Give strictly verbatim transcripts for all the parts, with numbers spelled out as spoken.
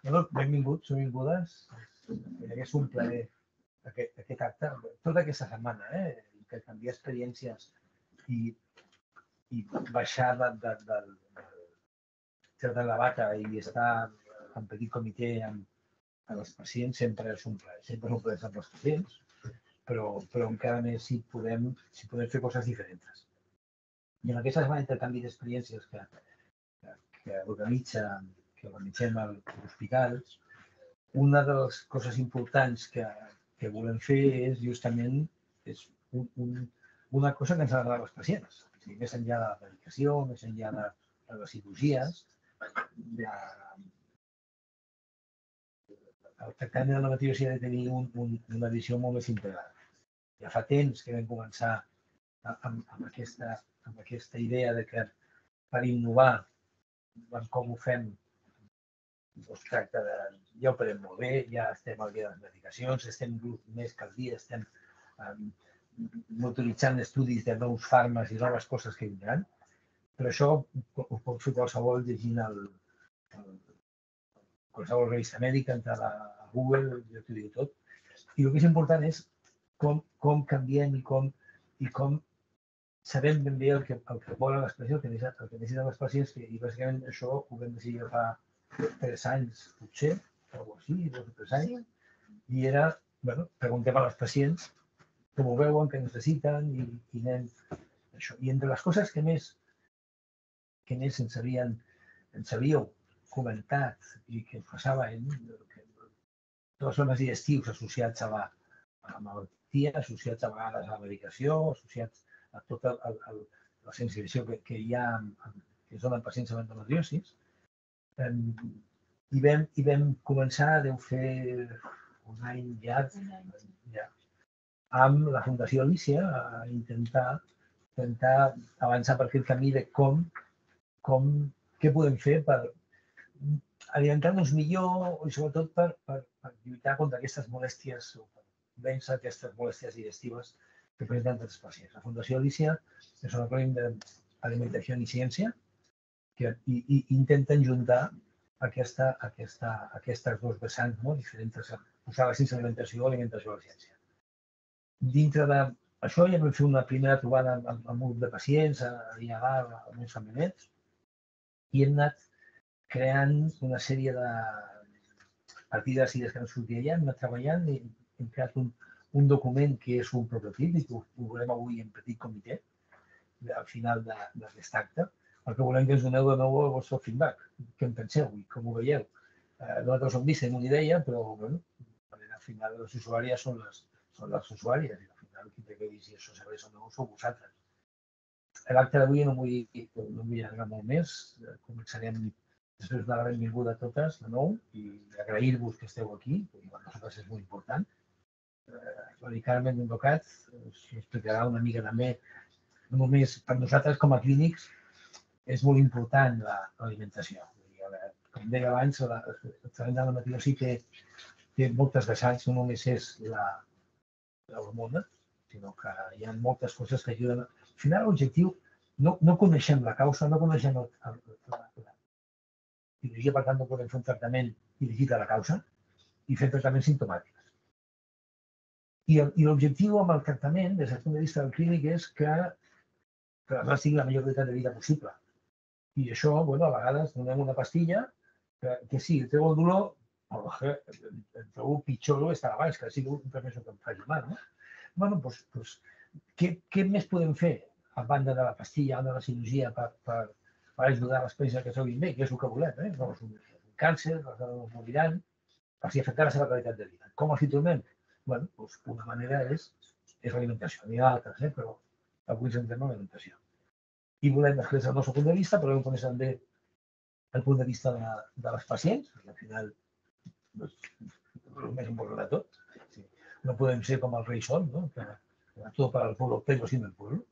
Bueno, benvinguts, benvingudes. És un plaer aquest, aquest acte, tota aquesta setmana, eh? Que canviar experiències i, i baixar de, de, de, de, de la bata i estar en petit comitè amb, amb els pacients sempre és un plaer, sempre és un plaer amb els pacients, però, però encara més si podem, si podem fer coses diferents. I en aquesta setmana d'intercanvi d'experiències que, que, que organitza que organitzem a l'hospital, una de les coses importants que, que volem fer és justament és un, un, una cosa que ens agrada als pacients. O sigui, més enllà de la medicació, més enllà de, de les cirurgies, de, el tractament de la medicació ha de tenir un, un, una visió molt més integrada. Ja fa temps que vam començar amb, amb, aquesta, amb aquesta idea de que per innovar en com ho fem es tracta de, ja ho farem molt bé, ja estem al dia de les medicacions, estem més que al dia, estem um, utilitzant estudis de nous fàrmacs i noves coses que vindran, però això ho pot fer qualsevol llegint el, el, qualsevol revista mèdica, entrar a Google, jo t'ho dic tot. I el que és important és com, com canviem i com, i com sabem ben bé el que, el que volen les pacients, el que necessiten, el que necessiten els pacients, i bàsicament això ho vam decidir fa tres anys, potser, o així, dos o tres anys, i era, bueno, preguntem a les pacients com ho veuen, què necessiten, i, i anem això. I entre les coses que més, que més ens, havien, ens havíeu comentat i que ens passaven, que tots són els digestius associats a la, a la malaltia, associats a vegades a la medicació, associats a tota el, el, la sensibilització que, que hi ha, que es donen pacients amb endometriosis. I vam, i vam començar, deu fer un any ja, ja amb la Fundació Alícia a intentar, intentar avançar per aquest camí de com, com què podem fer per alimentar-nos millor i sobretot per, per, per lluitar contra aquestes molèsties o per vèncer aquestes molèsties digestives que presenten els pacients. La Fundació Alícia és un acrònim d'alimentació i ciència que i, i intenten juntar aquesta, aquesta, aquestes dos vessants, no? Diferents, posar la ciència d'alimentació o alimentació a la ciència. Dintre d'això ja vam fer una primera trobada amb, amb un grup de pacients, allà a dalt, amb uns camionets, i hem anat creant una sèrie de partides i idees que ens sortia allà, hem anat treballant i hem creat un, un document que és un prototip i que ho, ho veurem avui en petit comitè, al final d'aquest acte, perquè volem que ens doneu de nou el vostre feedback, què en penseu i com ho veieu. Eh, nosaltres hem vist, tenim una idea, però bueno, al final les usuàries són les, són les usuàries i al final qui té que dir si això serveix o no sou vosaltres. L'acte d'avui no vull, no vull allargar molt més, començarem després de la benvinguda a totes de nou i agrair-vos que esteu aquí, perquè per nosaltres és molt important. Eh, la Carmen Docat us explicarà una mica també, no només per nosaltres com a clínics, és molt important l'alimentació. Com deia abans, el tractament de la medicació sí que té moltes vessants, no només és l'hormona, sinó que hi ha moltes coses que ajuden. Al final, l'objectiu, no, no coneixem la causa, no coneixem el, el, la, la cirurgia, per tant, no podem fer un tractament dirigit a la causa i fer tractaments simptomàtics. I, i l'objectiu amb el tractament, des del punt de vista del clínic, és que, que les dones tinguin la millor qualitat de vida possible. I això, bueno, a vegades donem una pastilla que, que sí, treu el dolor, però que el trobo pitjor que estava abans, que sigui un remei que em faci mal, no? Bueno, doncs, doncs què, què més podem fer a banda de la pastilla, de la cirurgia, per, per, per ajudar les pacients que s'oguin bé, que és el que volem, eh? No és un càncer, les dones moriran, per si afectar la seva qualitat de vida. Com els hi trobem? Bueno, doncs una manera és, és l'alimentació. N'hi ha altres, eh? Però avui ens centrem en l'alimentació. I volem expressar el nostre punt de vista, però volem conèixer també el punt de vista de, de les pacients, que al final és el més important de tot. Sí. No podem ser com el rei Sol, no? Que, que tot per al pueblo, però sin el pueblo.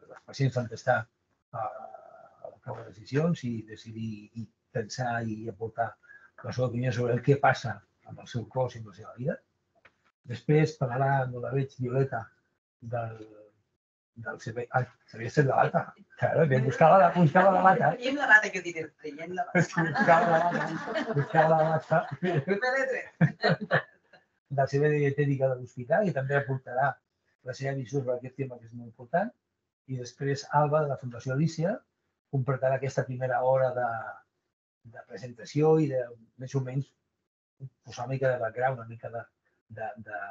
Les pacients han d'estar a, a la prova de decisions i decidir i pensar i aportar la seva opinió sobre el que passa amb el seu cos i amb la seva vida. Després parlarà, no la veig, Violeta, del del C B I. Ah, sabia ser de l'alta. Claro, que buscava la, buscava la bata. Traiem la bata, que diré, traiem la bata. Buscava la bata. Buscava la bata. Del C B I Dietètica de l'Hospital i també aportarà la seva visió sobre aquest tema, que és molt important. I després Alba, de la Fundació Alícia, completarà aquesta primera hora de, de presentació i de, més o menys, posar una mica de background, una mica de, de, de,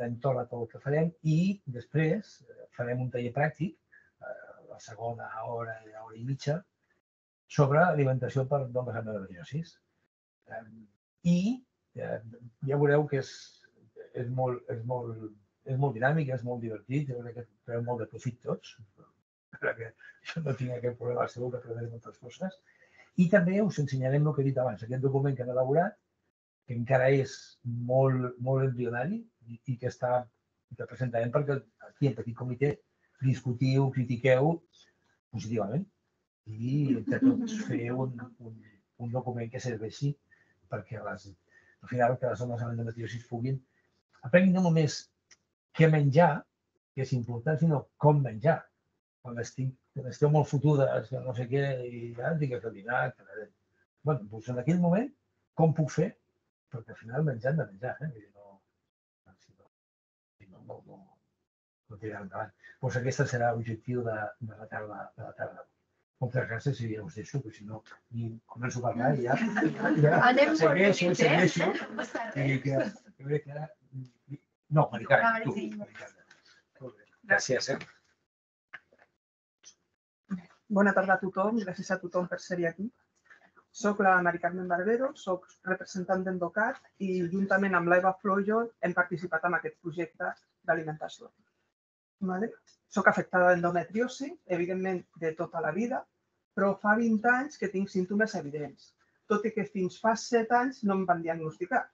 d'entorn a tot el que farem i després farem un taller pràctic, la segona hora, hora i mitja, sobre alimentació per dones amb endometriosis. I ja veureu que és, és, molt, és, molt, és molt dinàmic, és molt divertit, jo crec que treu molt de profit tots, perquè jo no tinc aquest problema, segur que aprenem moltes coses. I també us ensenyarem el que he dit abans, aquest document que hem elaborat, que encara és molt, molt embrionari i que està, que presentarem perquè aquí en petit comitè discutiu, critiqueu positivament i entre tots fer un, un, un document que serveixi perquè les, al final que les dones amb endometriosis puguin aprenguin no només què menjar, que és important, sinó com menjar. Quan, estic, quan esteu molt fotudes, no sé què, i ja tinc que fer el dinar, que... Bé, doncs en aquell moment, com puc fer? Perquè al final menjar hem de menjar, eh? No, no, no, no, no tirar endavant. Doncs aquest serà l'objectiu de, de la tarda. De la tarda. Moltes gràcies i ja us deixo, perquè si no començo a parlar i ja, ja Anem segueixo, molt segueixo. bé, I que, jo crec que ara... No, Maricarme, tu. Maricarme. Gràcies, eh? Bona tarda a tothom, gràcies a tothom per ser aquí. Soc la Mari Carmen Barbero, soc representant d'Endocat i juntament amb l'Eva Flojo hem participat en aquest projecte d'alimentació. Vale? Soc afectada d'endometriosi, evidentment de tota la vida, però fa vint anys que tinc símptomes evidents, tot i que fins fa set anys no em van diagnosticar.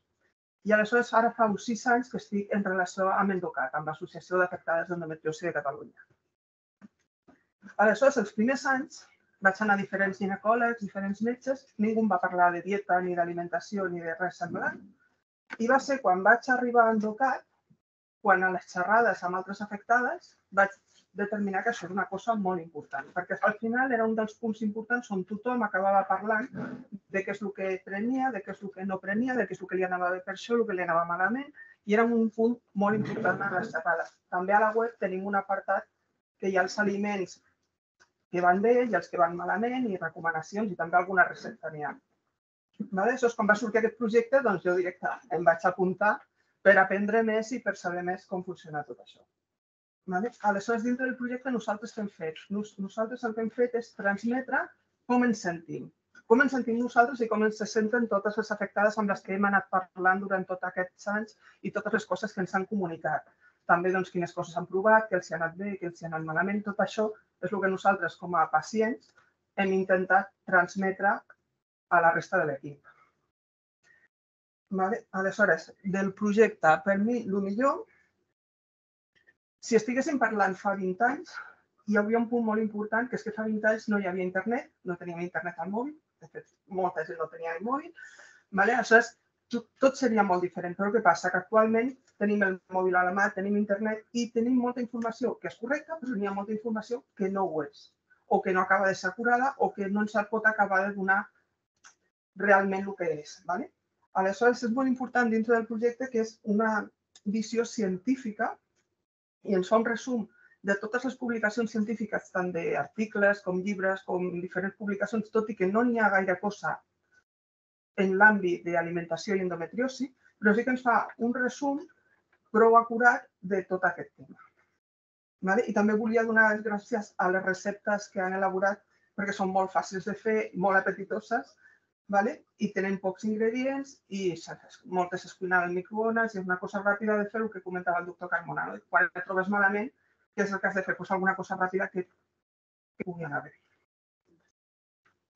I aleshores ara fa uns sis anys que estic en relació amb Endocat, amb l'Associació d'Afectades d'Endometriosi de Catalunya. Aleshores, els primers anys vaig anar a diferents ginecòlegs, diferents metges, ningú em va parlar de dieta, ni d'alimentació, ni de res semblant. I va ser quan vaig arribar a Endocat, quan a les xerrades amb altres afectades vaig determinar que això era una cosa molt important, perquè al final era un dels punts importants on tothom acabava parlant de què és el que prenia, de què és el que no prenia, de què és el que li anava bé per això, el que li anava malament, i era un punt molt important en les xerrades. També a la web tenim un apartat que hi ha els aliments que van bé i els que van malament, i recomanacions, i també alguna recepta n'hi ha. Aleshores, quan va sortir aquest projecte, doncs jo directament em vaig apuntar per aprendre més i per saber més com funciona tot això. Aleshores, dintre del projecte, nosaltres què hem fet? Nosaltres el que hem fet és transmetre com ens sentim. Com ens sentim nosaltres i com ens senten totes les afectades amb les que hem anat parlant durant tots aquests anys i totes les coses que ens han comunicat. També doncs, quines coses han provat, què els ha anat bé, què els ha anat malament. Tot això és el que nosaltres, com a pacients, hem intentat transmetre a la resta de l'equip. Aleshores, del projecte, per mi, el millor, si estiguéssim parlant fa vint anys, hi havia un punt molt important, que és que fa vint anys no hi havia internet, no teníem internet al mòbil, de fet, molta gent no tenia el mòbil. Aleshores, tot seria molt diferent, però què passa? Que actualment tenim el mòbil a la mà, tenim internet i tenim molta informació que és correcta, però n'hi ha molta informació que no ho és, o que no acaba de ser acurada, o que no ens pot acabar de donar realment el que és. Aleshores, és molt important dintre del projecte que és una visió científica i ens fa un resum de totes les publicacions científiques, tant d'articles com llibres, com diferents publicacions, tot i que no n'hi ha gaire cosa en l'àmbit d'alimentació i endometriosi, però sí que ens fa un resum prou acurat de tot aquest tema. I també volia donar les gràcies a les receptes que han elaborat perquè són molt fàcils de fer, molt apetitoses, i tenen pocs ingredients i moltes es cuinen al microones i és una cosa ràpida de fer, el que comentava el doctor Carmona. Quan et trobes malament, què és el que has de fer? Doncs alguna cosa ràpida que pugui anar bé.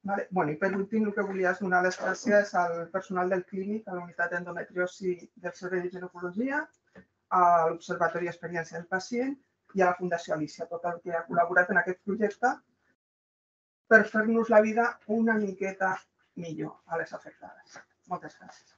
I per últim, el que volia és donar les gràcies al personal del clínic, a la unitat d'endometriosi del Servei de Ginecologia, a l'Observatori d'Experiència del Pacient i a la Fundació Alícia, tot el que ha col·laborat en aquest projecte per fer-nos la vida una miqueta millor a les afectades. Moltes gràcies.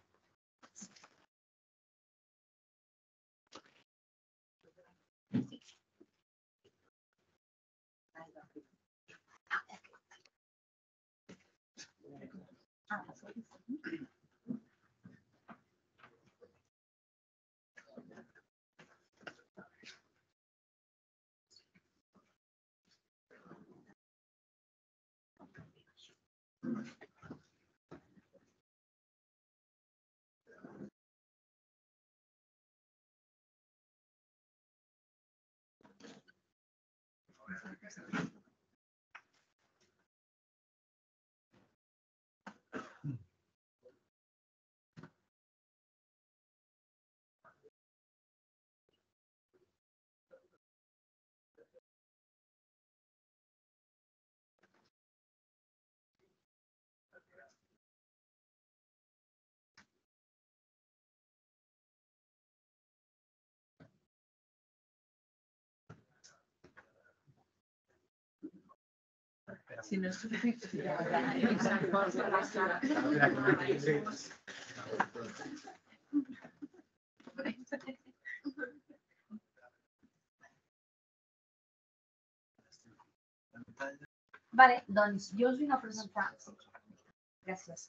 Si no és suficient. Vale, doncs jo us vinc a presentar... Gràcies.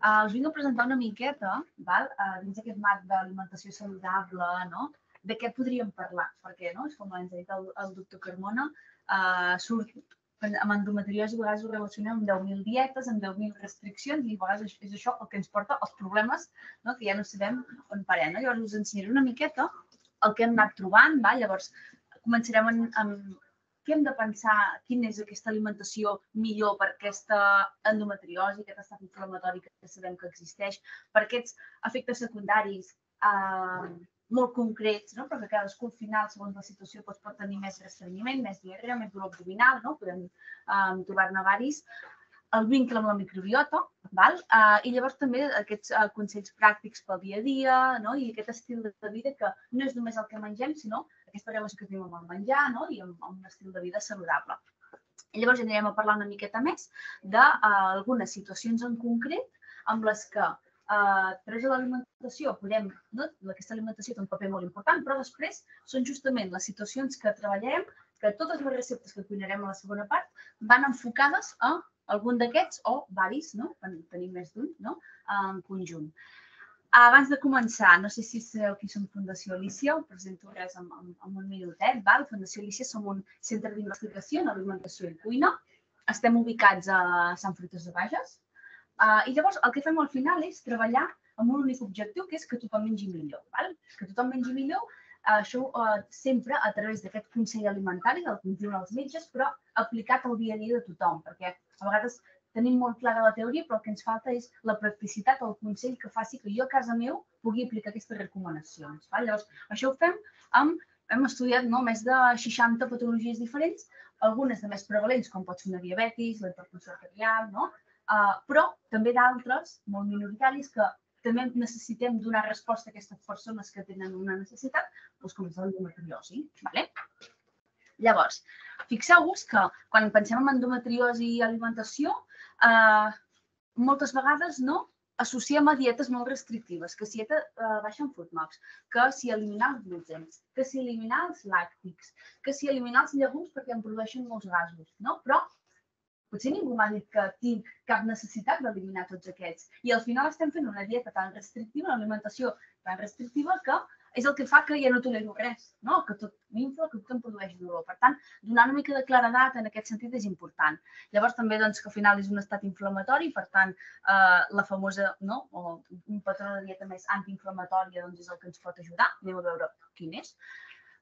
Uh, us vinc a presentar una miqueta, val? Uh, dins aquest marc d'alimentació saludable, no? De què podríem parlar, perquè, no? Com ens ha dit el, el doctor Carmona, uh, surt amb endometriosi, a vegades ho relacionem amb deu mil dietes, amb deu mil restriccions, i a vegades és això el que ens porta als problemes, no? Que ja no sabem on parem. No? Llavors us ensenyaré una miqueta el que hem anat trobant. Va? Llavors començarem amb, amb què hem de pensar, quina és aquesta alimentació millor per aquesta endometriosi, aquest estat inflamatori que sabem que existeix, per aquests efectes secundaris eh, molt concrets, no? Perquè cadascú al final, segons la situació, doncs, pot tenir més restrenyiment, més diarrea, més dolor abdominal, no? Podem um, trobar-ne varis. El vincle amb la microbiota, val? Uh, i llavors també aquests uh, consells pràctics pel dia a dia, no? I aquest estil de vida que no és només el que mengem, sinó aquesta relació que tenim amb el menjar, no? I amb, amb un estil de vida saludable. I llavors anirem a parlar una miqueta més d'algunes uh, situacions en concret amb les que Uh, a través de l'alimentació podem, no? Aquesta alimentació té un paper molt important, però després són justament les situacions que treballarem, que totes les receptes que cuinarem a la segona part van enfocades a algun d'aquests o varis, no? En tenim més d'un, no? En conjunt. Abans de començar, no sé si sabeu qui som Fundació Alícia, ho presento res en, en, en un minutet. Val? Fundació Alícia som un centre d'investigació en alimentació i cuina. Estem ubicats a Sant Fruitós de Bages. Uh, I llavors el que fem al final és treballar amb un únic objectiu, que és que tothom mengi millor. Val? Que tothom mengi millor, uh, això uh, sempre a través d'aquest consell alimentari, del que ens diuen els metges, però aplicat al dia a dia de tothom, perquè a vegades tenim molt clara la teoria, però el que ens falta és la practicitat o el consell que faci que jo a casa meu pugui aplicar aquestes recomanacions. Val? Llavors, això ho fem amb, hem estudiat no, més de seixanta patologies diferents, algunes de més prevalents, com pot ser una diabetis, la hipertensió arterial, no? Uh, però també d'altres, molt minoritaris, que també necessitem donar resposta a aquestes persones que tenen una necessitat, doncs com és l'endometriosi. Vale? Llavors, fixeu-vos que quan pensem en endometriosi i alimentació, uh, moltes vegades no associem a dietes molt restrictives, que si dieta uh, baixa en FODMAPs, que si eliminar els glútens, que si eliminar els làctics, que si eliminar els llegums perquè em produeixen molts gasos, no? Però potser ningú m'ha dit que tinc cap necessitat d'eliminar tots aquests. I al final estem fent una dieta tan restrictiva, una alimentació tan restrictiva, que és el que fa que ja no tolero res, no? Que tot m'infla, que tot em produeix dolor. Per tant, donar una mica de claredat en aquest sentit és important. Llavors també doncs, que al final és un estat inflamatori, per tant, eh, la famosa, no? O un patró de dieta més antiinflamatòria doncs, és el que ens pot ajudar. Anem a veure quin és.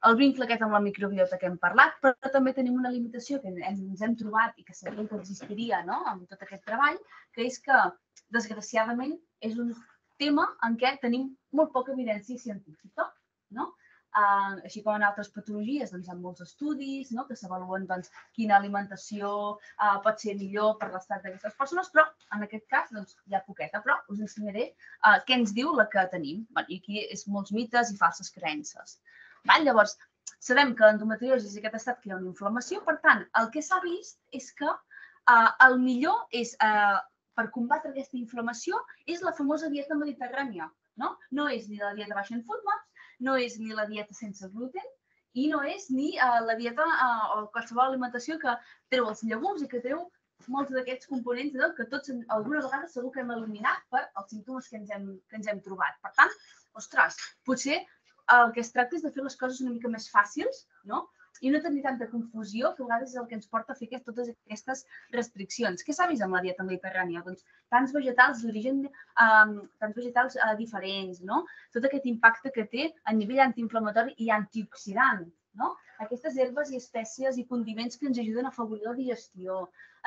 El vincle aquest amb la microbiota que hem parlat, però també tenim una limitació que ens hem trobat i que sabíem que existiria, no? Amb tot aquest treball, que és que, desgraciadament, és un tema en què tenim molt poca evidència científica, no? Uh, així com en altres patologies, doncs, hi ha molts estudis, no? Que s'avaluen doncs, quina alimentació uh, pot ser millor per l'estat d'aquestes persones, però en aquest cas doncs, hi ha poqueta, però us ensenyaré uh, què ens diu la que tenim. Bueno, i aquí és molts mites i falses creences. Val? Llavors, sabem que l'endometriosi és aquest estat que hi ha una inflamació, per tant, el que s'ha vist és que eh, el millor és, eh, per combatre aquesta inflamació, és la famosa dieta mediterrània. No? No és ni la dieta baixa en FODMAPs, no és ni la dieta sense gluten i no és ni eh, la dieta eh, o qualsevol alimentació que treu els llegums i que treu molts d'aquests components que tots alguna vegada segur que hem eliminat per els símptomes que ens hem, que ens hem trobat. Per tant, ostres, potser el que es tracta és de fer les coses una mica més fàcils, no? I no tenir tanta confusió, que a vegades és el que ens porta a fer totes aquestes restriccions. Què s'ha vist amb la dieta mediterrània? Doncs tants vegetals d'origen, um, tants vegetals uh, diferents, no? Tot aquest impacte que té a nivell antiinflamatori i antioxidant, no? Aquestes herbes i espècies i condiments que ens ajuden a afavorir la digestió,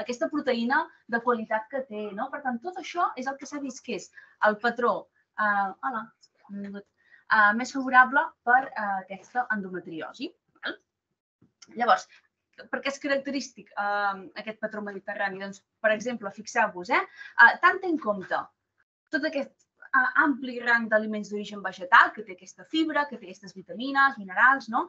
aquesta proteïna de qualitat que té, no? Per tant, tot això és el que s'ha vist que és el patró uh, hola, uh, més favorable per uh, aquesta endometriosi. Llavors, per què és característic uh, aquest patró mediterrani? Doncs, per exemple, fixeu-vos, eh? uh, tant en compte tot aquest uh, ampli rang d'aliments d'origen vegetal, que té aquesta fibra, que té aquestes vitamines, minerals, no?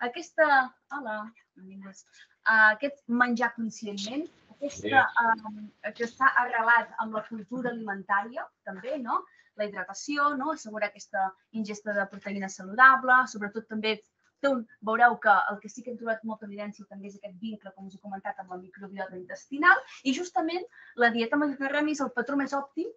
Aquesta, hola, uh, aquest menjar conscientment, aquesta, uh, que està arrelat amb la cultura alimentària, també, no? La hidratació, no? Assegurar aquesta ingesta de proteïna saludable, sobretot també veureu que el que sí que hem trobat molta evidència també és aquest vincle, com us he comentat, amb la microbiota intestinal i justament la dieta mediterrània és el patró més òptim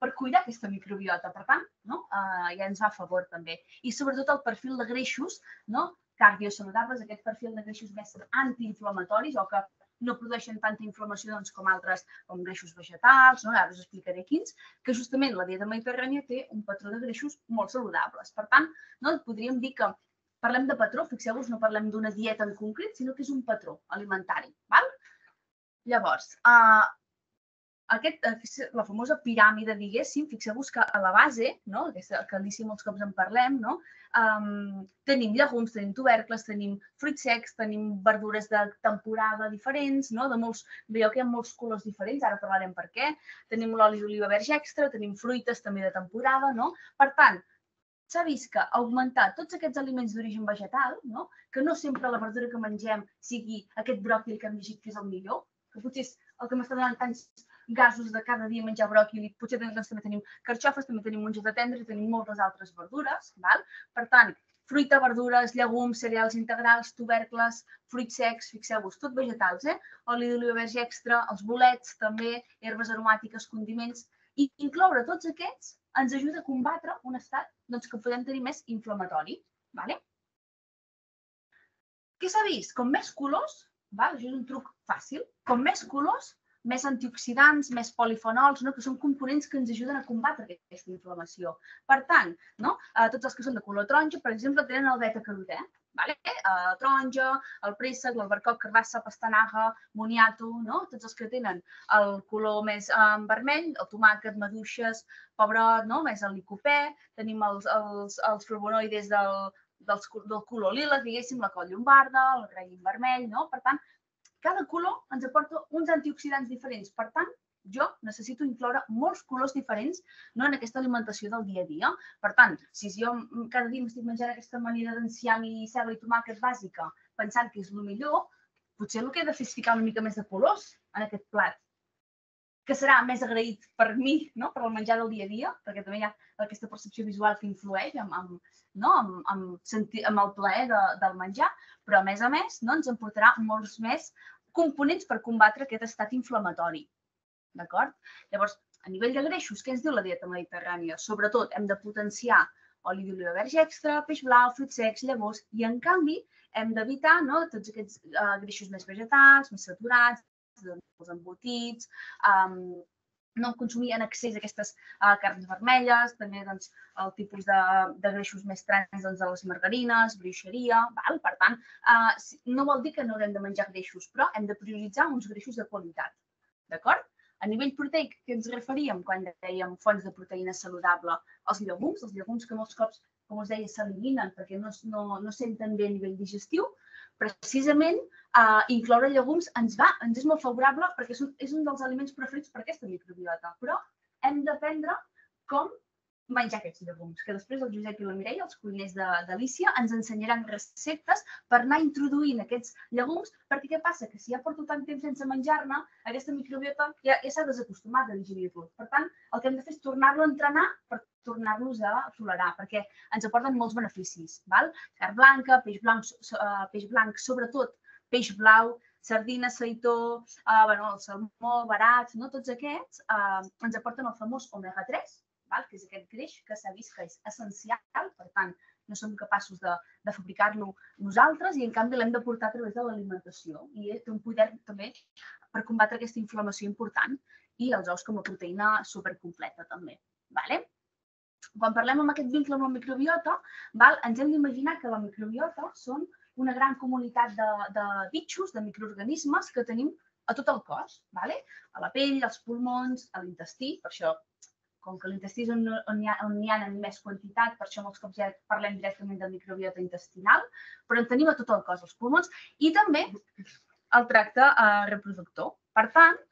per cuidar aquesta microbiota. Per tant, no? uh, ja ens va a favor també. I sobretot el perfil de greixos, no? Cardiosaludables, aquest perfil de greixos més antiinflamatoris o que no produeixen tanta inflamació doncs, com altres, com greixos vegetals, no? Ara us explicaré quins, que justament la dieta mediterrània té un patró de greixos molt saludables. Per tant, no? Podríem dir que parlem de patró, fixeu-vos, no parlem d'una dieta en concret, sinó que és un patró alimentari. Val? Llavors, uh, aquest, la famosa piràmide, diguéssim, fixeu-vos que a la base, no? Aquesta, que a l'I C I molts cops en parlem, no? um, tenim llegums, tenim tubercles, tenim fruits secs, tenim verdures de temporada diferents, no? De molts, veieu que hi ha molts colors diferents, ara parlarem per què. Tenim l'oli d'oliva verge extra, tenim fruites també de temporada, no? Per tant, s'ha vist que augmentar tots aquests aliments d'origen vegetal, no? Que no sempre la verdura que mengem sigui aquest bròquil que hem llegit que és el millor, que potser és el que m'està donant tants gasos de cada dia menjar bròquil, potser doncs, també tenim carxofes, també tenim mongeta tendra i tenim moltes altres verdures. Val? Per tant, fruita, verdures, llegums, cereals integrals, tubercles, fruits secs, fixeu-vos, tot vegetals, eh? Oli d'oliva verge extra, els bolets també, herbes aromàtiques, condiments, i incloure tots aquests ens ajuda a combatre un estat doncs, que podem tenir més inflamatori. Vale? Què s'ha vist? Com més colors, val? Això és un truc fàcil, com més colors, més antioxidants, més polifenols, no? Que són components que ens ajuden a combatre aquesta inflamació. Per tant, no? Tots els que són de color taronja, per exemple, tenen el beta-carotè. Vale? El taronja, el préssec, l'albercoc, carbassa, pastanaga, moniato, no? Tots els que tenen el color més um, vermell, el tomàquet, maduixes, pebrot, no? Més el licopè, tenim els, els, els flavonoides del, del, del color lila, diguéssim, la col llombarda, el raïm vermell, no? Per tant, cada color ens aporta uns antioxidants diferents. Per tant, jo necessito incloure molts colors diferents, no, en aquesta alimentació del dia a dia. Per tant, si jo cada dia m'estic menjant aquesta amanida d'enciam i ceba i tomàquet bàsica pensant que és el millor, potser el que he de fer és ficar una mica més de colors en aquest plat, que serà més agraït per mi, no? Per el menjar del dia a dia, perquè també hi ha aquesta percepció visual que influeix amb, amb, no? amb, amb, sentir, amb el plaer de, del menjar, però a més a més no? Ens emportarà molts més components per combatre aquest estat inflamatori. D'acord? Llavors, a nivell de greixos, què ens diu la dieta mediterrània? Sobretot, hem de potenciar oli d'oliva verge extra, peix blau, fruits secs, llavors, i en canvi hem d'evitar no, tots aquests uh, greixos més vegetals, més saturats, els embotits, um, no consumir en excés aquestes uh, carns vermelles, també doncs, el tipus de, de greixos més trans doncs, de les margarines, bruixeria, val? Per tant, uh, no vol dir que no haurem de menjar greixos, però hem de prioritzar uns greixos de qualitat, d'acord? A nivell proteic, què ens referíem quan dèiem fonts de proteïna saludable? Els llegums, els llegums que molts cops, com us deia, s'eliminen perquè no, no, no senten bé a nivell digestiu. Precisament, eh, incloure llegums ens va, ens és molt favorable perquè és un, és un dels aliments preferits per aquesta microbiota. Però hem d'aprendre com menjar aquests llegums, que després el Josep i la Mireia, els cuiners d'Alícia, ens ensenyaran receptes per anar introduint aquests llegums, perquè què passa? Que si ja porto tant temps sense menjar-ne, aquesta microbiota ja, ja s'ha desacostumat a digerir-los. Per tant, el que hem de fer és tornar-lo a entrenar per tornar-los a tolerar, perquè ens aporten molts beneficis. Val? Carn blanca, peix blanc, peix blanc, sobretot peix blau, sardina, seitó, eh, bueno, el salmó, barats, no? Tots aquests eh, ens aporten el famós omega tres, val? Que és aquest greix que s'ha vist que és essencial, per tant, no som capaços de, de fabricar-lo nosaltres i, en canvi, l'hem de portar a través de l'alimentació. I té un poder també per combatre aquesta inflamació important i els ous com a proteïna supercompleta també. Vale? Quan parlem amb aquest vincle amb la microbiota, val, ens hem d'imaginar que la microbiota són una gran comunitat de, de bitxos, de microorganismes que tenim a tot el cos, vale? A la pell, als pulmons, a l'intestí, per això, com que l'intestí és on, on, hi ha, on hi ha en més quantitat, per això molts cops ja parlem directament de microbiota intestinal, però en tenim a tot el cos, als pulmons, i també el tracte eh, reproductor. Per tant,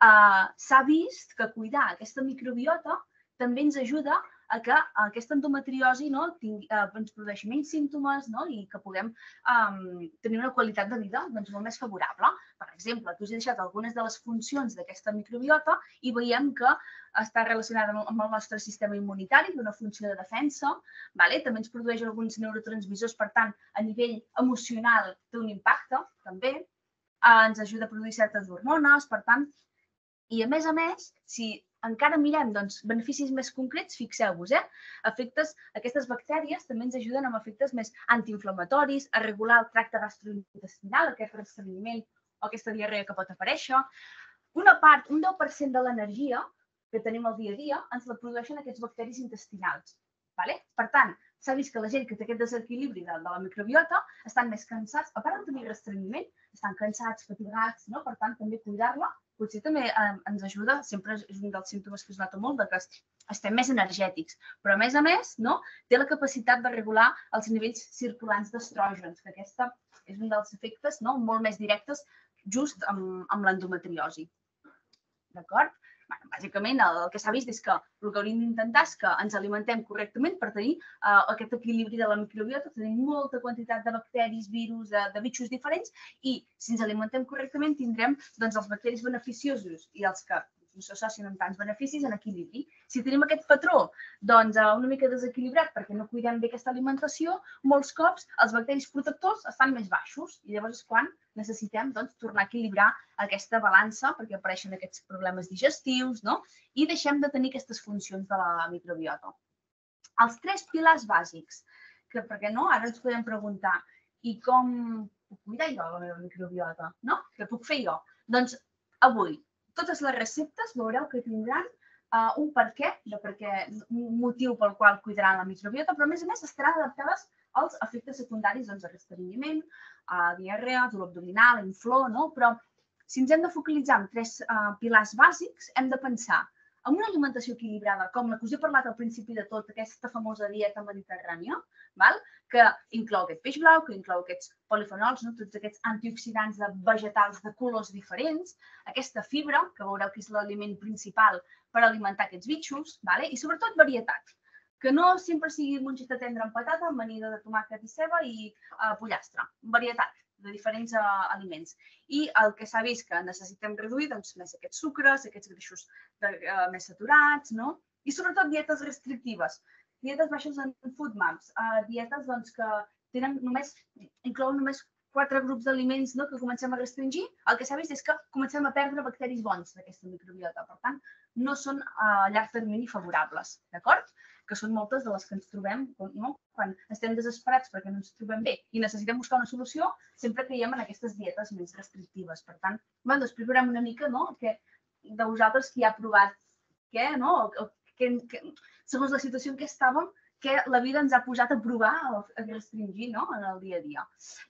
eh, s'ha vist que cuidar aquesta microbiota també ens ajuda a que aquesta endometriosi no, tingui, eh, ens produeixi menys símptomes, no, i que puguem eh, tenir una qualitat de vida doncs, molt més favorable. Per exemple, aquí us he deixat algunes de les funcions d'aquesta microbiota i veiem que està relacionada amb el nostre sistema immunitari, una funció de defensa. Vale? També ens produeix alguns neurotransmissors, per tant, a nivell emocional té un impacte, també. Eh, ens ajuda a produir certes hormones, per tant, i a més a més, si encara mirem doncs, beneficis més concrets, fixeu-vos, eh? Efectes, aquestes bactèries també ens ajuden amb efectes més antiinflamatoris, a regular el tracte gastrointestinal, aquest restrenyiment o aquesta diarrea que pot aparèixer. Una part, un deu per cent de l'energia que tenim al dia a dia ens la produeixen aquests bacteris intestinals. Vale? Per tant, s'ha vist que la gent que té aquest desequilibri de, de la microbiota estan més cansats, a part de tenir restrenyiment, estan cansats, fatigats, no? Per tant, també cuidar-la potser també eh, ens ajuda, sempre és un dels símptomes que es nota molt, de que estem més energètics. Però, a més a més, no, té la capacitat de regular els nivells circulants d'estrògens, que aquesta és un dels efectes no, molt més directes just amb, amb l'endometriosi. D'acord? Bueno, bàsicament, el, el que s'ha vist és que el que hauríem d'intentar és que ens alimentem correctament per tenir uh, aquest equilibri de la microbiota, tenim molta quantitat de bacteris, virus, de, de bitxos diferents i si ens alimentem correctament tindrem doncs, els bacteris beneficiosos i els que no s'associen amb tants beneficis en equilibri. Si tenim aquest patró doncs, uh, una mica desequilibrat perquè no cuidem bé aquesta alimentació, molts cops els bacteris protectors estan més baixos i llavors és quan necessitem doncs, tornar a equilibrar aquesta balança perquè apareixen aquests problemes digestius, no? I deixem de tenir aquestes funcions de la microbiota. Els tres pilars bàsics, que perquè no, ara ens podem preguntar i com puc cuidar jo la meva microbiota? No? Què puc fer jo? Doncs avui, totes les receptes veureu que tindran uh, un per què, de per què, un motiu pel qual cuidaran la microbiota, però a més a més estaran adaptades als efectes secundaris doncs, de restrenyiment, uh, diarrea, dolor abdominal, inflor, no? Però si ens hem de focalitzar en tres uh, pilars bàsics, hem de pensar en una alimentació equilibrada, com la que us he parlat al principi de tot, aquesta famosa dieta mediterrània, val? Que inclou aquest peix blau, que inclou aquests polifenols, no? Tots aquests antioxidants de vegetals de colors diferents, aquesta fibra, que veureu que és l'aliment principal per alimentar aquests bitxos, vale? I sobretot varietat, que no sempre sigui mongeta tendra amb patata, amanida de tomàquet i ceba i uh, pollastre, varietat de diferents uh, aliments. I el que s'ha vist que necessitem reduir, doncs, més aquests sucres, aquests greixos de, uh, més saturats, no? I sobretot dietes restrictives, dietes baixes en FODMAPs, uh, dietes doncs, que tenen només, inclouen només quatre grups d'aliments no, que comencem a restringir, el que s'ha vist és que comencem a perdre bacteris bons d'aquesta microbiota. Per tant, no són a llarg termini favorables, d'acord? Que són moltes de les que ens trobem no? Quan estem desesperats perquè no ens trobem bé i necessitem buscar una solució, sempre caiem en aquestes dietes més restrictives. Per tant, bueno, després veurem una mica no? que, de vosaltres qui ha provat què, no? o, que, que, segons la situació en què estàvem, que la vida ens ha posat a provar, a restringir no? En el dia a dia.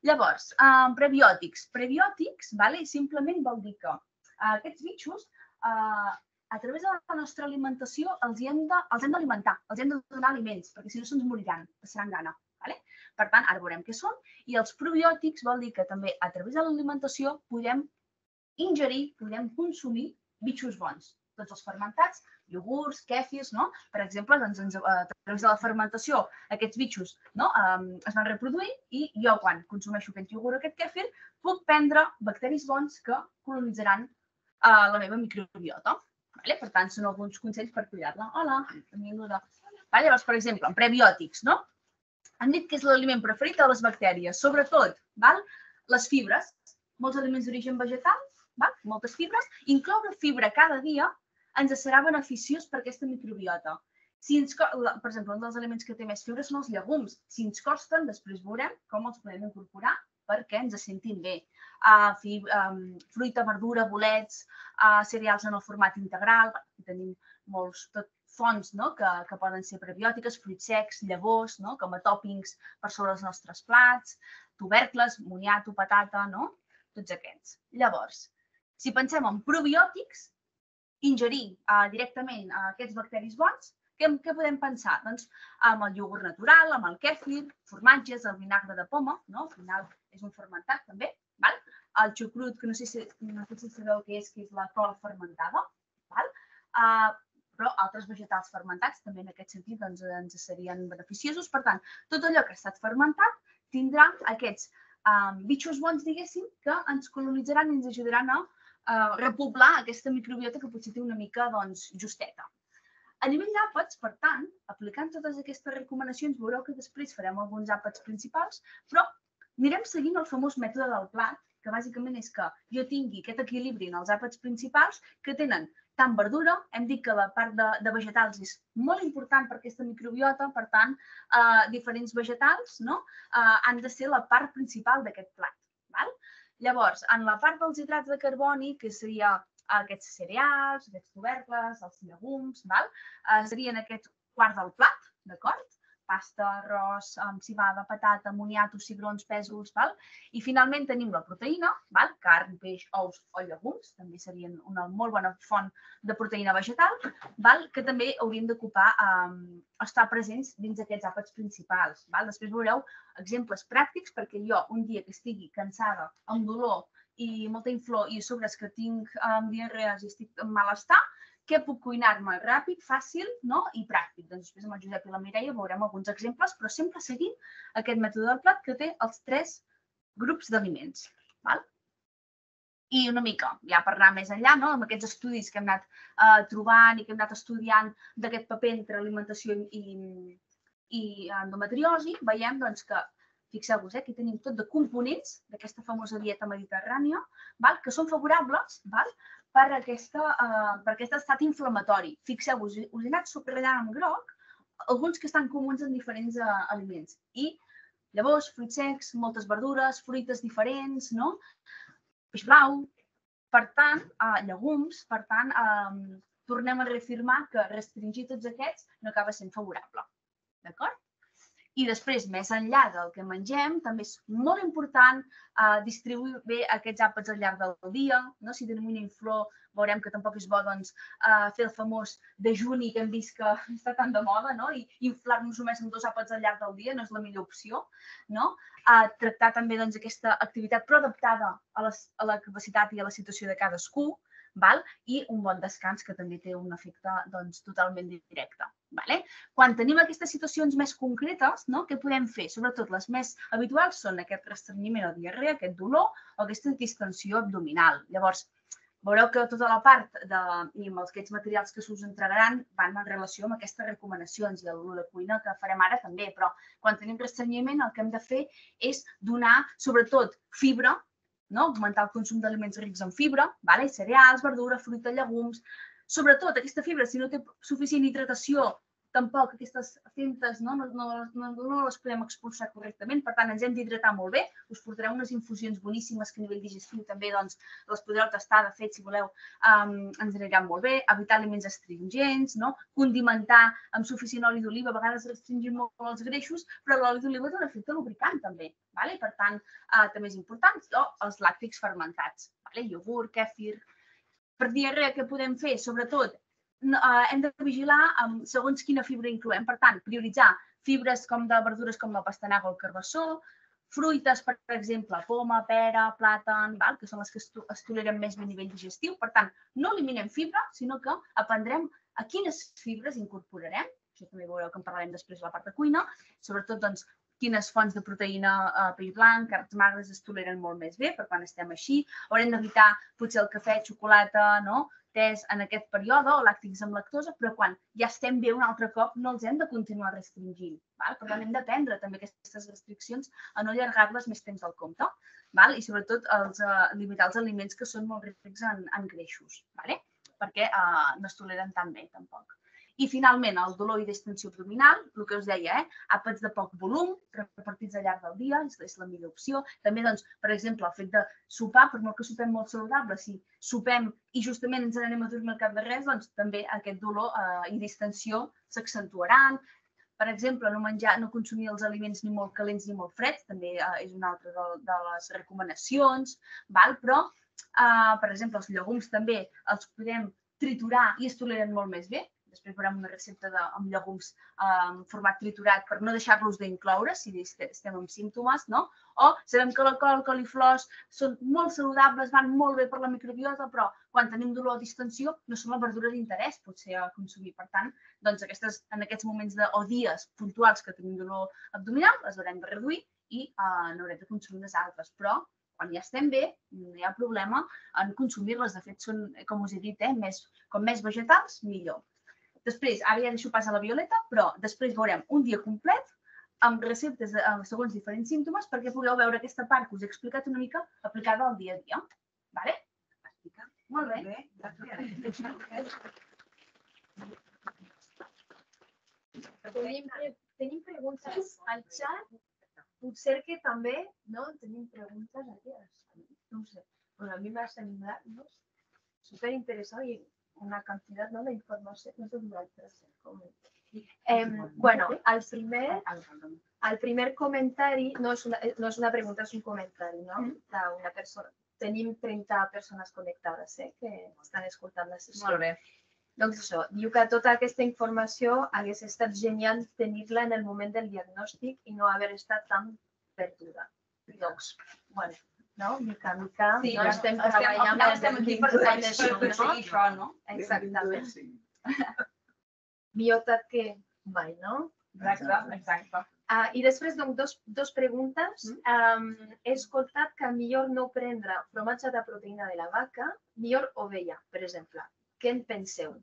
Llavors, eh, prebiòtics. Prebiòtics vale? Simplement vol dir que eh, aquests bitxos eh, a través de la nostra alimentació els hem d'alimentar, els hem de donar aliments, perquè si no se'ns moriran, passaran gana. Vale? Per tant, ara veurem què són. I els probiòtics vol dir que també a través de l'alimentació podem ingerir, podem consumir bitxos bons. Tots els fermentats, iogurts, kèfirs, no? Per exemple, doncs, ens, a través de la fermentació aquests bitxos no? um, es van reproduir i jo quan consumeixo aquest iogurt o aquest kèfir puc prendre bacteris bons que colonitzaran uh, la meva microbiota. Vale? Per tant, són alguns consells per cuidar-la. Hola, benvinguda. Vale? Llavors, per exemple, en prebiòtics, no? Han dit que és l'aliment preferit de les bactèries, sobretot val? Les fibres. molts aliments d'origen vegetal, moltes fibres, incloure fibra cada dia ens serà beneficiós per aquesta microbiota. Si ens, per exemple, un dels aliments que té més fibra són els llegums. Si ens costen, després veurem com els podem incorporar perquè ens sentim bé. Uh, fi, um, fruita, verdura, bolets, uh, cereals en el format integral. Aquí tenim molts tot, fonts no? que, que poden ser prebiòtiques, fruits secs, llavors, no? com a tòpings per sobre els nostres plats, tubercles, moniato, patata, no? Tots aquests. Llavors, si pensem en probiòtics, ingerir uh, directament uh, aquests bacteris bons, què, què podem pensar? Doncs amb el iogurt natural, amb el kèfir, formatges, el vinagre de poma, no? Al final és un fermentat també, val? El xucrut, que no sé si, no sé si sabeu què és, que és la col fermentada, val? Uh, però altres vegetals fermentats també en aquest sentit doncs, ens serien beneficiosos. Per tant, tot allò que ha estat fermentat tindrà aquests um, bitxos bons, diguéssim, que ens colonitzaran i ens ajudaran a uh, repoblar aquesta microbiota que potser té una mica doncs, justeta. A nivell d'àpats, per tant, aplicant totes aquestes recomanacions, veureu que després farem alguns àpats principals, però anirem seguint el famós mètode del plat, que bàsicament és que jo tingui aquest equilibri en els àpats principals que tenen tant verdura, hem dit que la part de, de vegetals és molt important per aquesta microbiota, per tant, eh, diferents vegetals no? eh, han de ser la part principal d'aquest plat. Val? Llavors, en la part dels hidrats de carboni, que seria aquests cereals, aquests tubercles, els llegums, val? Eh, serien aquest quart del plat, d'acord? Pasta, arròs, civada, patata, moniato, cigrons, pèsols, val? I finalment tenim la proteïna, val? Carn, peix, ous o llegums, també serien una molt bona font de proteïna vegetal, val? Que també haurien d'ocupar, eh, estar presents dins d'aquests àpats principals. Val? Després veureu exemples pràctics perquè jo un dia que estigui cansada, amb dolor i molta inflor i a sobre que tinc um, diarrees i estic en malestar, què puc cuinar-me ràpid, fàcil no? I pràctic. Doncs després amb el Josep i la Mireia veurem alguns exemples, però sempre seguint aquest mètode del plat que té els tres grups d'aliments. I una mica, ja per anar més enllà, no? Amb aquests estudis que hem anat uh, trobant i que hem anat estudiant d'aquest paper entre alimentació i, i endometriosi, veiem doncs, que fixeu-vos, eh, aquí tenim tot de components d'aquesta famosa dieta mediterrània, val? Que són favorables val? Per, aquesta, uh, per aquest estat inflamatori. Fixeu-vos, us he anat subratllant en groc alguns que estan comuns en diferents uh, aliments. I llavors, fruits secs, moltes verdures, fruites diferents, no? Peix blau. Per tant, uh, llegums, per tant, uh, tornem a reafirmar que restringir tots aquests no acaba sent favorable. D'acord? I després, més enllà del que mengem, també és molt important eh, distribuir bé aquests àpats al llarg del dia. No? Si tenim una inflor, veurem que tampoc és bo doncs, eh, fer el famós dejuni que hem vist que està tan de moda, no? I inflar-nos només amb dos àpats al llarg del dia no és la millor opció. No? Eh, tractar també doncs, aquesta activitat però adaptada a, les, a la capacitat i a la situació de cadascú. Val? I un bon descans que també té un efecte doncs, totalment directe. Vale? Quan tenim aquestes situacions més concretes, no? Què podem fer? Sobretot les més habituals són aquest restrenyiment o diarrea, aquest dolor o aquesta distensió abdominal. Llavors, veureu que tota la part de, i amb els aquests materials que s'us entregaran van en relació amb aquestes recomanacions i a la cuina que farem ara també, però quan tenim restrenyiment el que hem de fer és donar sobretot fibra, no? Augmentar el consum d'aliments rics en fibra, vale? Cereals, verdura, fruita, llegums. Sobretot aquesta fibra, si no té suficient hidratació, tampoc aquestes fintes no, no, no, no, no les podem expulsar correctament. Per tant, ens hem d'hidratar molt bé. Us portareu unes infusions boníssimes que a nivell digestiu també doncs, les podreu tastar. De fet, si voleu, um, ens aniran molt bé. Evitar aliments astringents, no? Condimentar amb suficient oli d'oliva. A vegades restringim molt els greixos, però l'oli d'oliva té un efecte lubricant també. Vale? Per tant, uh, també és important. O els làctics fermentats. Vale? Iogurt, kèfir. Per diarrea, què podem fer? Sobretot, Uh, hem de vigilar um, segons quina fibra incloem. Per tant, prioritzar fibres com de verdures com la pastanaga o el carbassó, fruites, per exemple, poma, pera, plàtan, val? Que són les que es toleren més a nivell digestiu. Per tant, no eliminem fibra, sinó que aprendrem a quines fibres incorporarem. Això també veureu que en parlarem després a la part de cuina. Sobretot, doncs, quines fonts de proteïna, eh, peix blanc, carns magres es toleren molt més bé per quan estem així. Haurem d'evitar potser el cafè, xocolata, no? tés en aquest període o làctics amb lactosa, però quan ja estem bé un altre cop no els hem de continuar restringint. Val? Per tant, hem d'aprendre també aquestes restriccions a no allargar-les més temps del compte. Val? I sobretot els, uh, limitar els aliments que són molt rics en, en greixos, vale? Perquè uh, no es toleren tan bé tampoc. I finalment, el dolor i distensió abdominal, el que us deia, eh? àpats de poc volum, repartits al llarg del dia, és, és la millor opció. També, doncs, per exemple, el fet de sopar, per molt que sopem molt saludable, si sopem i justament ens n'anem a dormir al cap de res, doncs també aquest dolor eh, i distensió s'accentuaran. Per exemple, no menjar, no consumir els aliments ni molt calents ni molt freds, també eh, és una altra de, de les recomanacions, val? Però, eh, per exemple, els llegums també els podem triturar i es toleren molt més bé. Després veurem una recepta de, amb llegums en eh, format triturat per no deixar-los d'incloure si estem amb símptomes, no? O sabem que la col, el coliflors són molt saludables, van molt bé per la microbiota, però quan tenim dolor o distensió no són la verdura d'interès potser a consumir. Per tant, doncs aquestes, en aquests moments de, o dies puntuals que tenim dolor abdominal, les haurem de reduir i eh, n'haurem de consumir unes altres. Però quan ja estem bé, no hi ha problema en consumir-les. De fet, són, com us he dit, eh, més, com més vegetals, millor. Després, ara ja deixo pas a la Violeta, però després veurem un dia complet amb receptes de, segons diferents símptomes perquè pugueu veure aquesta part que us he explicat una mica aplicada al dia a dia. Vale? Molt bé. Tenim, tenim preguntes al xat. Potser que també no tenim preguntes aquí. No sé. Bueno, a mi m'ha semblat no? superinteressant i una cantidad ¿no? de información. No sé eh, bueno, al primer, al primer comentari, no és, una, no és una pregunta, és un comentari, no? D'una persona. Tenim trenta persones connectades eh, que estan escoltant la sessió. Molt bé. Doncs això, diu que tota aquesta informació hagués estat genial tenir-la en el moment del diagnòstic i no haver estat tan perduda. Doncs, bueno, no? Mica en mica, sí, no? Estem estem, treballant estem, estem aquí per, per, per aconseguir això, no? Exactament. Millor tard que mai, no? Exacte, exacte. Uh, I després, doncs, dos, dos preguntes. Um, he escoltat que millor no prendre formatge de proteïna de la vaca, millor ovella, per exemple. Què en penseu?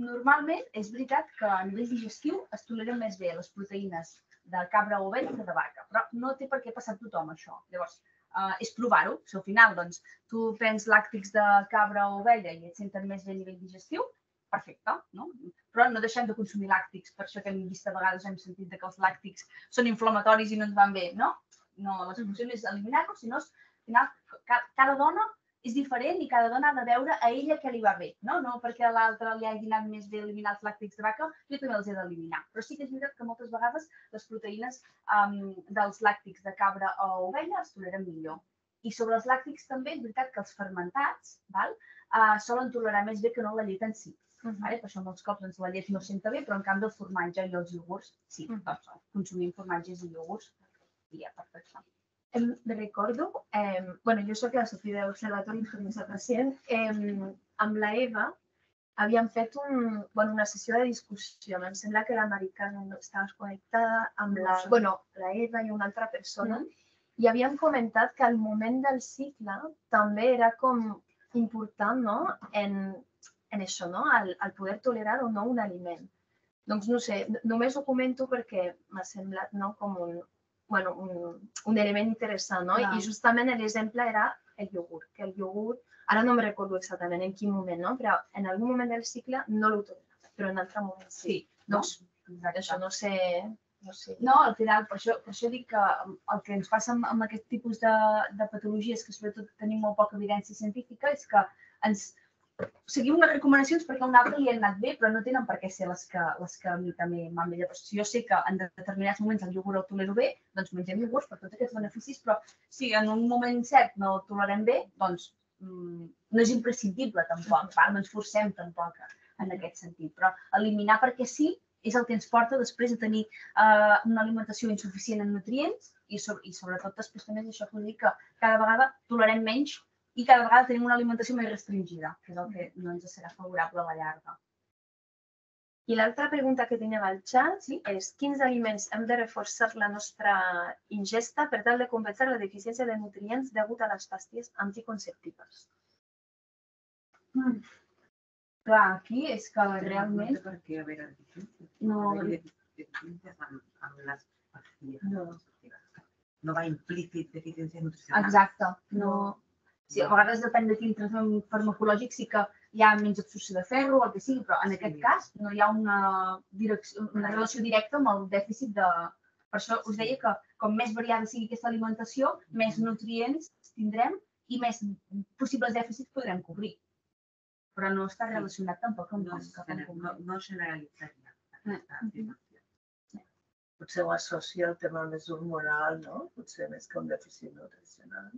Normalment, és veritat que a nivell digestiu es toleren més bé les proteïnes de cabra o ovella que de vaca, però no té per què passar a tothom això. Llavors, uh, és provar-ho. Si al final doncs, tu prens làctics de cabra o ovella i et senten més bé a nivell digestiu, perfecte, no? Però no deixem de consumir làctics, per això que hem vist a vegades hem sentit que els làctics són inflamatoris i no ens van bé, no? No, la solució no és eliminar-los, sinó al final cada dona és diferent i cada dona ha de veure a ella què li va bé, no? No perquè a l'altra li hagi anat més bé eliminar els làctics de vaca, jo també els he d'eliminar. Però sí que és veritat que moltes vegades les proteïnes um, dels làctics de cabra o ovella es toleren millor. I sobre els làctics també és veritat que els fermentats val, uh, solen tolerar més bé que no la llet en si. Uh -huh. Vale? Per això molts cops doncs, la llet no senta bé, però en canvi el formatge i els iogurts, sí, uh -huh. doncs, consumim formatges i iogurts i ja perfecte. Em recordo, eh, bueno, jo soc la Sofia de l'Observatori d'Informació de Pacient, eh, amb la Eva havíem fet un, bueno, una sessió de discussió. Em sembla que l'americana no estava connectada amb la, bueno, la Eva i una altra persona, mm. i havíem comentat que al moment del cicle també era com important, no?, en, en això, no?, el, el poder tolerar o no un aliment. Doncs no sé, només ho comento perquè m'ha semblat, no?, com un, bueno, un, un element interessant, no? Clar. I justament l'exemple era el iogurt, que el iogurt, ara no em recordo exactament en quin moment, no? Però en algun moment del cicle no l'ho tolera, però en altre moment sí. Sí, doncs, no? Això no sé, no sé. No, al final, per això, per això dic que el que ens passa amb, amb aquest tipus de, de patologies, que sobretot tenim molt poca evidència científica, és que ens seguim unes recomanacions perquè a un altre li han anat bé, però no tenen per què ser les que, les que a mi també m'han bé. Si jo sé que en determinats moments el iogurt el tolero bé, doncs mengem iogurts per tots aquests beneficis, però si en un moment cert no el tolerem bé, doncs mmm, no és imprescindible tampoc, val? No ens forcem tampoc en aquest sentit. Però eliminar perquè sí és el que ens porta després a tenir uh, una alimentació insuficient en nutrients i, so i sobretot després també és això que us dic que cada vegada tolerem menys i cada vegada tenim una alimentació més restringida, que és el que no ens serà favorable a la llarga. I l'altra pregunta que tenim al xat sí? és quins aliments hem de reforçar la nostra ingesta per tal de compensar la deficiència de nutrients degut a les pastilles anticonceptives? Mm. clar, aquí és que Realment... realment... Per què haver deficiències? No, Deficiències amb les pastilles. No va implícit deficiència nutricional. exacte. No... Sí, a vegades depèn de quin tractament farmacològic sí que hi ha menys absorció de ferro o el que sigui, però en aquest cas no hi ha una, direcció, una relació directa amb el dèficit de... Per això us deia que com més variada sigui aquesta alimentació, més nutrients tindrem i més possibles dèficits podrem cobrir. Però no està relacionat tampoc amb No, com cap en no, concret. no generalitzaria aquesta afirmació. Potser ho associa al tema més hormonal, no? Potser més que un dèficit nutricional.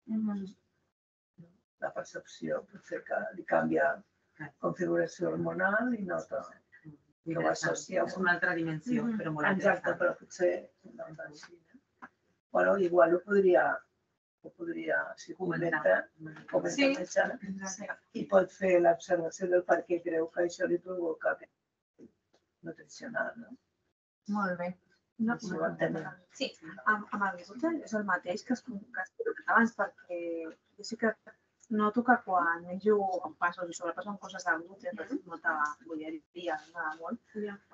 Mhm. La percepció potser que li canvia configuració hormonal i nota que ho associa. És una altra dimensió, Mhm. però molt Exacte, interessant. però potser no tant així. No? Bueno, igual ho podria, ho podria si comenta, comenta Sí. metge, i pot fer l'observació del per què creu que això li provoca nutricional, no? Molt bé. No, Si ho entenem. Sí. amb, amb el gluten és el mateix que es comentava abans, perquè jo sí que noto que quan menjo en passos i sobrepasso en coses de gluten, per exemple, molta bolleria, m'agrada molt,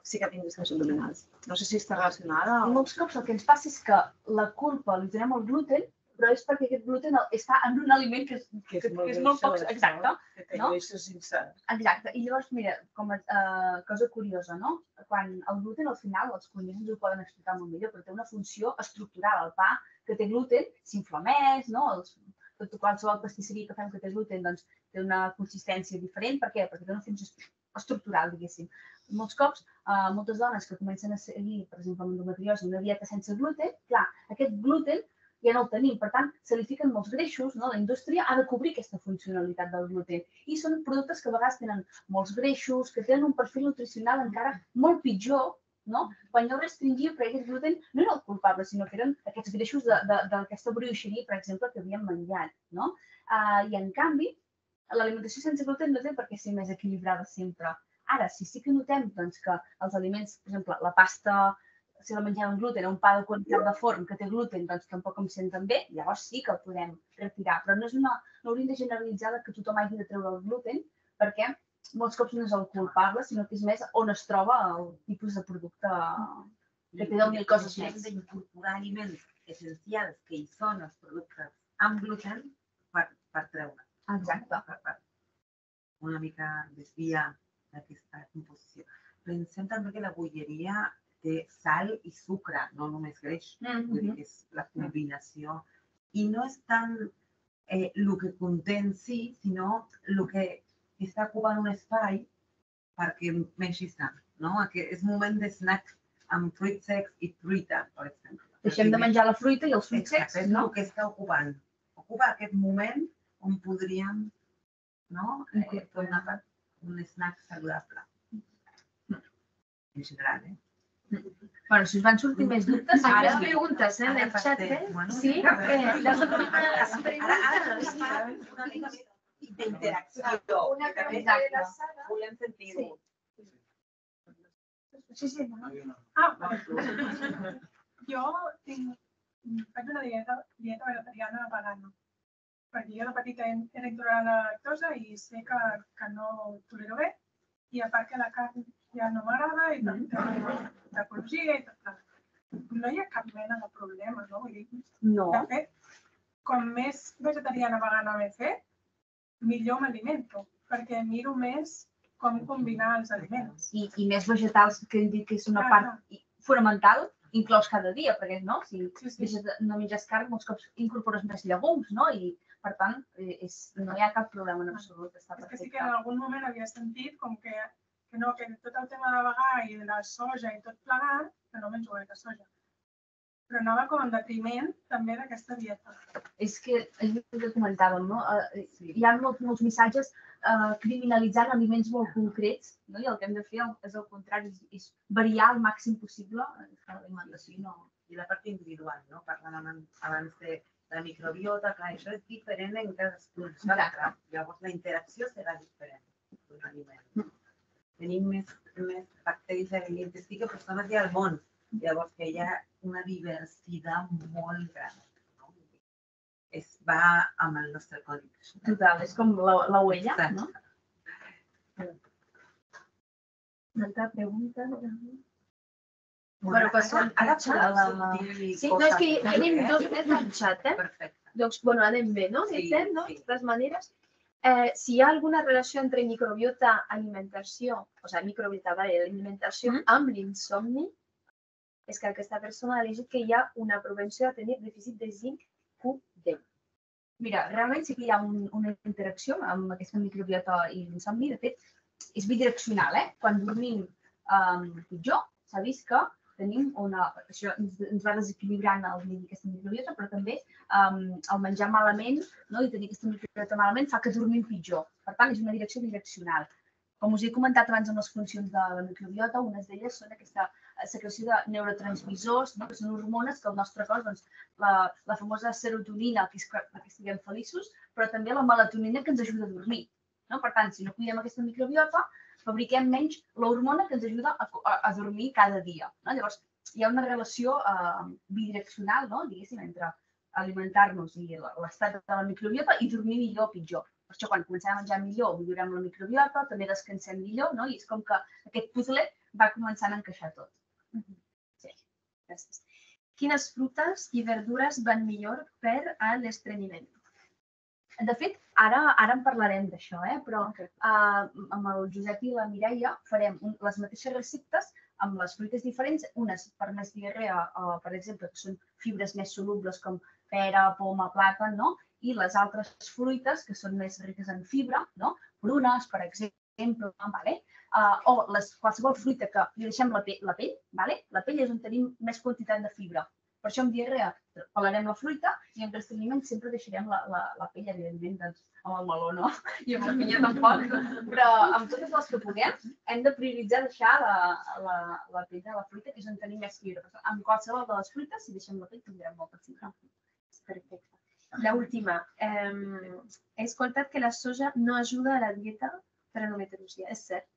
sí que tinc discos abdominals. No sé si està relacionada o... Molts cops el que ens passa és que la culpa li donem al gluten, però és perquè aquest gluten està en un aliment que és, que, que és molt poc... Exacte. Que té no? greixos insans. Exacte. I llavors, mira, com a uh, cosa curiosa, no? Quan el gluten, al final, els cuiners ens ho poden explicar molt millor, però té una funció estructural. El pa que té gluten s'inflamés, no? Els, tot qualsevol pastisseria que fem que té gluten doncs, té una consistència diferent. Per què? Perquè té una funció estructural, diguéssim. Molts cops, uh, moltes dones que comencen a seguir, per exemple, amb endometriosi, una dieta sense gluten, clar, aquest gluten ja no el tenim. Per tant, se li fiquen molts greixos, no? La indústria ha de cobrir aquesta funcionalitat del gluten. I són productes que a vegades tenen molts greixos, que tenen un perfil nutricional encara molt pitjor, no? Quan jo restringia, perquè aquest gluten no era el culpable, sinó que eren aquests greixos d'aquesta brioixeria, per exemple, que havíem menjat, no? Uh, I, en canvi, l'alimentació sense gluten no té per què ser més equilibrada sempre. Ara, si sí que notem doncs, que els aliments, per exemple, la pasta, si la mengem amb gluten, un pa de qualitat de forn que té gluten, doncs tampoc em senten bé, llavors sí que el podem retirar. Però no, és una, no hauríem de generalitzar que tothom hagi de treure el gluten, perquè molts cops no és el culpable, sinó que és més on es troba el tipus de producte que té deu mil coses Hem més. d'incorporar aliments essencials que hi són els productes amb gluten per, per treure. Exacte. Per, per una mica desviar d'aquesta composició. Pensem també que la bolleria té sal i sucre, no només greix. Mm-hmm. Vull dir que és la combinació. I no és tant eh, el que conté en si, sinó el que està ocupant un espai perquè mengis tant. No? Aquest és un moment de snack amb fruits secs i fruita, per exemple. Deixem de menjar la fruita i els fruits secs, és no? el que està ocupant. Ocupa aquest moment on podríem, no? Eh, fer una part, un snack saludable. En general, eh? Bueno, si us van sortir més dubtes, Ara ara... les preguntes, eh, en el xat, eh? Bueno, Sí? a veure, Eh, les preguntes. Ara, ara és una mica més d'interacció. Una que també pregunta de la Sara. volem sentir-ho. Sí, sí, no? Ah, vale. Jo tinc, faig una dieta, dieta vegetariana vegana. Perquè jo de petita era intolerant a la lactosa i sé que, que no ho tolero bé. I a part que la carn ja no m'agrada i d'ecologia i tot. No hi ha cap mena de problema, no? Vull dir, No. de fet, com més vegetariana vegana m'he fet, millor m'alimento, perquè miro més com combinar els aliments. I, i més vegetals, que hem dit que és una part fonamental, inclòs cada dia, perquè no? Si Sí, sí. deixes de, no menges carn, molts cops incorpores més llegums, no? I, per tant, eh, és, no hi ha cap problema en absolut, està És que sí que perfecte. en algun moment havia sentit com que, que no, que tot el tema de vegà i de la soja i tot plegat, que no menjo gaire soja, però anava com en detriment també d'aquesta dieta. És que, és el que comentàvem, no? Eh, Sí. Hi ha molts, molts missatges eh, criminalitzant aliments molt concrets, no? I el que hem de fer és el contrari, és, és variar al màxim possible l'alimentació. No? I la part individual, no? Parlàvem abans de la microbiota, clar, això és diferent en cadascun. Exacte. Llavors la interacció serà diferent d'un aliment. Tenim més, més bacteris a l'intestí que persones hi ha al món. Llavors que hi ha una diversitat molt gran. No? Es va amb el nostre codi. Total, és com la, la huella, Exacte. no? Una altra pregunta? Bueno, passem ara al xat. podeu dir Sí, no, és que coses, tenim eh? dos més al xat, eh? Perfecte. Doncs, bueno, anem bé, no? Sí, Estem, no? sí. De totes maneres. Eh, si hi ha alguna relació entre microbiota, alimentació, o sigui, microbiota, vale, alimentació Mm. amb l'insomni, és que aquesta persona ha elegit que hi ha una propensió a tenir dèficit de zinc Q deu. Mira, realment sí que hi ha un, una interacció amb aquesta microbiota i l'insomni. De fet, és bidireccional, eh? Quan dormim um, pitjor, s'ha vist que tenim una... Això ens, ens va desequilibrant el nivell d'aquesta microbiota, però també um, el menjar malament, no? I tenir aquesta microbiota malament fa que dormim pitjor. Per tant, és una direcció bidireccional. Com us he comentat abans amb les funcions de la microbiota, unes d'elles són aquesta secreció de neurotransmissors, no? Que són hormones que el nostre cos, doncs, la, la famosa serotonina, que és perquè estiguem feliços, però també la melatonina que ens ajuda a dormir. No? Per tant, si no cuidem aquesta microbiota, fabriquem menys l'hormona que ens ajuda a, a, a dormir cada dia. No? Llavors, hi ha una relació eh, bidireccional, no? Diguéssim, entre alimentar-nos i l'estat de la microbiota i dormir millor o pitjor. Per això, quan comencem a menjar millor, millorem la microbiota, també descansem millor, no? I és com que aquest puzzle va començant a encaixar tot. Sí, gràcies. Quines frutes i verdures van millor per a l'estrenyiment? De fet, ara, ara en parlarem d'això, eh? Però Okay. uh, amb el Josep i la Mireia farem un, les mateixes receptes amb les fruites diferents, unes per més diarrea, uh, per exemple, que són fibres més solubles com pera, poma, plàtan, no? I les altres fruites que són més riques en fibra, no? Prunes, per exemple, vale? Uh, o les, qualsevol fruita que li deixem la, pe la pell, vale? La pell és on tenim més quantitat de fibra. Per això amb diarrea pelarem la fruita i en restrenyiment sempre deixarem la, la, la pell, evidentment, doncs, amb el meló, no? I amb la pinya tampoc. Però amb totes les que puguem hem de prioritzar deixar la, la, la pell de la fruita, que és on tenim més fibra. Amb qualsevol de les fruites, si deixem la pell, tindrem molta fibra. Perfecte. La última. Eh, he escoltat que la soja no ajuda a la dieta per endometriosi. És cert?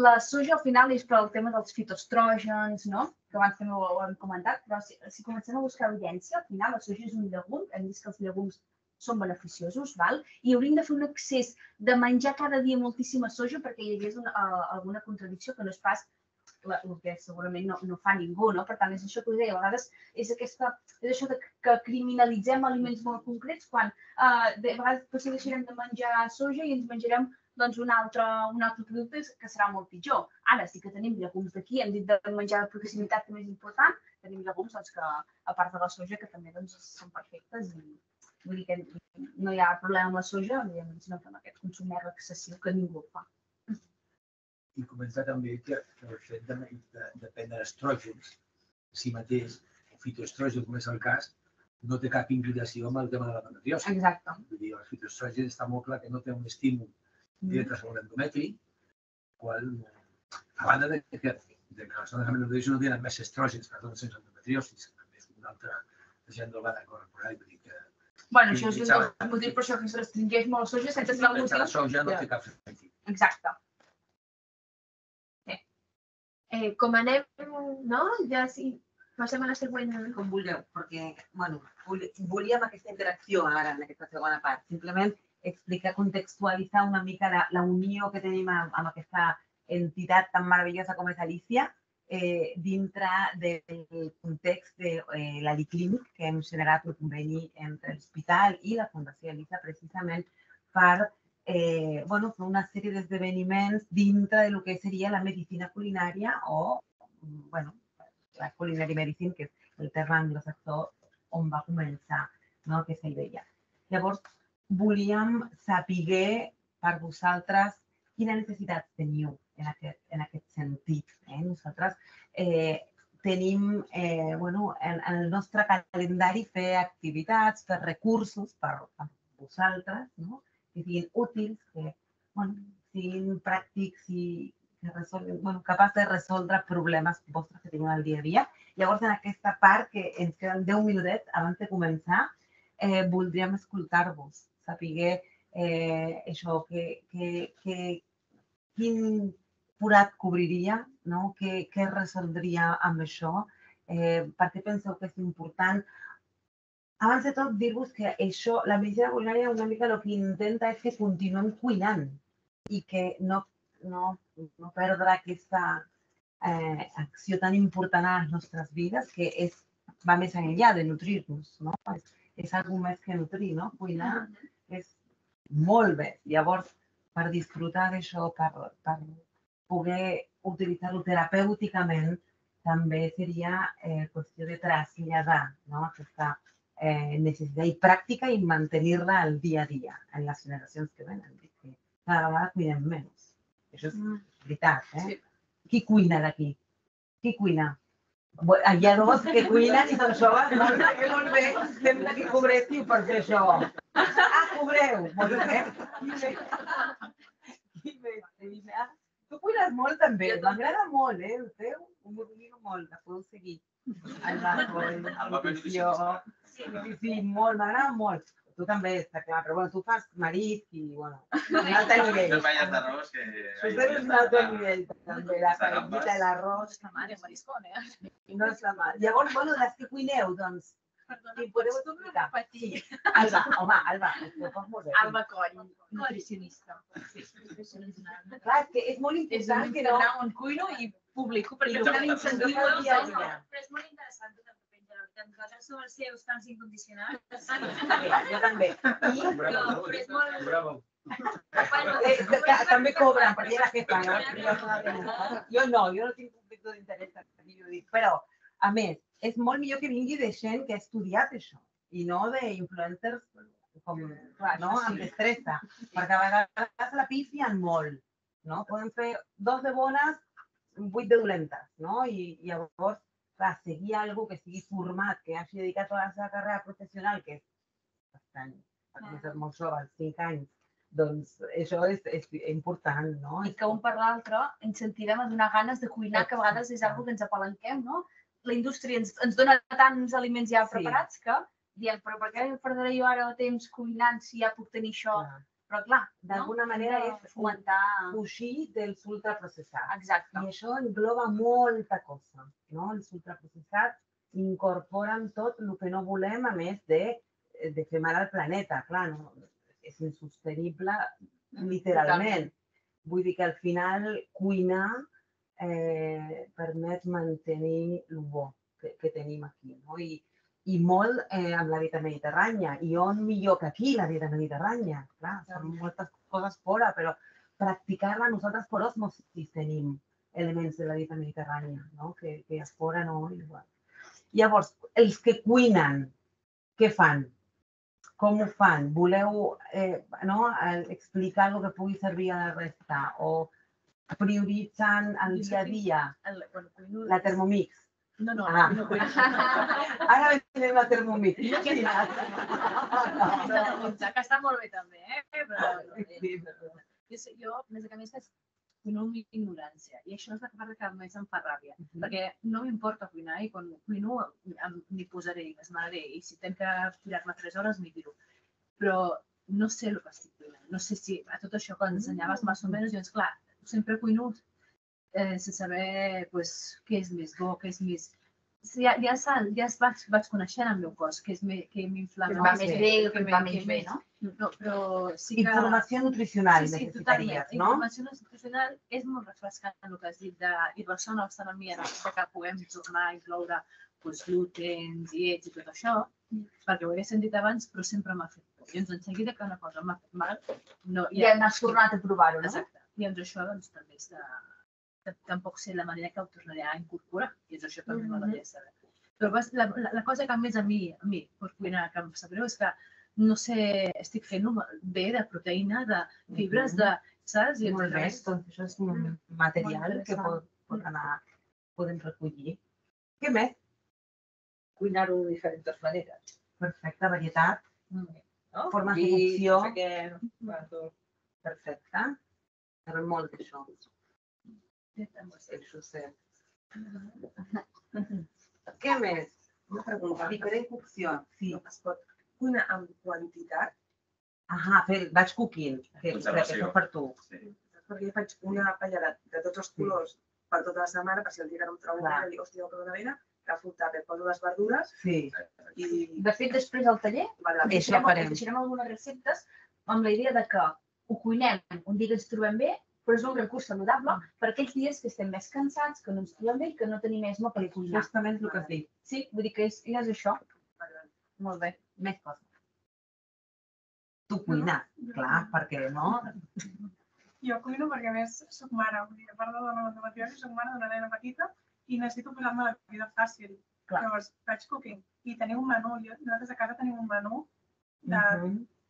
La soja al final és per al tema dels fitoestrògens, no? Que abans també ho hem comentat, però si, si comencem a buscar evidència, al final la soja és un llegum, hem vist que els llegums són beneficiosos, val? I hauríem de fer un excés de menjar cada dia moltíssima soja perquè hi hagués una, uh, alguna contradicció que no és pas la, el que segurament no, no fa ningú, no? Per tant, és això que us deia, a vegades és, aquesta, és això de que criminalitzem aliments molt concrets quan uh, de vegades potser deixarem de menjar soja i ens menjarem doncs un altre, un altre producte que serà molt pitjor. Ara sí que tenim llegums d'aquí, hem dit de menjar de proximitat que és important, tenim llegums doncs, que, a part de la soja, que també doncs, són perfectes i vull dir que no hi ha problema amb la soja, evidentment, si no fem aquest consum més excessiu que ningú el fa. I començar també que el fet de, de, de prendre estrògens si mateix, o fitoestrògens, com és el cas, no té cap implicació amb el tema de la menoriosi. Exacte. Vull dir, els fitoestrògens està molt clar que no té un estímul directe sobre l'endometri, qual, a banda de que, de que les dones amb endometriosi no tenen més estrògens que les dones sense endometriosi, també és una altra desenvolupada corporal, vull dir que... Bueno, això és un dels motius per això que es restringeix molt la soja sense saber el sense la motiu. soja no té cap sentit. Exacte. Eh, com anem, no? Ja sí, passem a la següent. Com vulgueu, perquè, bueno, volíem aquesta interacció ara en aquesta segona part. Simplement explicar, contextualitzar una mica la, la unió que tenim amb, amb aquesta entitat tan meravellosa com és Alicia eh, dintre del context de eh, l'Aliclínic que hem generat un conveni entre l'hospital i la Fundació Alicia precisament per eh, bueno, fer una sèrie d'esdeveniments dintre del que seria la medicina culinària o bueno, la culinary medicine, que és el terme anglosaxó on va començar, no? Aquesta idea. Llavors, volíem saber per vosaltres quina necessitat teniu en aquest, en aquest sentit. Eh? Nosaltres eh, tenim eh, bueno, en, en el nostre calendari fer activitats, fer recursos per, per vosaltres, no? Que siguin útils, que bueno, siguin pràctics i que resolguin, bueno, capaç de resoldre problemes vostres que teniu al dia a dia. Llavors, en aquesta part, que ens queden deu minutets abans de començar, eh, voldríem escoltar-vos, saber eh, això, que, que, que, quin forat cobriria, no? Què, què resoldria amb això, eh, per què penseu que és important. Abans de tot, dir-vos que això, la medicina culinària una mica el que intenta és que continuem cuinant i que no, no, no perdre aquesta eh, acció tan important a les nostres vides que és, va més enllà de nutrir-nos, no? És, és algo més que nutrir, no? Cuinar és molt bé. Llavors, per disfrutar d'això, per, per poder utilitzar-ho terapèuticament, també seria eh, qüestió de traslladar, no? Aquesta eh, necessitat i pràctica i mantenir-la al dia a dia en les generacions que venen. Que cada vegada cuinem menys. Això és veritat, eh? Qui cuina d'aquí? Qui cuina? Hi ha dos que cuinen i són joves. Molt bé, molt bé. Sembla que cobréssiu per fer això. Ah, cobreu. Molt bé. Qui més? Tu cuines molt també. M'agrada molt, eh? El teu? Ho miro molt. La podeu seguir. El Rajoy, la nutrició. Sí, sí, molt. M'agrada molt. Tu també, està clar, però bueno, tu fas marisc i, bueno, un altre nivell. Fes paellas d'arròs que... Tu tens un altre nivell, també, la paellita i l'arròs. La mare, mariscón, eh? No és la mà. Llavors, bueno, les que cuineu, doncs, Perdona, i podeu pots explicar? repetir? Sí. Alba, home, Alba, ho fas molt bé. Alba Coll, nutricionista. Sí, nutricionista. Clar, és que és molt És un important que no... Instagram on cuino i publico perquè I ho no incentivo el dia a el dia. Però és molt interessant tot el que penja, la veritat. Nosaltres som els seus fans incondicionals. Mira, jo també. I Però, però és molt... Bravo. Bueno, eh, que, que, també cobren, perquè era jefa, no? Jo no, jo no tinc conflicte d'interès, jo dic, però, a més, és molt millor que vingui de gent que ha estudiat això i no d'influencers com, clar, no? Amb destressa, perquè a vegades la pifien molt, no? Poden fer dos de bones, vuit de dolentes, no? I, i llavors, clar, seguir algú que sigui format, que hagi dedicat tota la seva carrera professional, que és bastant, perquè és molt jove, als cinc anys, doncs això és, és important, no? I que un per l'altre ens sentirem a donar ganes de cuinar, que a vegades és una que ens apalanquem, no? La indústria ens, ens dona tants aliments ja Sí. preparats que diem, però per què perdré jo ara el temps cuinant si ja puc tenir això? Clar. Però clar, D'alguna manera Hem de és fomentar... fugir dels ultraprocessats. Exacte. I això engloba molta cosa, no? Els ultraprocessats incorporen tot el que no volem, a més de, de fer mal al planeta. Clar, no? És insostenible literalment. Vull dir que al final cuinar eh, permet mantenir el bo que, que tenim aquí, no? I, i molt eh, amb la dieta mediterrània. I on millor que aquí, la dieta mediterrània? Clar, són moltes coses fora, però practicar-la nosaltres per osmosis tenim elements de la dieta mediterrània, no? Que, que a fora no igual. Llavors, els que cuinen, què fan? Com ho fan? Voleu eh, no? explicar el que pugui servir a la resta? O prioritzen el dia a dia? El, bueno, cuino... La Thermomix. No, no, Ah. no cuino. Ara venim a Thermomix. Imagina't. No, que està molt bé també, eh? Però Sí, però- jo, sé- jo, més que més, cuino amb ignorància. I això és la part que més em fa ràbia. Perquè no m'importa cuinar i quan cuino em- m'hi posaré i m'esmeraré. I si tenc que tirar-me tres hores, m'hi tiro. Però no sé el que estic cuinant. No sé si a tot això que ensenyaves més o menys, doncs clar, sempre cuino eh, sense saber pues, què és més bo, què és més... Ja, ja, sal, ja es vaig, vaig coneixent el meu cos, què és me, què m'inflama. Que va més bé, que va més bé, no? No, però sí que... Informació nutricional Sí, sí, necessitaries, totalment. no? Informació nutricional és molt refrescant el que has dit de, i ressona bastant amb mi ara que puguem tornar a incloure pues, glutens, diets i tot això, perquè ho he sentit abans, però sempre m'ha fet por. I doncs en seguida que una cosa m'ha fet mal, no, Ja n'has tornat a provar-ho, no? Exacte. I doncs això doncs, també és de... Tampoc sé la manera que ho tornaré a incorporar, i és això que també m'agradaria saber. Però vas, la, la, la cosa que més a mi, a mi, per cuinar, que em sap greu, és que no sé, estic fent bé de proteïna, de fibres, de, saps? I Molt bé, res. doncs això és un material que pot, pot anar, podem recollir. Què més? Cuinar-ho de diferents maneres. Perfecte, varietat, No? formes de Vi, cocció. no sé què, va, tot. Perfecte. Però molt d'això. Això sé. Què més? Una pregunta. Diferent cocció. Sí. Es pot cuinar amb quantitat? Ahà, fer batch cooking, que és Conservació. per tu. Sí. Perquè jo faig una paella de tots els colors per tota la setmana, per si el dia que no em trobo Clar. una, dic, hòstia, que dona vena, la fruita, me poso les verdures Sí. i... De fet, després al taller, Vale, vale. Això deixarem, farem. deixarem algunes receptes amb la idea de que ho cuinem un dia que ens trobem bé però és un recurs saludable per aquells dies que estem més cansats, que no ens trobem bé i que no tenim més mo per cuinar. Justament el que has dit. Sí, vull dir que és, ja és això. Molt bé. Més coses. Tu cuines, clar, perquè no? Jo cuino perquè a més soc mare, vull dir, a part de la endometriosi, soc mare d'una nena petita i necessito posar-me la vida fàcil. Llavors, faig cooking i tenim un menú, nosaltres a casa tenim un menú de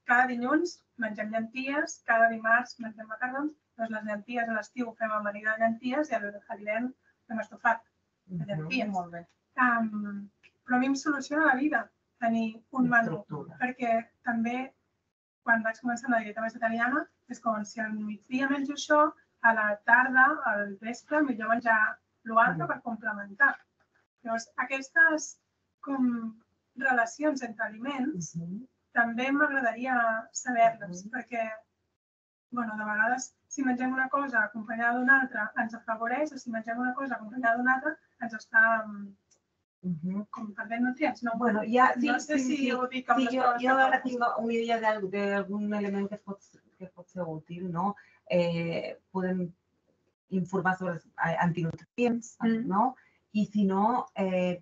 cada dilluns mengem llenties, cada dimarts mengem macarrons, doncs les llenties a l'estiu fem amanida de llenties i a l'hivern fem estofat de llenties. Molt bé. Um, però a mi em soluciona la vida tenir un menú, perquè també quan vaig començar amb la dieta vegetariana és com si al migdia menjo això, a la tarda, al vespre, millor menjar l'altre per complementar. Llavors, aquestes com relacions entre aliments també m'agradaria saber-les, perquè bueno, de vegades, si mengem una cosa acompanyada d'una altra ens afavoreix, o si mengem una cosa acompanyada d'una altra ens està com perdent nutrients. No, bueno, ja, sí, no sé sí, si sí. ho dic amb Sí, les jo, paraules jo que ara poso. tinc una idea d'algun element que pot, que pot ser útil, no? Eh, podem informar sobre els antinutrients, no? I si no, eh,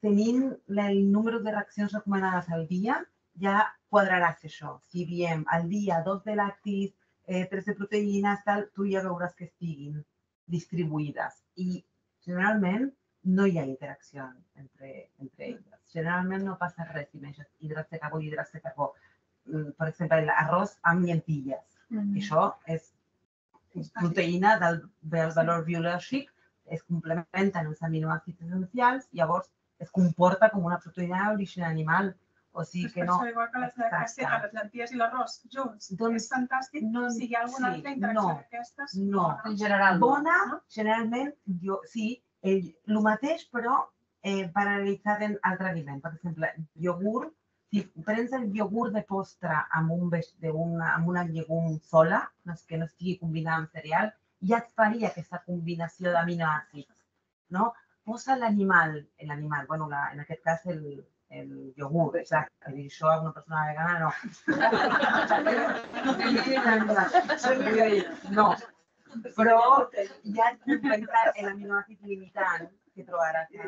tenint el número de reaccions recomanades al dia, ja quadraràs això. Si diem al dia dos de lactis, eh, tres de proteïnes, tal, tu ja veuràs que estiguin distribuïdes. I generalment no hi ha interacció entre, entre elles. Generalment no passa res si menges hidrats de carbó i hidrats de carbó. Per exemple, l'arròs amb llentilles. Això és proteïna del valor biològic, es complementen els aminoàcids essencials, llavors es comporta com una proteïna d'origen animal. O sigui que no... Per això, igual que les, les llenties i l'arròs junts, és fantàstic. Si hi ha alguna altra interacció d'aquestes... No, en general. Bona, generalment, sí, el mateix, però paralitzat en altre aliment. Per exemple, iogurt, si prens el iogurt de postre amb una llegum sola, que no estigui combinada amb cereal, ja et faria aquesta combinació d'aminoàcids. Posa l'animal, l'animal, bueno, en aquest cas el iogurt, exacte. Això a una persona vegana no. No, però ja et compensa l'aminoàcid limitant que trobaràs a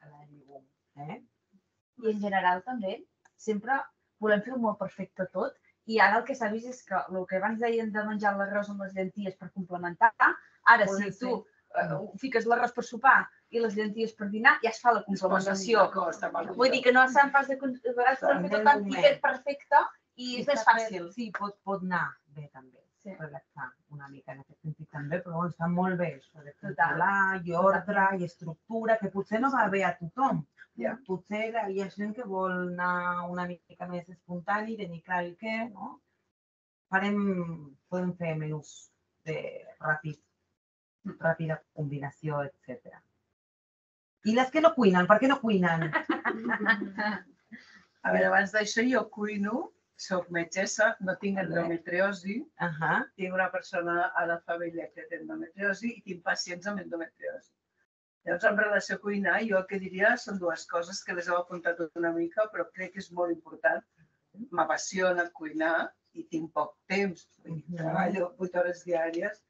la llegum. I en general també, sempre volem fer-ho molt perfecte tot, i ara el que s'ha vist és que el que abans deien de menjar l'arròs amb les llenties per complementar, ara si tu fiques l'arròs per sopar i les llenties per dinar, ja es fa la complementació. Vull dir que no s'han pas de vegades per fer tot tan perfecte i és més fàcil. Sí, pot anar bé també. Relaxar una mica en aquest sentit també, però està molt bé això de controlar i ordre i estructura, que potser no va bé a tothom. Potser hi ha gent que vol anar una mica més espontani, tenir clar el què, no? Podem fer menús de ràpida combinació, etcètera. I les que no cuinen, per què no cuinen? A veure, abans d'això jo cuino, soc metgessa, no tinc endometriosi, tinc una persona a la família que té endometriosi i tinc pacients amb endometriosi. Llavors, en relació a cuinar, jo el que diria són dues coses que les heu apuntat una mica, però crec que és molt important. M'apassiona cuinar i tinc poc temps. Treballo vuit hores diàries,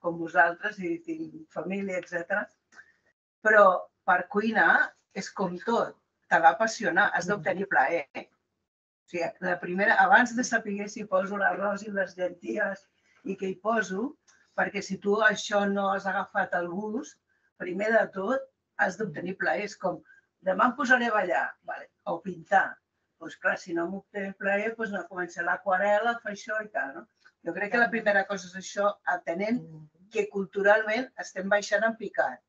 com vosaltres, i tinc família, etcètera. Però per cuinar és com tot. T'ha d'apassionar, has d'obtenir plaer. O sigui, la primera, abans de saber si poso l'arròs i les llenties i què hi poso, perquè si tu això no has agafat el gust, primer de tot has d'obtenir plaer. És com, demà em posaré a ballar o pintar. Doncs clar, si no m'obté plaer, doncs no començaré l'aquarel·la, fa això i tal. Jo crec que la primera cosa és això, atenent que culturalment estem baixant en picat.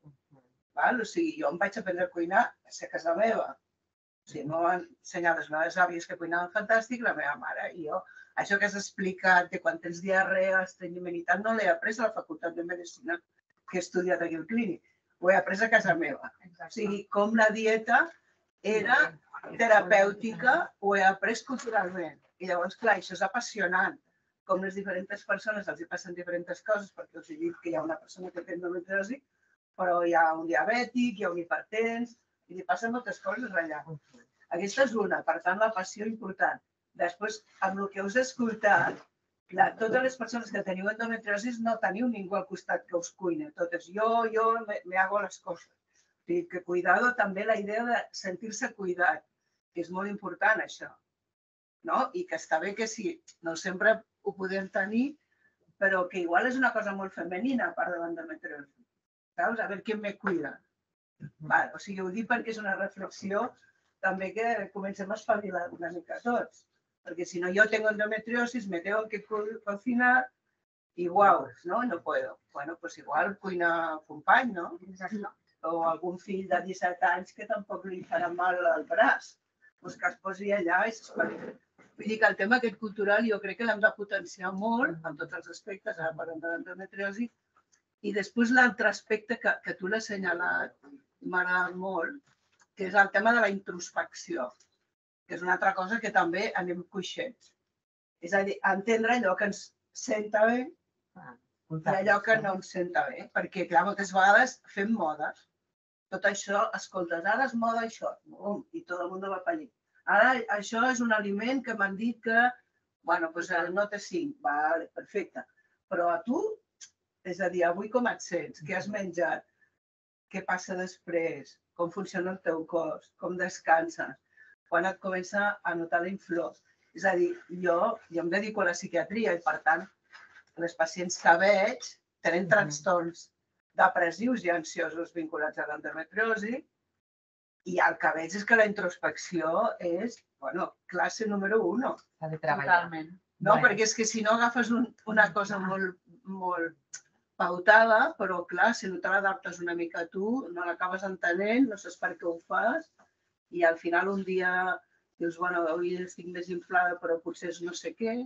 O sigui, jo em vaig aprendre a cuinar a ser a casa meva. O sigui, m'ho van ensenyar les meves àvies que cuinaven fantàstic, la meva mare i jo. Això que has explicat de quan tens diarrea, estrenyiment i tal, no l'he après a la facultat de medicina que he estudiat aquí al clínic. Ho he après a casa meva. O sigui, com la dieta era terapèutica, ho he après culturalment. I llavors, clar, això és apassionant. Com les diferents persones els hi passen diferents coses, perquè us he dit que hi ha una persona que té endometriosi, però hi ha un diabètic, hi ha un hipertens, i li passen moltes coses allà. Aquesta és una, per tant, la passió important. Després, amb el que us he escoltat, totes les persones que teniu endometriosis no teniu ningú al costat que us cuina. Totes, jo, jo me hago les coses. O sigui, que cuidado també la idea de sentir-se cuidat, que és molt important això. I que està bé que sí, no sempre ho podem tenir, però que igual és una cosa molt femenina a part de l'endometriosi. Saps? A veure qui me cuida. O sigui, ho dic perquè és una reflexió també que comencem a espavilar una mica tots. Porque si no, yo tengo endometriosis, me tengo que cocinar y guau, ¿no? No puedo. Bueno, pues igual cuina company, no? O algun fill de disset anys que tampoc li farà mal al braç. Doncs que es posi allà i s'espavili. Vull dir que el tema aquest cultural jo crec que l'hem de potenciar molt en tots els aspectes, ara parlem de l'endometriosi. I després l'altre aspecte que tu l'has assenyalat, m'ha agradat molt, que és el tema de la introspecció, que és una altra cosa que també anem coixets. És a dir, entendre allò que ens senta bé i allò que no ens senta bé. Perquè, clar, moltes vegades fem modes. Tot això, escoltes, ara és moda això, i tot el món va per allà. Ara això és un aliment que m'han dit que, bueno, doncs el nota cinc, vale, perfecte. Però a tu, és a dir, avui com et sents? Què has menjat? Què passa després? Com funciona el teu cos? Com descanses? Quan et comença a notar la inflor. És a dir, jo em dedico a la psiquiatria i, per tant, les pacients que veig tenen trastorns depressius i ansiosos vinculats a l'endometriosi i el que veig és que la introspecció és, bueno, classe número uno. S'ha de treballar. Totalment. No, perquè és que si no agafes una cosa molt pautada, però clar, si no te l'adaptes una mica a tu, no l'acabes entenent, no saps per què ho fas, i al final un dia dius, bueno, avui estic més inflada, però potser és no sé què.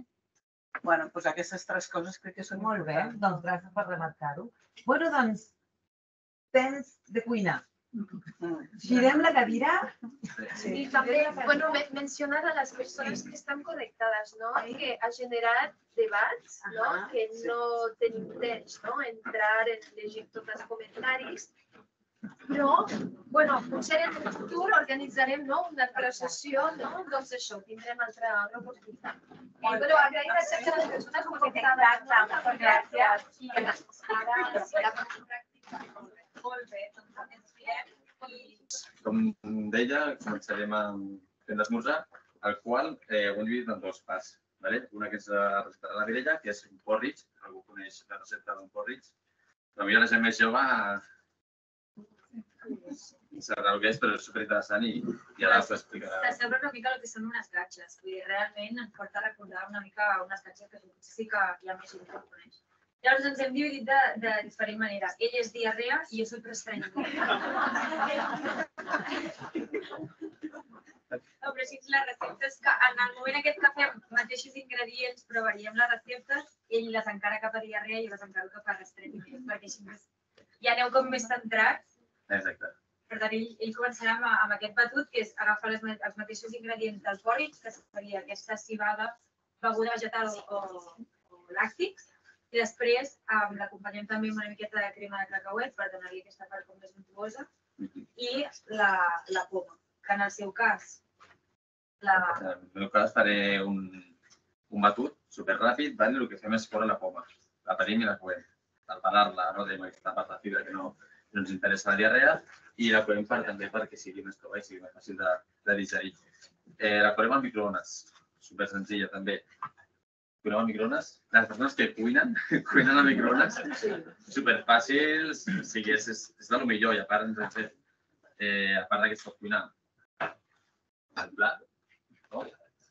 Bueno, doncs aquestes tres coses crec que són molt bé, doncs gràcies per remarcar-ho. Bueno, doncs, temps de cuinar. Girem la cadira. I també, bueno, mencionar a les persones que estan connectades, no? Que ha generat debats, no? Que no tenim temps, no? Entrar en llegir tots els comentaris. Però, bueno, potser en el futur organitzarem una altra sessió, doncs això, tindrem altra oportunitat. Però agrair a totes les persones connectades. Gràcies. I ara la pràctica. Molt bé, doncs ens veiem. Com deia, començarem fent l'esmorzar, el qual ho hem dividit en dos parts. Una que és la recepta de la Mireia, que és un porridge, algú coneix la recepta d'un porridge. Potser la gent més jove sabrà el que és, però és superinteressant i ara us ho explicarà. T'assembla una mica el que són unes gatxes. Realment ens porta a recordar una mica unes gatxes que potser sí que hi ha més gent que ho coneix. Llavors ens hem dividit de diferent manera. Ell és diarrea i jo soy prestranyiment. Però així la recepta és que en el moment aquest que fem mateixos ingredients, però variem les receptes, ell les encara cap a diarrea i jo les encaro cap a restrenyiment, perquè així ja aneu com més centrats. Exacte. Per tant, ell començarà amb aquest batut, que és agafar els mateixos ingredients del porridge, que seria aquesta civada, beguda vegetal o làctics, i després l'acompanyem també amb una miqueta de crema de cacauet per donar-li aquesta part com més untuosa, i la poma, que en el seu cas... En el meu cas faré un batut superràpid, el que fem és fora la poma, la parim i la coem. Al parar-la, tenim aquesta part de fibra que no ens interessa la diarrea, i la coem també perquè sigui més tova i sigui més fàcil de digerir. La coem al microones, super senzilla també. Coem al microones. Les persones que cuinen, cuinen al microones, super fàcils, és del millor i a part que es pot cuinar al plat.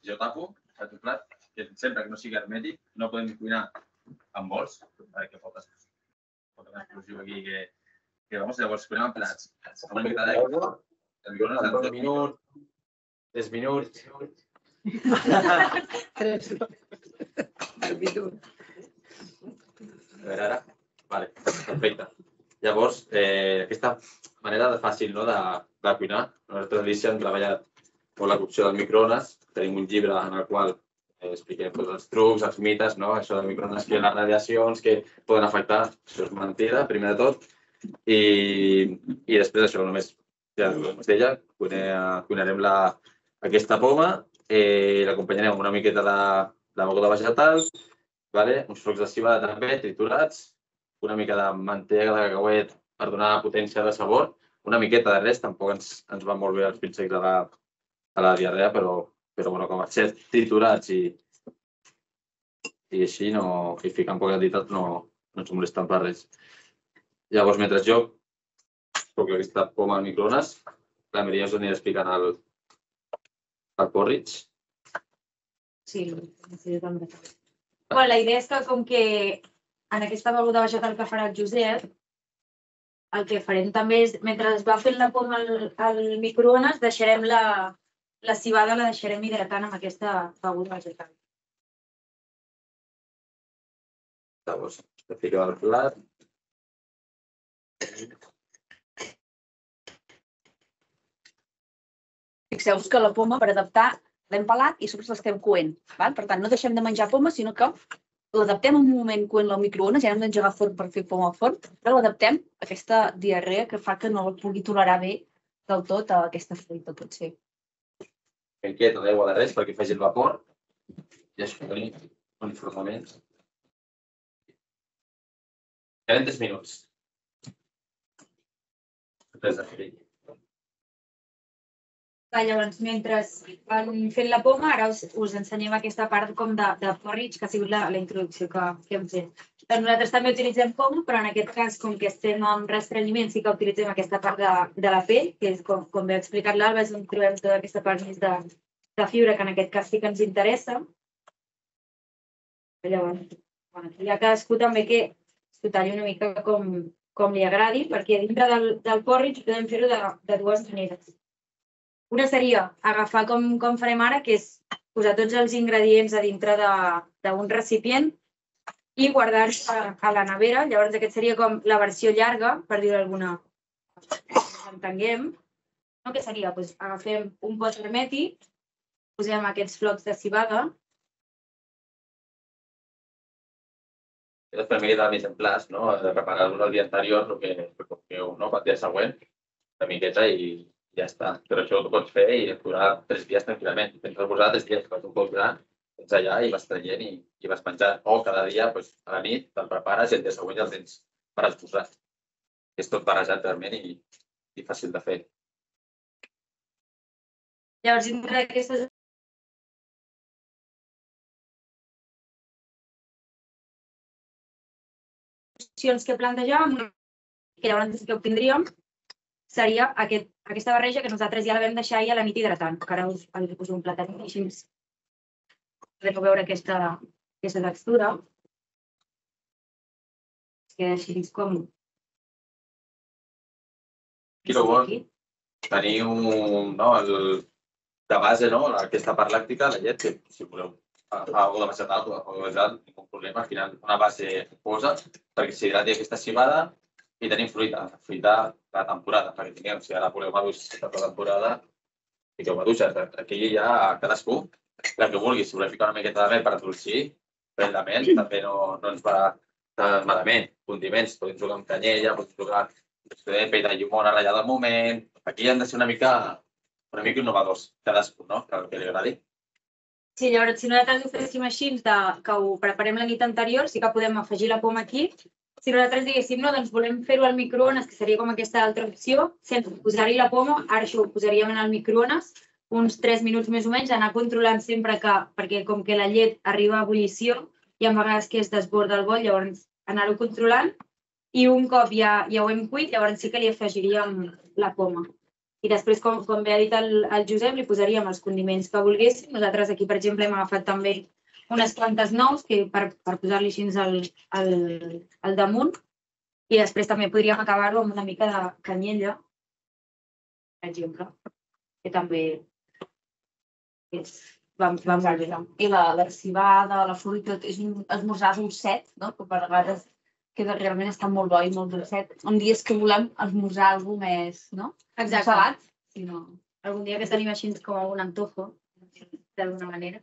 Jo tapo el teu plat, que sempre que no sigui hermètic, no podem cuinar amb bols, perquè pot haver exclusiu aquí que que vamos, llavors cuinem en plats. Una mica d'aigua, el microones de dos minuts, tres minuts. Tres minuts. A veure, ara. Vale, perfecte. Llavors, aquesta manera fàcil de cuinar. Nosaltres a l'Alicia hem treballat molt la cocció del microones. Tenim un llibre en el qual expliquem els trucs, els mites, això del microones, que les radiacions que poden afectar. Això és mentida, primer de tot. I després això, només, ja com es deia, cuinarem aquesta poma, l'acompanyarem amb una miqueta de beguda vegetal uns flocs de civada també triturats, una mica de mantega de cacauet per donar potència de sabor, una miqueta de res, tampoc ens va molt bé els pits secs a la diarrea, però com a ser triturats i així, i ficar en poca quantitat no ens molesten per res. Llavors, mentre jo toco aquesta poma al microones, la Maria us anirà explicant el porridge. Sí, sí, també. La idea és que, com que en aquesta beguda vegetal que farà el Josep, el que farem també és, mentre es va fent la poma al microones, deixarem la civada, la deixarem hidratant amb aquesta beguda vegetal. Llavors, es fica al plat. Fixeu-vos que la poma, per adaptar, l'hem pelat i sobre l'estem coent. Per tant, no deixem de menjar poma, sinó que l'adaptem en un moment coent al microones, ja no hem d'engegar forn per fer poma al forn, però l'adaptem a aquesta diarrea que fa que no el pugui tolerar bé del tot a aquesta fruita, potser. Ben quieta d'aigua de res perquè faci el vapor i això tenim uniformement. Queden tres minuts. Res de fer. Llavors, mentre van fent la poma, ara us ensenyem aquesta part com de porridge, que ha sigut la introducció que hem fet. Nosaltres també utilitzem poma, però en aquest cas, com que estem en restrenyiment, sí que utilitzem aquesta part de la pell, que és, com bé ha explicat l'Alba, és on trobem tota aquesta part més de fibra, que en aquest cas sí que ens interessa. Llavors, hi ha cadascú també que s'ho talli una mica com li agradi, perquè dintre del porridge podem fer-ho de dues maneres. Una seria agafar com farem ara, que és posar tots els ingredients a dintre d'un recipient i guardar-los a la nevera. Llavors aquest seria com la versió llarga, per dir-ho d'alguna manera, que entenguem. Que seria, agafem un pot hermètic, posem aquests flocs de civada. Per mi queda més en plaç, de preparar-vos el dia anterior, el que feu pel dia següent, una miqueta i ja està. Però això ho pots fer i durar tres dies tranquil·lament. Tens de posar tres dies, quan tu pots durar, tens allà i vas traient i vas menjant. O cada dia, a la nit, te'l prepares i el dia següent ja el tens per esposar. És tot barrejat realment i fàcil de fer. Llavors, dintre d'aquestes opcions que plantejàvem, que llavors que obtindríem, seria aquesta barreja que nosaltres ja la vam deixar ahir a la nit hidratant, que ara us poso un platet així. Podeu veure aquesta textura. Es queda així com... Aquí el bo, teniu de base aquesta part làctica, la llet, que si voleu agafar alguna de vegetal o de vegetal, ningú problema, al final una base fosa, perquè s'hidrati aquesta civada. I tenim fruita, fruita de temporada, perquè tinguem, si ara voleu maduixes de temporada, fiqueu maduixes. Aquí ja cadascú, la que vulgui, si voleu ficar una miqueta de mel per adolcir, pell de mel també no ens va malament. Condiments, podem jugar amb canyella, podem jugar amb pell de llimona ratllada al moment. Aquí han de ser una mica innovadors, cadascú, no? Que el que li agradi. Sí, llavors, si nosaltres ho féssim així, que ho preparem la nit anterior, sí que podem afegir la poma aquí. Si nosaltres diguéssim, no, doncs volem fer-ho al microones, que seria com aquesta altra opció, sense posar-hi la poma, ara això ho posaríem en el microones, uns tres minuts més o menys, anar controlant sempre que, perquè com que la llet arriba a ebullició, hi ha vegades que es desborda el bol, llavors anar-ho controlant, i un cop ja ho hem cuit, llavors sí que li afegiríem la poma. I després, com bé ha dit el Josep, li posaríem els condiments que volguéssim. Nosaltres aquí, per exemple, hem agafat també unes quantes nous per posar-li així al damunt i després també podríem acabar-ho amb una mica de canyella, per exemple, que també va molt bé. I la civada, la fruita, és un esmorzar dolcet, que per vegades realment està molt bo i molt dolcet. En dies que volem esmorzar alguna cosa més, no? Salat. Algun dia que tenim així com algun antojo, d'alguna manera.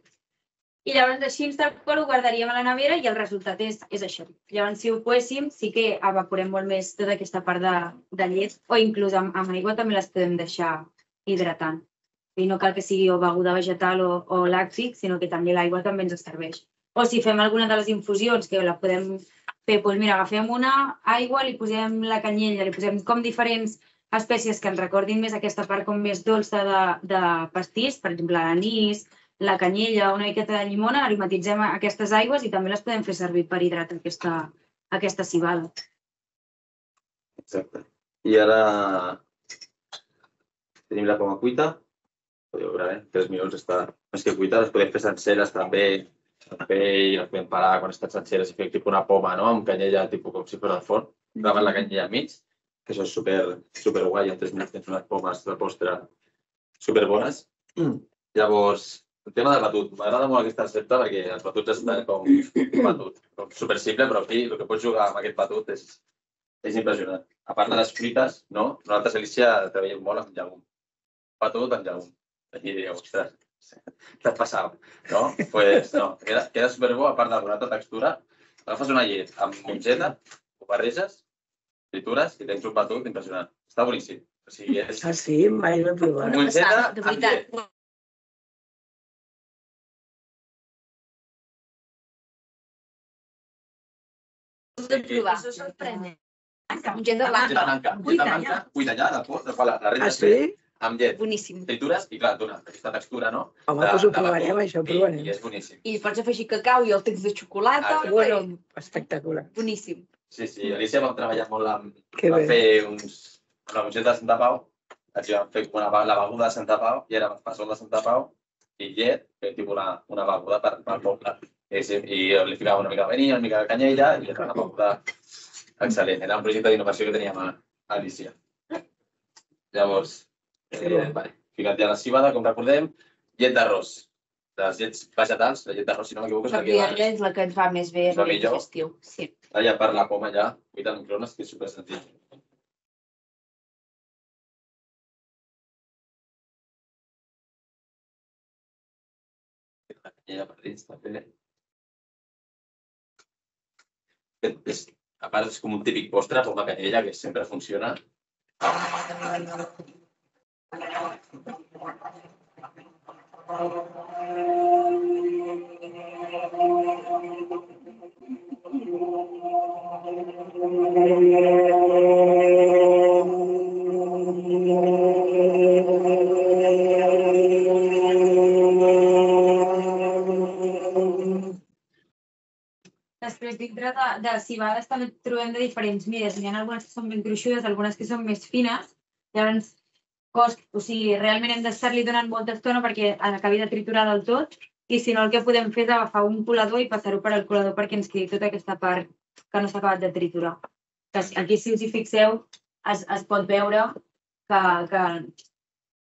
I llavors així tal qual ho guardaríem a la nevera i el resultat és això. Llavors si ho poéssim sí que evaporem molt més tota aquesta part de llet o inclús amb aigua també les podem deixar hidratant. I no cal que sigui o beguda vegetal o làctic, sinó que també l'aigua també ens serveix. O si fem alguna de les infusions, que la podem fer, doncs mira, agafem una aigua, li posem la canyella, li posem com diferents espècies que ens recordin més aquesta part com més dolça de, de pastís, per exemple, l'anís, la canyella, una miqueta de llimona, aromatitzem aquestes aigües i també les podem fer servir per hidratar aquesta, aquesta civada. Exacte. I ara tenim la poma cuita. Podeu veure, eh? tres minuts està més que cuita. Les podem fer senceres també. També i les podem parar quan estan senceres i fer tipus una poma, no? Amb canyella, tipus com si fos al forn. Gravar la canyella al mig, que això és super, super guai. En tres minuts tens unes pomes de postre super bones. Llavors, el tema del batut. M'agrada molt aquesta recepta perquè els batuts estan com un batut. Com super simple, però aquí el que pots jugar amb aquest batut és, és impressionant. A part de les fruites, no? Nosaltres, Alicia, treballem molt amb llegum. Batut amb llegum. Aquí diríeu, ostres, t'has passat, no? Doncs pues, no, queda, queda superbo, a part de la textura. Agafes una llet amb mongeta, ho barreges, tritures i tens un batut impressionant. Està boníssim. O sigui, és... Ah, sí? Mai l'he provat. Mongeta amb llet. Això és sorprenent. Mongeta blanca. blanca. Mongeta blanca, cuita allà, de por, de quan la renyes amb llet. Boníssim. Tritures i, clar, dona aquesta textura, no? Home, doncs ho provarem, això ho provarem. I és boníssim. I pots afegir cacau i el tens de xocolata. Bueno, espectacular. Boníssim. Sí, sí, Alicia vam treballar molt amb... Que vam bé. fer uns... Una mongeta de Santa Pau, aquí vam fer una, la beguda de Santa Pau, i era passol de Santa Pau i llet, que tipus una, una beguda per, per poble. I, i li ficava una mica de vainilla, una mica de canyella, i era una beguda excel·lent. Era un projecte d'innovació que teníem a Alicia. Llavors, eh, vale. Ficat ja la civada, com recordem, llet d'arròs. Les llets vegetals, la llet d'arròs, si no m'equivoco, és la que va... és la que ens va més bé És la a millor. l'estiu. Sí. Allà per la poma ja, cuita en microones, que és super senzill. La canyella per dins també. És, a part és com un típic postre, com la canyella, que sempre funciona. Després, dintre de, de civades també trobem de diferents mides. Hi ha algunes que són ben gruixudes, algunes que són més fines. Llavors, cost, o sigui, realment hem d'estar-li donant molta estona perquè acabi de triturar del tot. I si no, el que podem fer és agafar un colador i passar-ho per al colador perquè ens quedi tota aquesta part que no s'ha acabat de triturar. Aquí, si us hi fixeu, es, es pot veure que, que,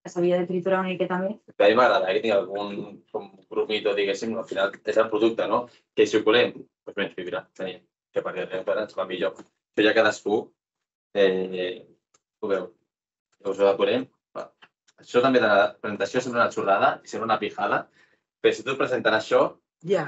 que s'havia de triturar una miqueta més. A mi m'agrada que tingui algun com grumito, diguéssim, al final és el producte, no? Que si ho colem, doncs menys fibra, tenim, que per exemple ens va millor. Això ja cadascú eh, ho veu. Llavors ho decorem. Això també de la presentació sembla una xorrada i sembla una pijada, però si tu et presenten això, ja.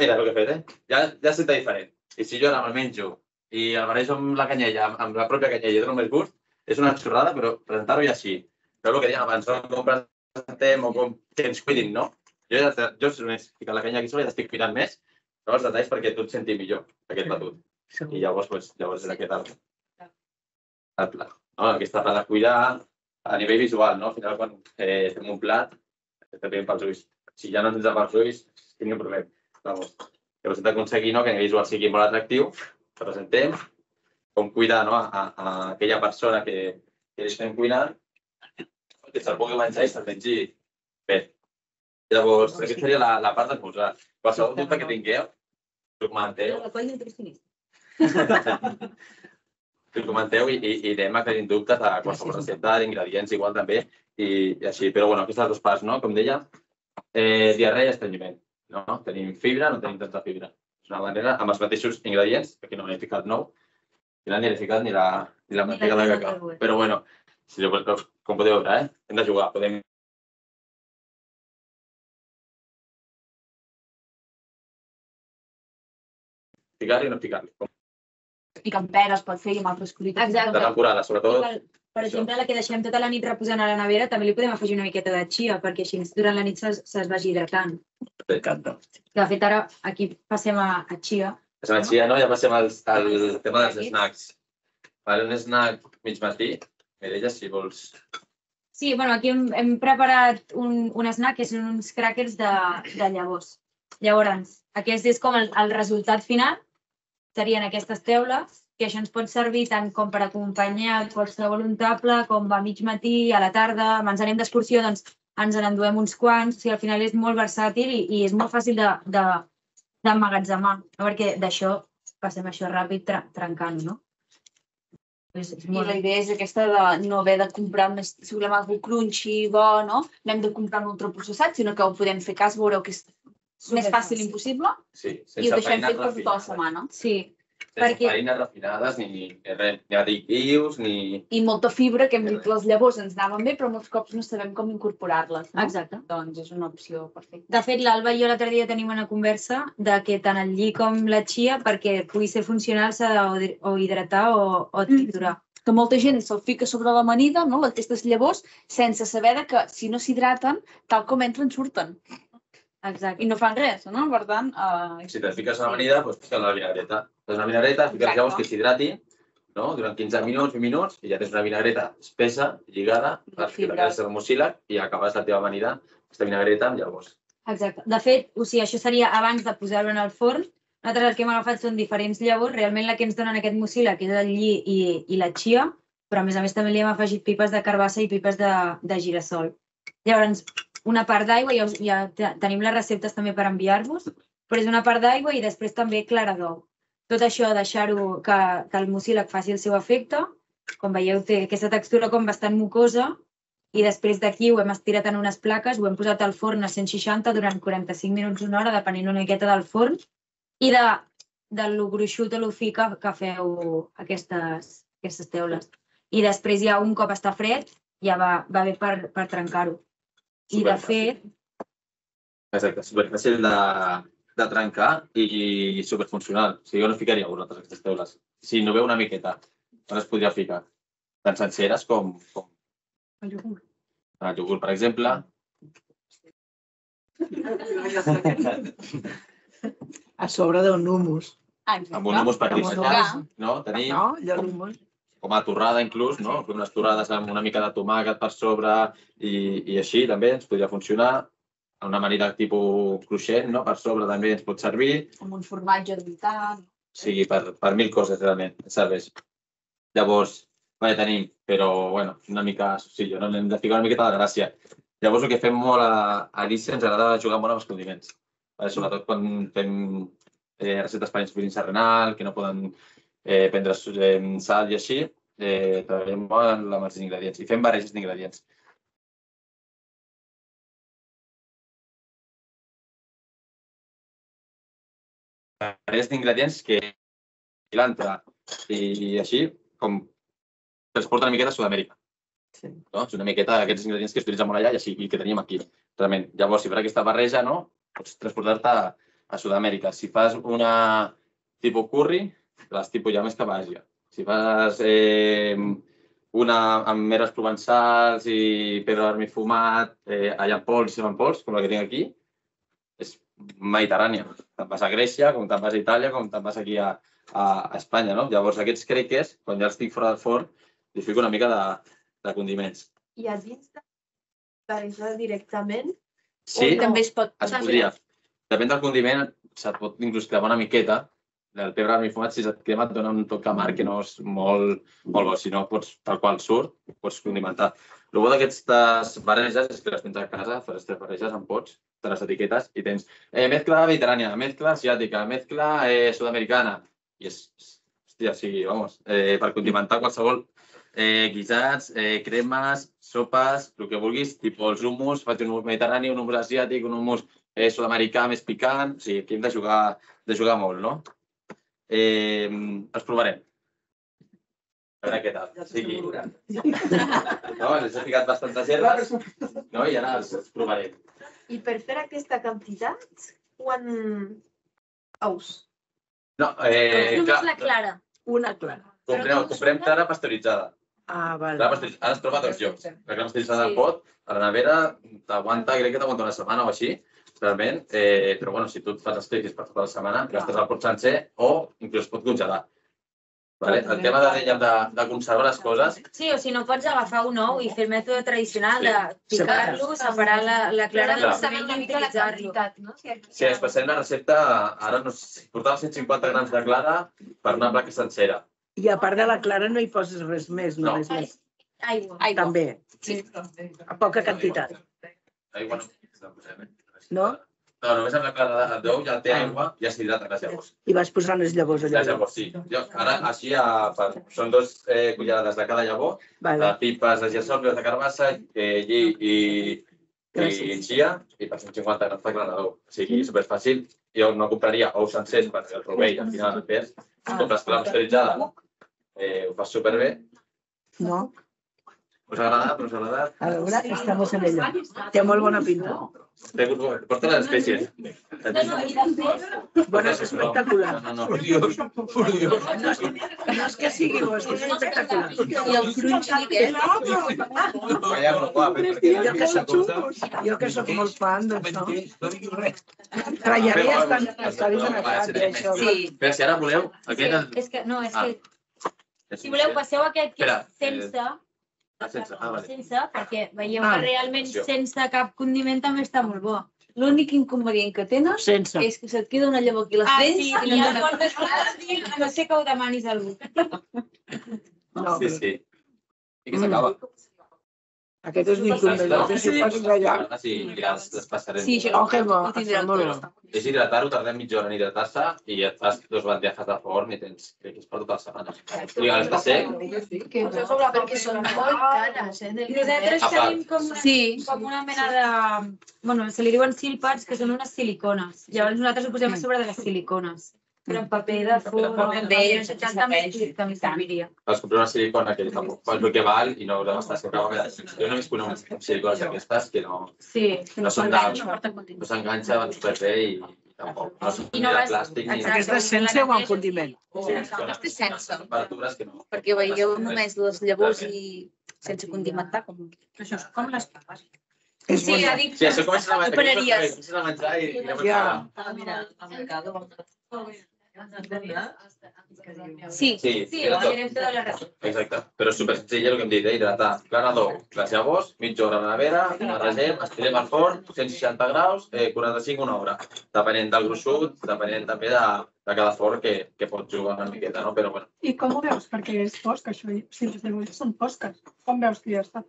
Mira el que he fet, eh? Ja, ja senta diferent. I si jo ara me'l menjo i el barrejo amb la canyella, amb la pròpia canyella i dono més gust, és una xorrada, però presentar-ho ja així. Però el que dèiem abans, no? Com presentem o com que ens cuidin, no? Jo, ja, jo només ficant la canya aquí sola i t'estic cuidant més, però els detalls perquè tu et sentis millor, aquest batut. I llavors, doncs, llavors és aquest el, el plat. No? Aquesta part de cuidar a nivell visual, no? Al final, quan eh, fem un plat, també pels ulls. Si ja no tens pels ulls, tinc un problema. Vamos. Llavors hem d'aconseguir, no? Que a nivell visual sigui molt atractiu, que presentem, com cuidar, no? a, a aquella persona que, que li estem cuinant, que se'l pugui menjar i se'l mengi bé. Llavors, aquesta seria la, la part d'esmorzar. Qualsevol dubte que tingueu, ho comenteu. La colla nutricionista. Ho comenteu i, i, i anem aclarint dubtes de qualsevol recepta, d'ingredients igual també, i, i així. Però bueno, aquestes dues parts, no? Com deia, eh, diarrea i estrenyiment. No? Tenim fibra, no tenim tanta fibra. És una manera, amb els mateixos ingredients, aquí no m'he ficat nou, ni l'he ni ficat ni la, ni la mantega de cacau. Però bueno, si, com podeu veure, eh? Hem de jugar, podem... Ficar-li o no ficar-li. I que amb peres pot fer i amb altres fruites. De temporada, sobretot Per exemple, la que deixem tota la nit reposant a la nevera, també li podem afegir una miqueta de chia, perquè així durant la nit se'ls vagi hidratant. M'encanta. De fet, ara aquí passem a chia. Passem a chia, no? Ja passem al tema dels snacks. Un snack mig matí, Mireia, si vols... Sí, bueno, aquí hem preparat un snack que són uns crackers de llavors. Llavors, aquest és com el resultat final, serien aquestes teules, que això ens pot servir tant com per acompanyar qualsevol untable, com a mig matí, a la tarda, ens anem d'excursió, doncs ens n'enduem uns quants, o sigui, al final és molt versàtil i és molt fàcil d'emmagatzemar, perquè d'això passem això ràpid trencant, no? I la idea és aquesta de no haver de comprar més, si volem alguna cosa crunchy, bo, no? No hem de comprar un ultraprocessat, sinó que ho podem fer cas, veureu que és més fàcil impossible i ho deixem fet per tota la setmana. Sí. Sense farines refinades, ni additius, ni... I molta fibra, que hem dit les llavors ens anaven bé, però molts cops no sabem com incorporar-les. Exacte. Doncs és una opció perfecta. De fet, l'Alba i jo l'altre dia tenim una conversa de que tant el lli com la chia, perquè pugui ser funcional, s'ha o hidratar o triturar. Que molta gent se'l fica sobre l'amanida, aquestes llavors, sense saber que si no s'hidraten, tal com entren, surten. Exacte. I no fan res, no? Per tant... Si te fiques a l'amanida, doncs fiques una vinagreta. Fes una vinagreta, fiques les llavors que s'hidrati, durant quinze minuts, vint minuts, i ja tens una vinagreta espessa, lligada, que la quedes al mucílag i acabes la teva amanida, aquesta vinagreta amb llavors. Exacte. De fet, o sigui, això seria abans de posar-ho en el forn. Nosaltres el que hem agafat són diferents llavors. Realment la que ens donen aquest mucílag és el lli i la chia, però a més a més també li hem afegit pipes de carbassa i pipes de girassol. Llavors, una part d'aigua, ja tenim les receptes també per enviar-vos, però és una part d'aigua i després també clara d'ou. Tot això, deixar-ho que el mucílag faci el seu efecte. Com veieu, té aquesta textura com bastant mucosa i després d'aquí ho hem estirat en unes plaques, ho hem posat al forn a cent seixanta durant quaranta-cinc minuts, una hora, depenent una miqueta del forn, i de lo gruixut o lo fi que feu aquestes teules. I després ja un cop està fred ja va bé per trencar-ho. I de fet... Exacte, superfàcil de trencar i superfuncional. O sigui, jo no ficaria vosaltres aquestes teules. Si no veu una miqueta, on es podria ficar? Tan senceres com... El iogurt. El iogurt, per exemple. A sobre d'un hummus. Amb un hummus per dissenyar, no? Tenim... No, allò l'hummus. Com a torrada inclús, no? Fem unes torrades amb una mica de tomàquet per sobre i així també ens podria funcionar. Una manera tipus cruixent, no? Per sobre també ens pot servir. Amb un formatge d'unitat. Sí, per mil coses realment ens serveix. Llavors, ja tenim, però bueno, una mica, sí, jo no hem de ficar una miqueta de gràcia. Llavors el que fem molt a Alicia ens agrada jugar molt amb els condiments. Sobretot quan fem recetes per insuficiència renal, que no poden prendre sal i així, treballem molt amb els ingredients i fem barreges d'ingredients. Barreges d'ingredients que l'entra i així com transporta una miqueta a Sud-amèrica. És una miqueta d'aquests ingredients que s'utilitzen molt allà i que tenim aquí. Llavors, si fas aquesta barreja, pots transportar-te a Sud-amèrica. Si fas una tipus curri, les tipus ja més cap a Àsia. Si fas una amb meres provençals i pebre vermell fumat, allà en pols i en pols, com la que tinc aquí, és mediterrània. Te'n vas a Grècia, com te'n vas a Itàlia, com te'n vas aquí a Espanya. Llavors, aquests crackers, quan ja els tinc fora del forn, li fico una mica de condiments. I a dins de barrejar directament? Sí, es podria. Depèn del condiment, se't pot inclús cremar una miqueta. El pebre vermell fumat, si et crema, et dona un toc amarg que no és molt bo. Si no, tal qual surt, pots condimentar. El bo d'aquestes barreges és que les tens a casa, fas aquestes barreges en pots, de les etiquetes, i tens mezcla mediterrània, mezcla asiàtica, mezcla sud-americana. I és, hòstia, sí, vamos, per condimentar qualsevol guisats, cremes, sopes, el que vulguis, tipus els hummus, faig un hummus mediterrani, un hummus asiàtic, un hummus sud-americà més picant. O sigui, aquí hem de jugar molt, no? Els provarem. A veure què tal. Els he ficat bastantes herbes i ara els provarem. I per fer aquesta quantitat, quan ous? No, només la clara. Una clara. Comprem clara pasteuritzada. Ah, val. Crema pasteuritzada, ara es troba a dos llocs. La crema pasteuritzada al pot, a la nevera, t'aguanta, crec que t'aguanta una setmana o així, realment, però bueno, si tu et fas els cliquis per tota la setmana, gastes el pot sencer o inclús pot congelar. El tema de conservar les coses... Sí, o si no pots agafar un ou i fer el mètode tradicional de picar-lo, separar la clara del cement i utilitzar-lo. Si es passem la recepta, ara portava cent cinquanta grams de clara per una placa sencera. I a part de la clara no hi poses res més, només més. Aigua. També. A poca quantitat. Aigua no posem, eh? No? No, només amb la clara d'ou ja té aigua, ja s'hidraten les llavors. I vas posant les llavors allà. Les llavors, sí. Ara, així, són dos cullerades de cada llavor, pipes de gelsol, de carbassa, lli i xia, i per cent cinquanta grams de clara d'ou. O sigui, superfàcil. Jo no compraria ous sencers perquè el rovell al final el pes. Si compres crema pasteuritzada, ho fas superbé. No. Us ha agradat? Us ha agradat? A veure, estamos en ello. Té molt bona pinta. Porta les espècies. Bueno, és espectacular. No, no, por Dios, por Dios. No és que sigui bo, és que és espectacular. I el crunch aquest. Jo que soc, jo que soc molt fan d'això. Trallaré està desanacat, això. Però si ara voleu... És que, no, és que... Si voleu, passeu aquest que és sense... Sense, perquè veieu que realment sense cap condiment també està molt bo. L'únic inconvenient que tenen Sense. és que se't queda una llavor aquí a les Ah, dents sí, i i no ja portes a no sé que ho demanis a algú. Sí, sí. I que s'acaba. Aquest és l'inconvenient, que si passes allà... Sí, ja les passarem. Sí, això Oh, que bo, ho tindrà molt tot. bo. És hidratar-ho, tardem mitja hora en hidratar-se i et fas dos bandejas de forn i tens, crec que és per tota la setmana. I ara està sec. Perquè són molt cares, eh? Nosaltres tenim com una, com una mena de... Bueno, se li diuen silpats, que són unes silicones. Llavors nosaltres ho posem a sobre de les silicones. Però en paper de forn, d'ells, també també serviria. Vas comprar una silicona que tampoc fas el que val i no la gastes sempre a vegades. Jo no he vist unes silicones d'aquestes que no... Sí. No són de... No s'enganxa, van superbé i tampoc. No són ni de plàstic ni... Aquesta és sense o amb condiment? Aquesta és sense. Temperatures que no... Perquè veieu només les llavors i sense condimentar. Això és com les papes. És Sí, bona. ja dic... Sí, això comences a menjar, Operaries. comences a menjar i... Ja. Mira, al mercado. Sí, Sí, sí, era ho tot. direm tota la recepta. Exacte, però és super senzill el que hem dit, eh? Hidratar clara d'ou, les llavors, mitja hora a la nevera, barregem, estirem al forn, cent seixanta graus, eh, quaranta-cinc una hora, depenent del gruixut, depenent també de, de cada forn que, que pot jugar una miqueta, no? Però bueno. I com ho veus? Perquè és fosc, això. Si les llavors són fosques, com veus que ja està?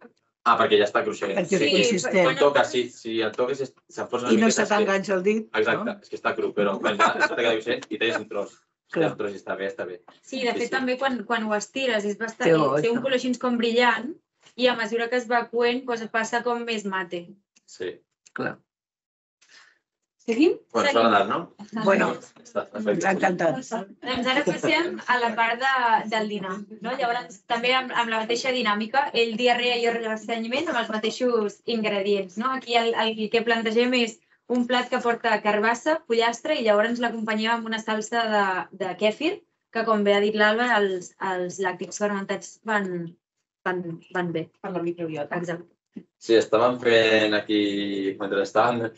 Ah, perquè ja està cruixent. Perquè és Sí, consistent. Quan toques, sí, si el toques s'enfonsa una I no miqueta. se t'enganxa el dit. Exacte, és que està cru, però quan ja se t'ha cruixent i tens un tros. Si Clar. el tros està bé, està bé. Sí, de fet també quan, quan ho estires és bastant, Té bo, té un això. color així com brillant i a mesura que es va coent doncs passa com més mate. Sí. Clar. Seguim? Bueno, s'ha agradat, no? Bueno, Està ens perfecte. ha encantat. Doncs ara passem a la part de, del dinar. No? Llavors, també amb, amb la mateixa dinàmica, ell diarrea i ressenyament amb els mateixos ingredients. No? Aquí el, el que plantegem és un plat que porta carbassa, pollastre i llavors l'acompanyem amb una salsa de, de kèfir, que com bé ha dit l'Alba, els, els làctics fermentats van, van, van bé. Per la microbiota. Exacte. Sí, estàvem fent aquí, mentre estàvem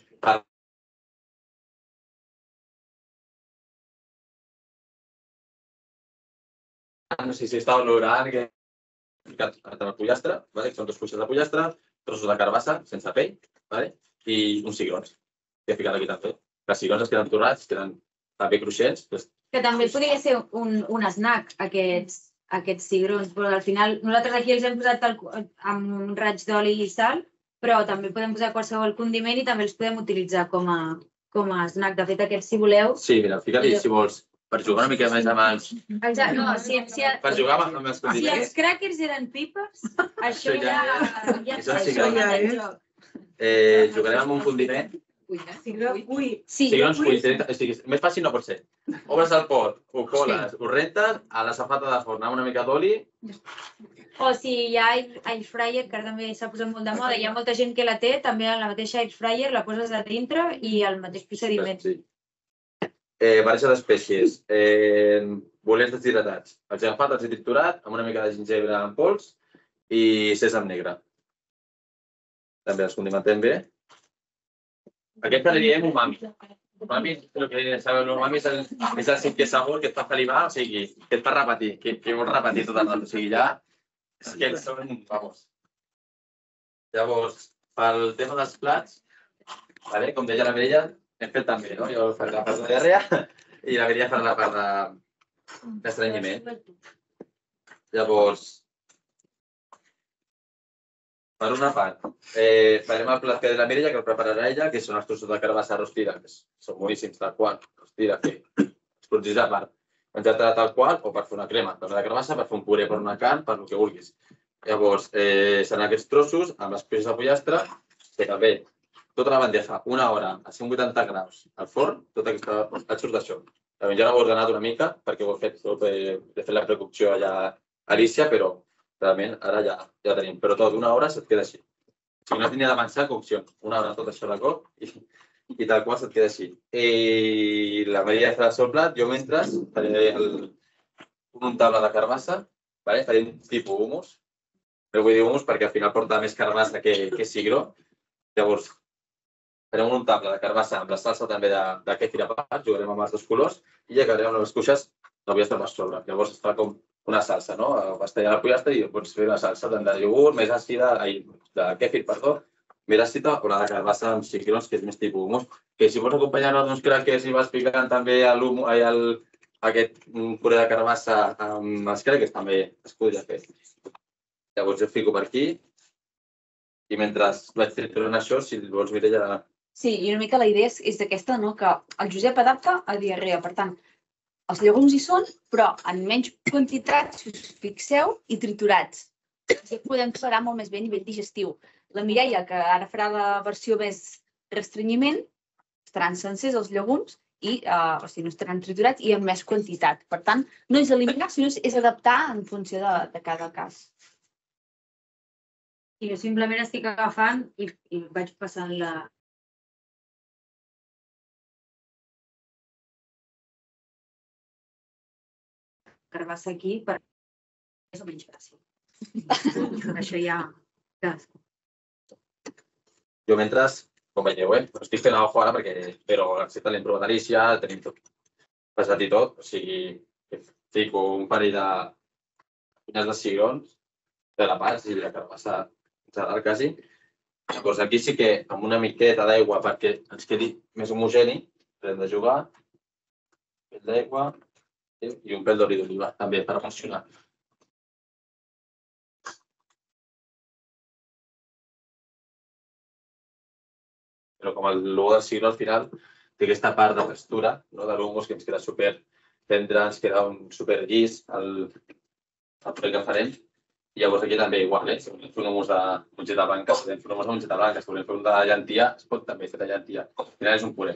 no sé si estava olorant que he ficat el pollastre, vale? Són dos cuixes de pollastre, trossos de carbassa, sense pell, vale? I uns cigrons que he ficat aquí també. Els cigrons es queden torrats, queden també cruixents. Doncs... Que també podria ser un, un snack, aquests, aquests cigrons, però al final nosaltres aquí els hem posat el, amb un raig d'oli i sal, però també podem posar qualsevol condiment i també els podem utilitzar com a, com a snack. De fet, aquests, si voleu... Sí, mira, fica-li, si vols, per jugar una mica més amb els... Exacte, no, si, si, Per jugar amb els si condiments. els crackers eren pipes, això ja... ja Això sí això que- ja és joc. Eh, jugarem amb un condiment. Ui, Ui, sí. Cigrons cuits. O sigui, més fàcil no pot ser. Obres el pot, ho coles, ho rentes, a la safata de forn amb una mica d'oli. O si hi ha air, air fryer, que ara també s'ha posat molt de moda, hi ha molta gent que la té, també en la mateixa air fryer la poses a dintre i el mateix procediment. Sí. Eh, barreja d'espècies. Eh, bolets deshidratats. Els he agafat, els he triturat amb una mica de gingebre en pols, i sèsam negre. També els condimentem bé. Aquesta li diem umami. Umami, el que sabeu, l'umami és el cinquè sabor que et fa salivar, o sigui, que et fa repetir, que vols repetir tot el rato. O sigui, ja, és que són, vamos. Llavors, pel tema dels plats, com deia la Mireia, hem fet també, no? Jo faré la part de diarrea i la Mireia farà la part d'estrenyiment. Llavors, per una part, farem el plat que de la Mireia, que el prepararà ella, que són els trossos de carbassa rostida, que són boníssims, tal qual, rostida, que es produeix a part. Menjar-te tal qual, o per fer una crema, per la carbassa, per fer un puré, per una carn, per el que vulguis. Llavors, seran aquests trossos amb les peces de pollastre, que també, tota la bandeja, una hora a cent vuitanta graus al forn, tot aquest et surt d'això. Ja l'heu ordenat una mica, perquè ho he fet, he fet la precocció allà a Alicia, però realment ara ja ho tenim. Però tot, una hora se't queda així. Si no has de d'avançar, cocció. Una hora tot això de cop i tal qual se't queda així. I la Maria farà el seu plat, jo mentre faré un untable de carbassa, farem tipus hummus. No vull dir hummus perquè al final porta més carbassa que cigró. Llavors, farem un untable de carbassa amb la salsa també de kefir a part, jugarem amb els dos colors i acabarem amb les cuixes de pollastre per sobre. Llavors es fa com una salsa, no? Vas tallar la pollastre i pots fer una salsa de iogurt més àcida, de kefir, perdó, més àcida o la de carbassa amb cigrons, que és més tipus hummus. Que si vols acompanyar-ho d'uns crackers i vas picant també aquest puré de carbassa amb els crackers, també es podria fer. Llavors jo fico per aquí i mentre vaig triturant això, si vols, Mireia... Sí, i una mica la idea és aquesta, que el Josep adapta a diarrea. Per tant, els llegums hi són, però en menys quantitat, si us fixeu, i triturats. Així podem tolerar molt més bé a nivell digestiu. La Mireia, que ara farà la versió més restrenyiment, estaran sencers els llegums, o sigui, no estaran triturats i amb més quantitat. Per tant, no és eliminar, sinó és adaptar en funció de cada cas. I jo simplement estic agafant i vaig passant la... carbassa aquí per més o menys gràcia. Això ja... Jo mentre, com veieu, estic fent alguna cosa ara perquè, però excepte l'hem provat Alicia, tenim tot passat i tot, o sigui, fico un parell de punyes de cigrons, de la part i la carbassa general quasi. Llavors aquí sí que amb una miqueta d'aigua perquè ens quedi més homogeni, hem de jugar, un pèl d'aigua i un pèl d'oli d'oliva també per funcionar. Però com el logo del cigró al final té aquesta part de textura de l'hummus que ens queda super tendre, ens queda un super llis el puré que farem. I llavors aquí també igual, si volem fer un hummus de mongeta blanca, si volem fer un hummus de mongeta blanca, si volem fer un de llentia, es pot també fer de llentia. Al final és un puré.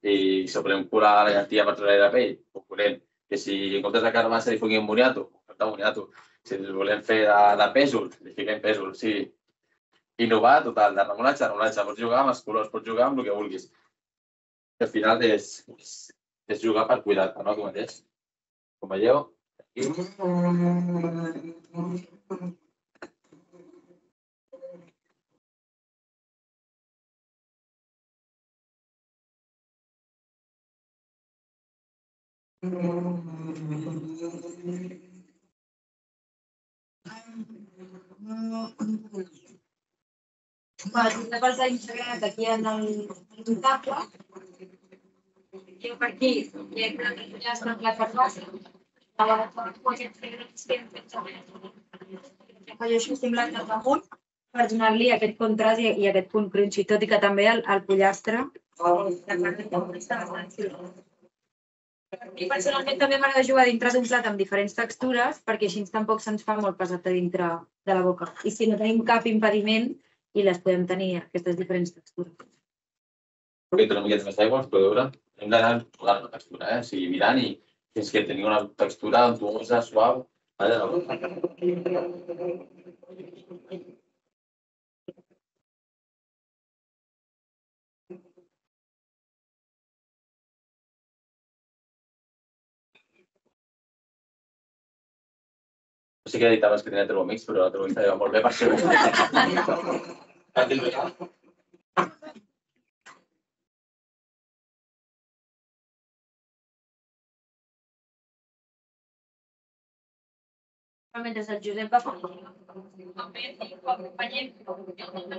I si volem curar la llentia per treure la pell, ho curem. Que si en comptes de carbassa li fiquem moniato, de moniato. Si volem fer de pèsol, li fiquem pèsol. Sí, innovar total, de remolatge, remolatge. Pots jugar amb els colors, pots jugar amb el que vulguis. Al final és jugar per cuidar-te, no? Com mateix. Com veieu, aquí. Una cosa insegret aquí en el untable. Jo per aquí ja he estat la carbassa. Jo això estic blanc cap amunt per donar-li aquest contrast i aquest punt crunchy, tot i que també el pollastre. I personalment també m'agrada jugar dintre d'un plat amb diferents textures perquè així tampoc se'ns fa molt pesat a dintre de la boca. I si no tenim cap impediment i les podem tenir aquestes diferents textures. Perquè una miqueta més d'aigua, es pot veure. Hem d'anar posant la textura, o sigui, mirant i fins que tenim una textura untuosa, suau. Sí que he dit abans que tenia Thermomix, però la Thermomix va molt bé per això. Mentre el Josep va fer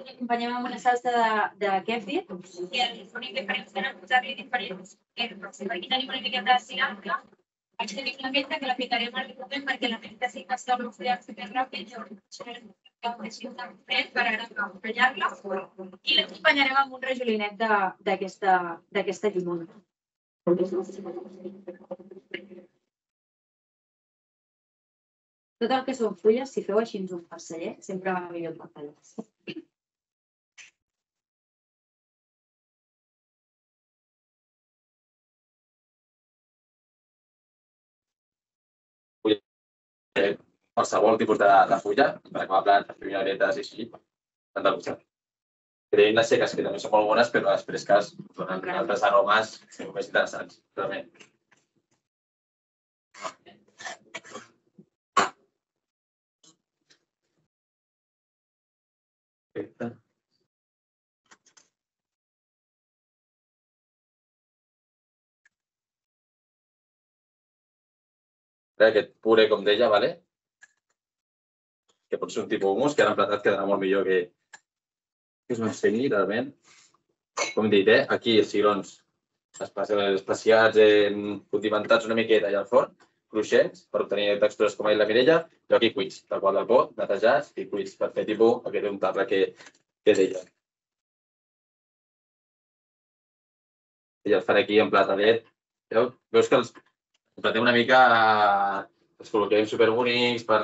l'acompanyem amb una salsa de kèfir i l'únic diferència era posar-li diferents herbes. Aquí tenim una miqueta de cilantro, aquí tenim la menta que la picarem al moment perquè la menta sí que està oxidant superràpid i així un fred per acompanyar-la i l'acompanyarem amb un rajolinet d'aquesta llimona. Tot el que són fulles, si feu així un farceller, sempre va millor el papallàs. Qualsevol tipus de fulla, per acabar plantes, pinyoretes i així, han de gustar. Tenim les seques, que també són molt bones, però les fresques donen altres aromes més interessants, realment. Perfecte. Aquest puré, com deia, que pot ser un tipus humus, que ara emplatat quedarà molt millor que us ho ensenyi, realment. Com he dit, aquí els cigrons especiats, condimentats una miqueta i al forn, cruixents, per obtenir textures com ha dit la Mireia, i aquí cuits, tal qual del pot, netejats i cuits per fer tipus aquest untable que deia. I el faré aquí en platadet. Veus que els emplatem una mica, els col·loquem superbonics, per...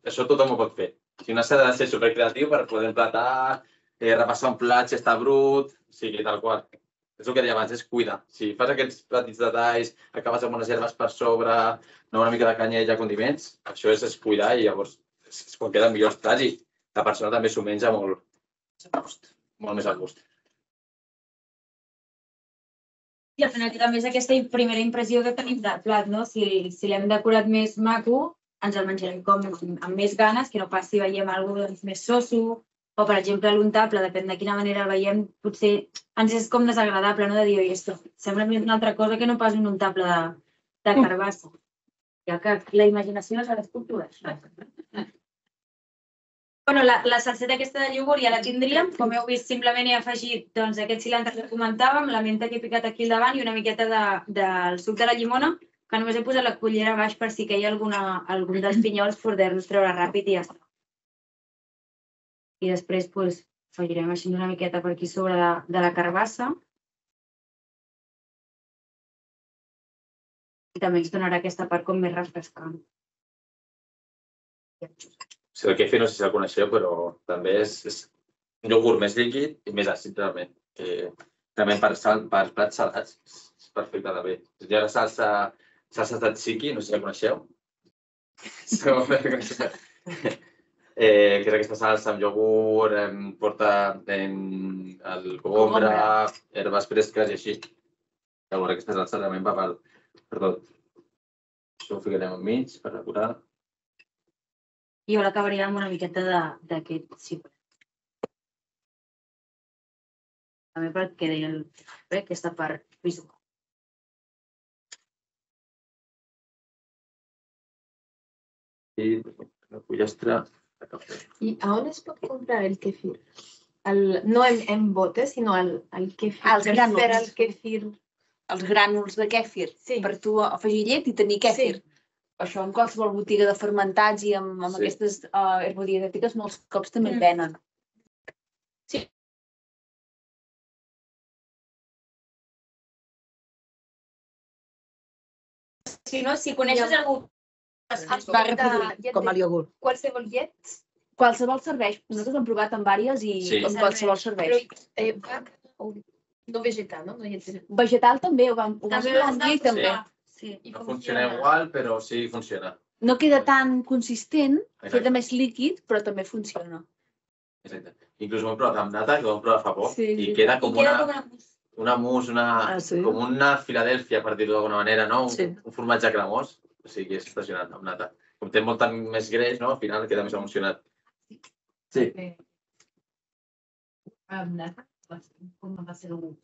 Això tothom ho pot fer. Si no s'ha de ser supercreatiu per poder emplatar, repassar un plat si està brut, sigui tal qual. És el que deia abans, és cuidar. Si fas aquests petits detalls, acabes amb unes herbes per sobre, una mica de canyella, condiments, això és cuidar i llavors és quan queden millors plats i la persona també s'ho menja molt més a gust. I al final també és aquesta primera impressió que tenim del plat, no? Si l'hem decorat més maco, ens el menjarem com amb més ganes, que no pas si veiem alguna cosa més soso, o per exemple l'untable, depèn de quina manera el veiem, potser ens és com desagradable, no? De dir, oi, esto sembla més una altra cosa que no pas un untable de carbassa. Ja que la imaginació és a les cultures. Bueno, la salseta aquesta de iogurt ja la tindríem. Com heu vist, simplement he afegit aquest cilantre que comentàvem, la menta que he picat aquí al davant i una miqueta del suc de la llimona, que només he posat la cullera a baix per si caia algun dels pinyols poder-los treure ràpid i ja està. I després afegirem així una miqueta per aquí sobre de la carbassa. I també ens donarà aquesta part com més refrescant. El kefir no sé si el coneixeu, però també és un iogurt més líquid i més àcid, realment. També per plats salats és perfecte també. Hi ha la salsa tzatziki, no sé si la coneixeu. Que és aquesta salsa amb iogurt, porta el cogombre, herbes fresques i així. Llavors aquesta salsa realment va per tot. Això ho ficarem enmig per decorar. I jo l'acabaria amb una miqueta d'aquest cipre. També perquè quedi aquesta part visual. I la pollastre de cafè. I on es pot comprar el kefir? No en botes, sinó el kefir. Els grànuls. Els grànuls de kèfir. Per tu afegir llet i tenir kèfir. Això en qualsevol botiga de fermentats i amb aquestes herbodietètiques molts cops també el venen. Sí. Si no, si coneixes algú es va reproduir com el iogurt. Qualsevol llet? Qualsevol serveix. Nosaltres hem provat amb diverses i qualsevol serveix. No vegetal, no? Vegetal també, ho vam dir també. No funciona igual, però sí funciona. No queda tan consistent, queda més líquid, però també funciona. Exacte. Inclús ho hem provat amb nata, que ho hem provat fa poc, i queda com una mousse, com una Filadèlfia, per dir-ho d'alguna manera, no? Un formatge cremós. O sigui, és impressionant, amb nata. com té molt més greix, no? Al final queda més emocionat. Sí. Com va ser el gust?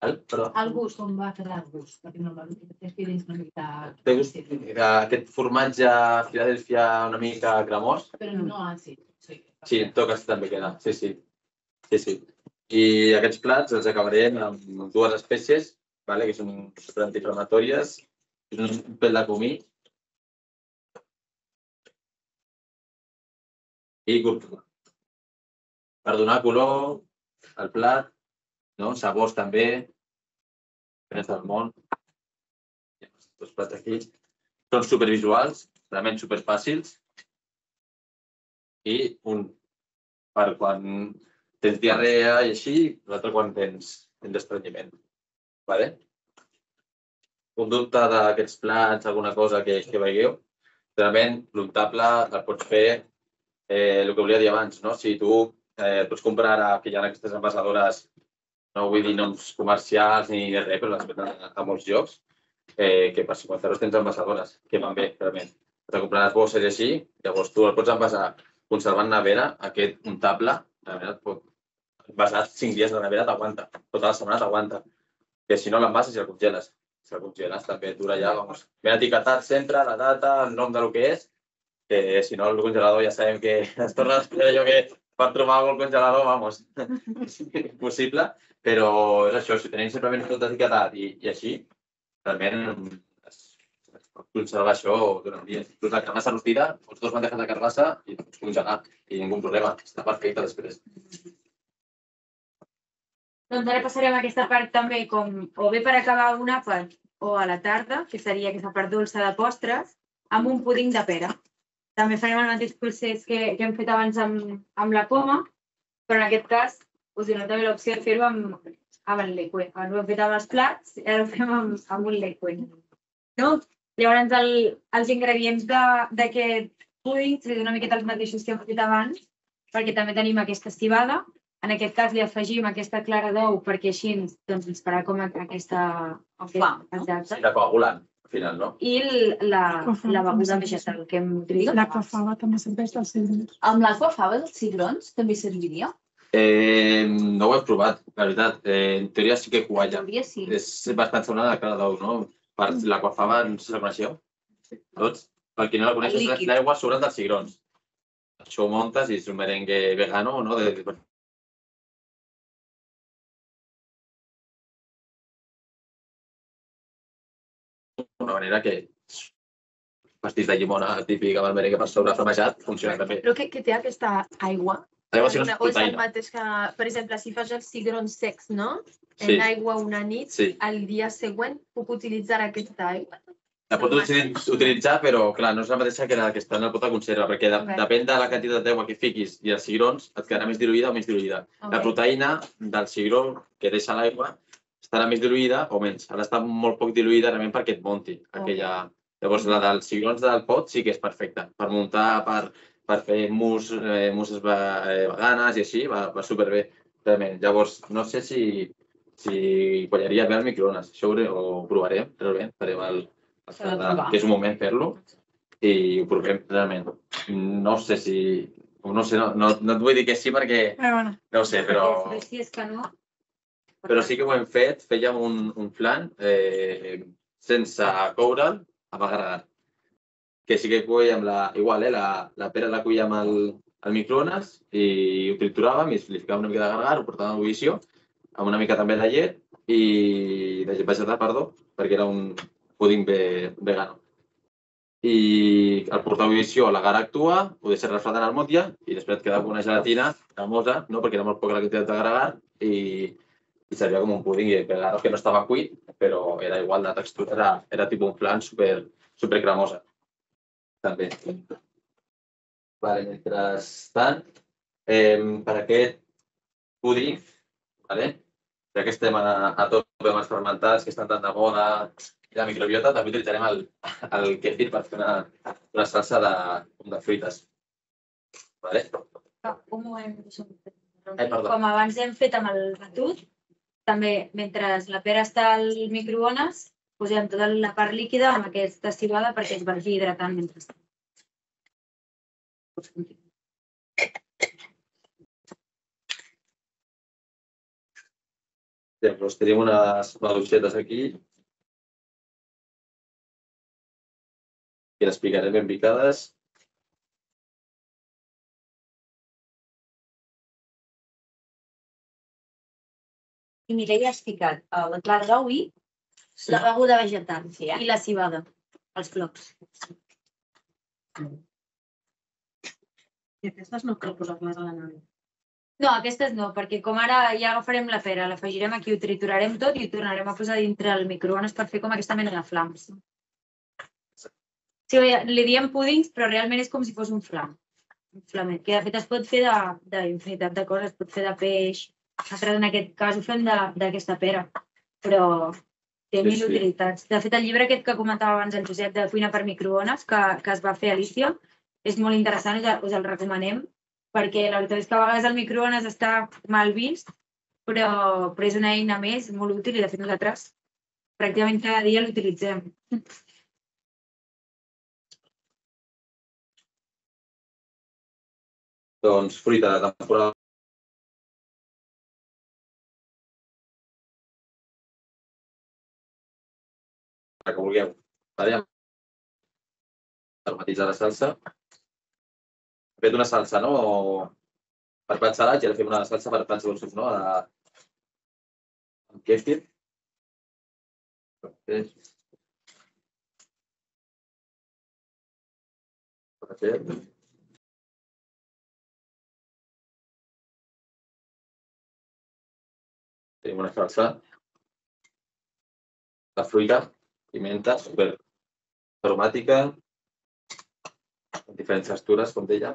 El, perdó. El gust, com va quedar el gust? Perquè normalment té dins una mica... Té gust aquest formatge Filadèlfia una mica cremós? Però no àcid. Sí, en tot cas també queda, sí, sí. Sí, sí. I aquests plats els acabarem amb dues espècies, vale? Que són antiinflamatòries, un pèl de comí i cúrcuma. Per donar color al plat, no? Sabors també, diferents del món. Els plats aquí són supervisuals, realment superfàcils. I un per quan tens diarrea i així, l'altre quan tens estrenyiment. Vale? Un dubte d'aquests plats, alguna cosa que, que veieu, realment l'untable el pots fer eh, el que volia dir abans, no? Si tu eh, pots comprar ara, que hi ha aquestes envasadores, no vull dir noms comercials ni res, però les venen a, a molts llocs, eh, que per cinquanta euros tens envasadores, que van bé, realment. Has de comprar les bosses i així, llavors tu el pots envasar conservant nevera, aquest untable, la nevera et pot envasar cinc dies de nevera, t'aguanta, tota la setmana t'aguanta. Que si no l'envases i el congeles. Si el congeles també dura ja, vamos. Ben etiquetat sempre, la data, el nom del que és, que si no el congelador ja sabem que es torna a esperar allò que per trobar el congelador, vamos, és impossible, però és això, si tenim simplement tot etiquetat i, i així, realment es, es pot conservar això durant dies. Inclús la carabassa rostida, els dos bandejes de carabassa i pots congelar i ningú problema, està perfecte després. Doncs ara passarem a aquesta part també com o bé per acabar un àpat o a la tarda, que seria aquesta part dolça de postres, amb un púding de pera. També farem el mateix procés que, que hem fet abans amb, amb la poma, però en aquest cas us donem també l'opció de fer-ho amb, amb el liquid. Abans ho hem fet amb els plats i ara ho fem amb, amb un liquid. No? Llavors el, els ingredients d'aquest púding seran una miqueta els mateixos que hem fet abans, perquè també tenim aquesta civada. En aquest cas li afegim aquesta clara d'ou perquè així doncs, ens farà com aquesta... Sí, la coagulant, al final, no? I la, la beguda vegetal que hem utilitzat. L'aquafaba també serveix dels cigrons. Amb l'aquafaba dels cigrons també serviria? Eh, no ho he provat, la veritat. Eh, en teoria sí que qualla. En teoria sí. És bastant semblant a la clara d'ou, no? L'aquafaba, no sé si la coneixeu? Tots? Per qui no la coneix, és l'aigua sobre dels cigrons. Això ho muntes i és un merengue vegano, no? De, de, una manera que pastís de llimona típic amb el merengue per sobre flamejat funciona també. Però què té aquesta aigua? L'aigua sí no és O és el proteïna. mateix que, per exemple, si fas els cigrons secs, no? Sí. En aigua una nit, Sí. el dia següent puc utilitzar aquesta aigua. La pots utilitzar- utilitzar, però clar, no és la mateixa que la que està en el pot de conserva, perquè de, Ok. depèn de la quantitat d'aigua que fiquis i els cigrons, et quedarà més diluïda o menys diluïda. La Ok. proteïna del cigró que deixa l'aigua estarà més diluïda o menys. Ha d'estar molt poc diluïda realment perquè et munti aquella... Llavors, la dels cigrons del pot sí que és perfecta. Per muntar, per, per fer mus, eh, musses ve- veganes i així, va, va superbé, realment. Llavors, no sé si, si quallaria bé al microones. Això ho, ho provarem, realment. Farem el, el S'ha de provar. que és un moment fer-lo i ho provem, realment. No sé si... No sé, no, no, no et vull dir que sí perquè... No ho sé, però... Si és que no... Però sí que ho hem fet, fèiem un, un flan eh, sense coure'l, amb agarrar. Que sí que coèiem la, igual, eh, la, la pera la coèiem al, al microones i ho trituràvem i li ficàvem una mica d'agarrar, ho portàvem a ebullició, amb una mica també de llet i de llet vegetal, perdó, perquè era un púding ve, vegano. I el portar a ebullició, l'agar actua, ho deixes refredant al motlle i després et queda una gelatina cremosa, no? Perquè era molt poca la quantitat d'agar i i servia com un púding i claro que no estava cuit, però era igual de textura, era, era tipus un flan super, super cremosa. També. Vale, mentrestant, eh, per aquest púding, vale? Ja que estem a, a tope amb els fermentats que estan tan de moda i la microbiota, també utilitzarem el, el kefir per fer una, una salsa de, de fruites. Vale? Com ho hem fet? Ai, perdó. Com abans hem fet amb el batut, també, mentre la pera està al microones, posem tota la part líquida amb aquesta civada perquè es vagi hidratant mentrestant. Doncs tenim unes maduixetes aquí que les picarem ben picades. I Mireia, has ficat la clara d'ou i la beguda vegetal i la civada, els flocs. I aquestes no cal posar-les a la nevera. No, aquestes no, perquè com ara ja agafarem la pera, l'afegirem aquí, ho triturarem tot i ho tornarem a posar dintre el microones per fer com aquesta mena de flams. Sí, li diem púdings, però realment és com si fos un flam. Un flamet, que de fet es pot fer d'infinitat de coses, es pot fer de peix. Nosaltres en aquest cas ho fem d'aquesta pera, però té mil utilitats. De fet, el llibre aquest que comentava abans el Josep de cuina per microones, que es va fer a Alicia, és molt interessant, us el recomanem, perquè la veritat és que a vegades el microones està mal vist, però és una eina més molt útil i de fet nosaltres pràcticament cada dia l'utilitzem. Doncs fruita de temporada. Que vulgueu. Aromatitzar la salsa. He fet una salsa, no? Per plats salats i ara fem una salsa per plats dolços, no? Amb kéfir. Tenim una salsa de fruita, pimenta, super aromàtica, amb diferents textures, com deia.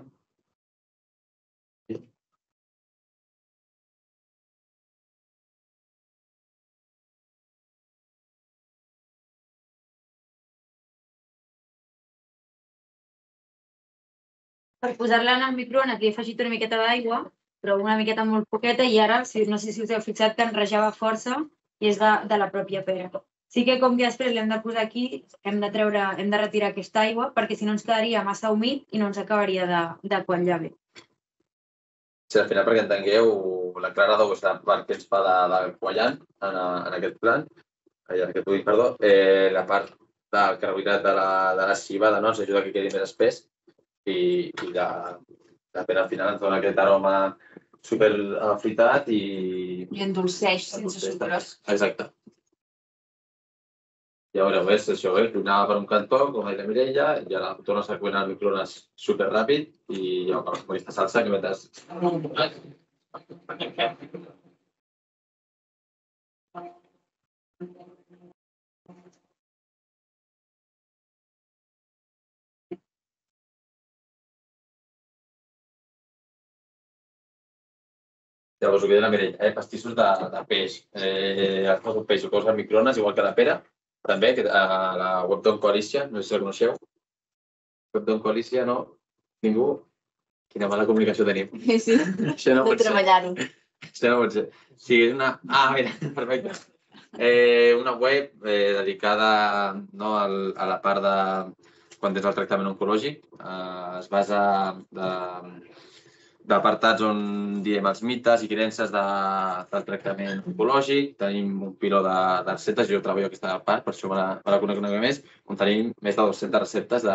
Per posar-la en el microones li he afegit una miqueta d'aigua, però una miqueta molt poqueta, i ara, no sé si us heu fixat, que enrejava força i és de la pròpia pera. Sí que com que després l'hem de posar aquí, hem de treure, hem de retirar aquesta aigua, perquè si no ens quedaria massa humit i no ens acabaria de quallar bé. Sí, al final, perquè entengueu, la clara d'ou és la part que ens fa de quallant en aquest plat, en aquest puding, perdó. La part del carbohidrat de la civada ens ajuda que quedi més espès i la pera al final ens dona aquest aroma super afruitat i... I endolceix sense sucres. Exacte. Ja veureu, és això, cuinava per un cantó, com deia la Mireia, i ara tornes a cuinar al microones superràpid i ja acabes amb aquesta salsa que metes... Llavors, ho que deia la Mireia, pastissos de peix. Agafes un peix, ho poses al microones, igual que la pera, també, a la web d'On Coalicia, no sé si la coneixeu. Web d'On Coalicia, no? Ningú? Quina mala comunicació tenim. Sí, de treballar-ho. Això no pot ser. Sí, és una... Ah, mira, perfecte. Una web dedicada a la part de quan tens el tractament oncològic. Es basa d'apartats on diem els mites i creences del tractament oncològic. Tenim un piló de receptes, jo treballo aquesta part, per això me la conec una mica més, on tenim més de dues-centes receptes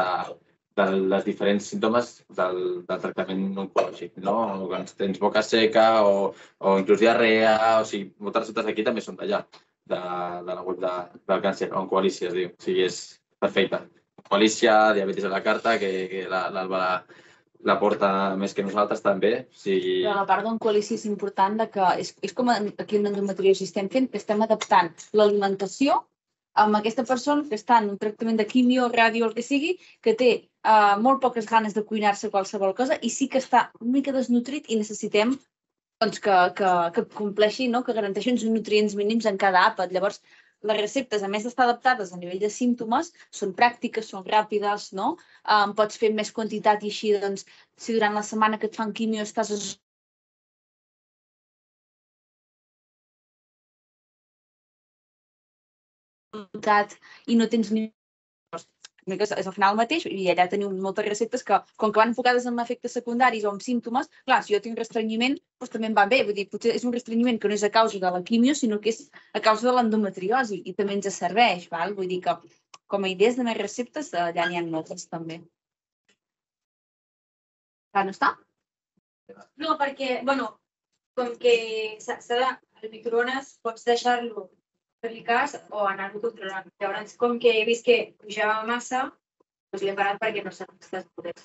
dels diferents símptomes del tractament oncològic. Quan tens boca seca o inclús diarrea, o sigui, moltes receptes d'aquí també són d'allà, de la web del càncer, Oncoalicia es diu. O sigui, és perfecte. Oncoalicia, diabetis a la carta, que l'Alba la porta més que nosaltres també. Però la part d'Oncoalicia és important que és com aquí en endometriosi estem fent, que estem adaptant l'alimentació amb aquesta persona que està en un tractament de quimio, ràdio, el que sigui, que té molt poques ganes de cuinar-se qualsevol cosa i sí que està una mica desnutrit i necessitem que compleixi, que garanteixi uns nutrients mínims en cada àpat. Llavors, les receptes, a més d'estar adaptades a nivell de símptomes, són pràctiques, són ràpides, no? Pots fer més quantitat i així, doncs, si durant la setmana que et fan quimio estàs i no tens ni... una mica és al final el mateix, i allà teniu moltes receptes que, com que van enfocades en efectes secundaris o en símptomes, clar, si jo tinc restrenyiment, doncs també em va bé. Vull dir, potser és un restrenyiment que no és a causa de la quimio, sinó que és a causa de l'endometriosi, i també ens serveix, val? Vull dir que, com a idees de més receptes, allà n'hi ha moltes, també. Clar, no està? No, perquè, bueno, com que s'ha de... El microones pots deixar-lo fer-li cas o anar-lo controlant. Llavors, com que he vist que pujava massa, doncs l'he parat perquè no s'estàs podent.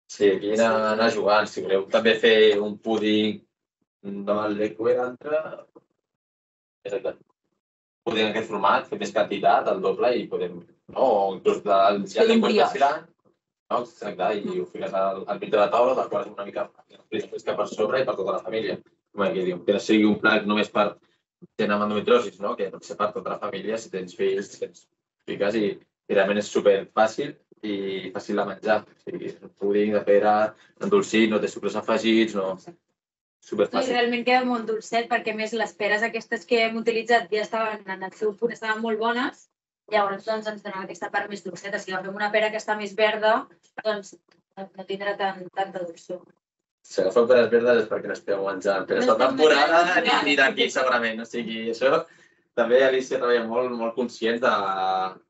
Sí, aquí anar, anar jugant. Si voleu també fer un púding de l'Eco i l'altre, exacte. Púding en aquest format, fer més quantitat, el doble, i podem... No, o inclús del gel de cuenta filant, no, exacte, i ho fiques al, al mig de la taula, del qual és una mica fresca per sobre i per tota la família. Com que diu, que no sigui un plat només per gent amb endometriosis, no? Que pot ser per tota la família, si tens fills, tens fiques, i, i realment és superfàcil i fàcil de menjar. O sigui, un púding de pera, endolcit, no té sucres afegits, no... Superfàcil. I realment queda molt dolcet, perquè a més les peres aquestes que hem utilitzat ja estaven en el seu punt, estaven molt bones, llavors doncs ens donava aquesta part més dolceta. Si agafem una pera que està més verda, doncs no tindrà tant, tanta dolçor. Si agafeu peres verdes és perquè no esteu menjant peres de temporada ni, ni d'aquí, segurament. O sigui, això també Alicia treballa molt, molt conscient de,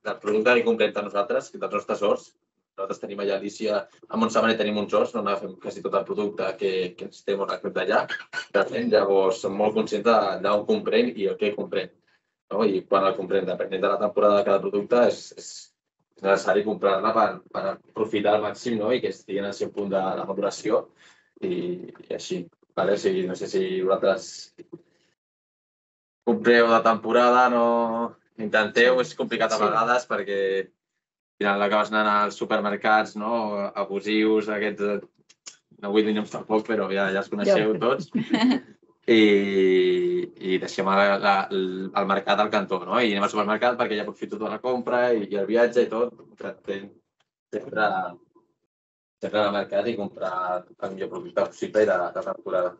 del producte que comprem de nosaltres, dels nostres horts. Nosaltres tenim allà a Alicia, a Montserrat tenim uns horts, no agafem quasi tot el producte que, que necessitem o recaptem d'allà. Llavors, som molt conscients d'on comprem i el que comprem. No? I quan el comprem, depenent de la temporada de cada producte, és, és necessari comprar-la per, per aprofitar al màxim, no? I que estigui en el seu punt de, de maduració. I, i així, vale? O sigui, no sé si vosaltres compreu de temporada, no intenteu, és complicat a vegades perquè al final acabes anant als supermercats, no? Abusius, aquests, no vull dir noms tampoc, però ja, ja els coneixeu tots, i, i deixem la, la, el mercat al cantó, no? I anem al supermercat perquè ja aprofito tota la compra i, i el viatge i tot, intentem sempre sempre anar al mercat i comprar el millor producte possible i de, de temporada.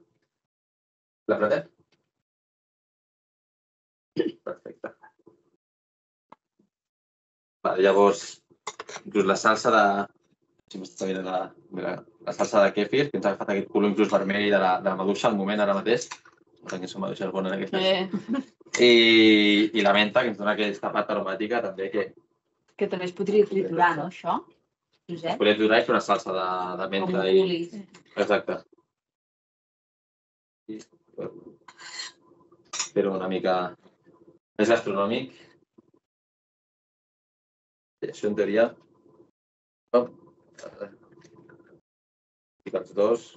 La pratet? Perfecte. Vale, llavors, inclús la salsa de... Si m'estàs sabent la, la, la salsa de kèfir, que ens ha agafat aquest color inclús vermell de la, de la maduixa al moment ara mateix. No sé que som maduixes bones aquestes. Eh. I, I la menta, que ens dona aquesta pata aromàtica també que... Que també es podria triturar, no, això? Es podria triturar i fer una salsa de, de menta. I... Exacte. Fer-ho una mica més gastronòmic. I això en teoria... Oh. Ficar els dos.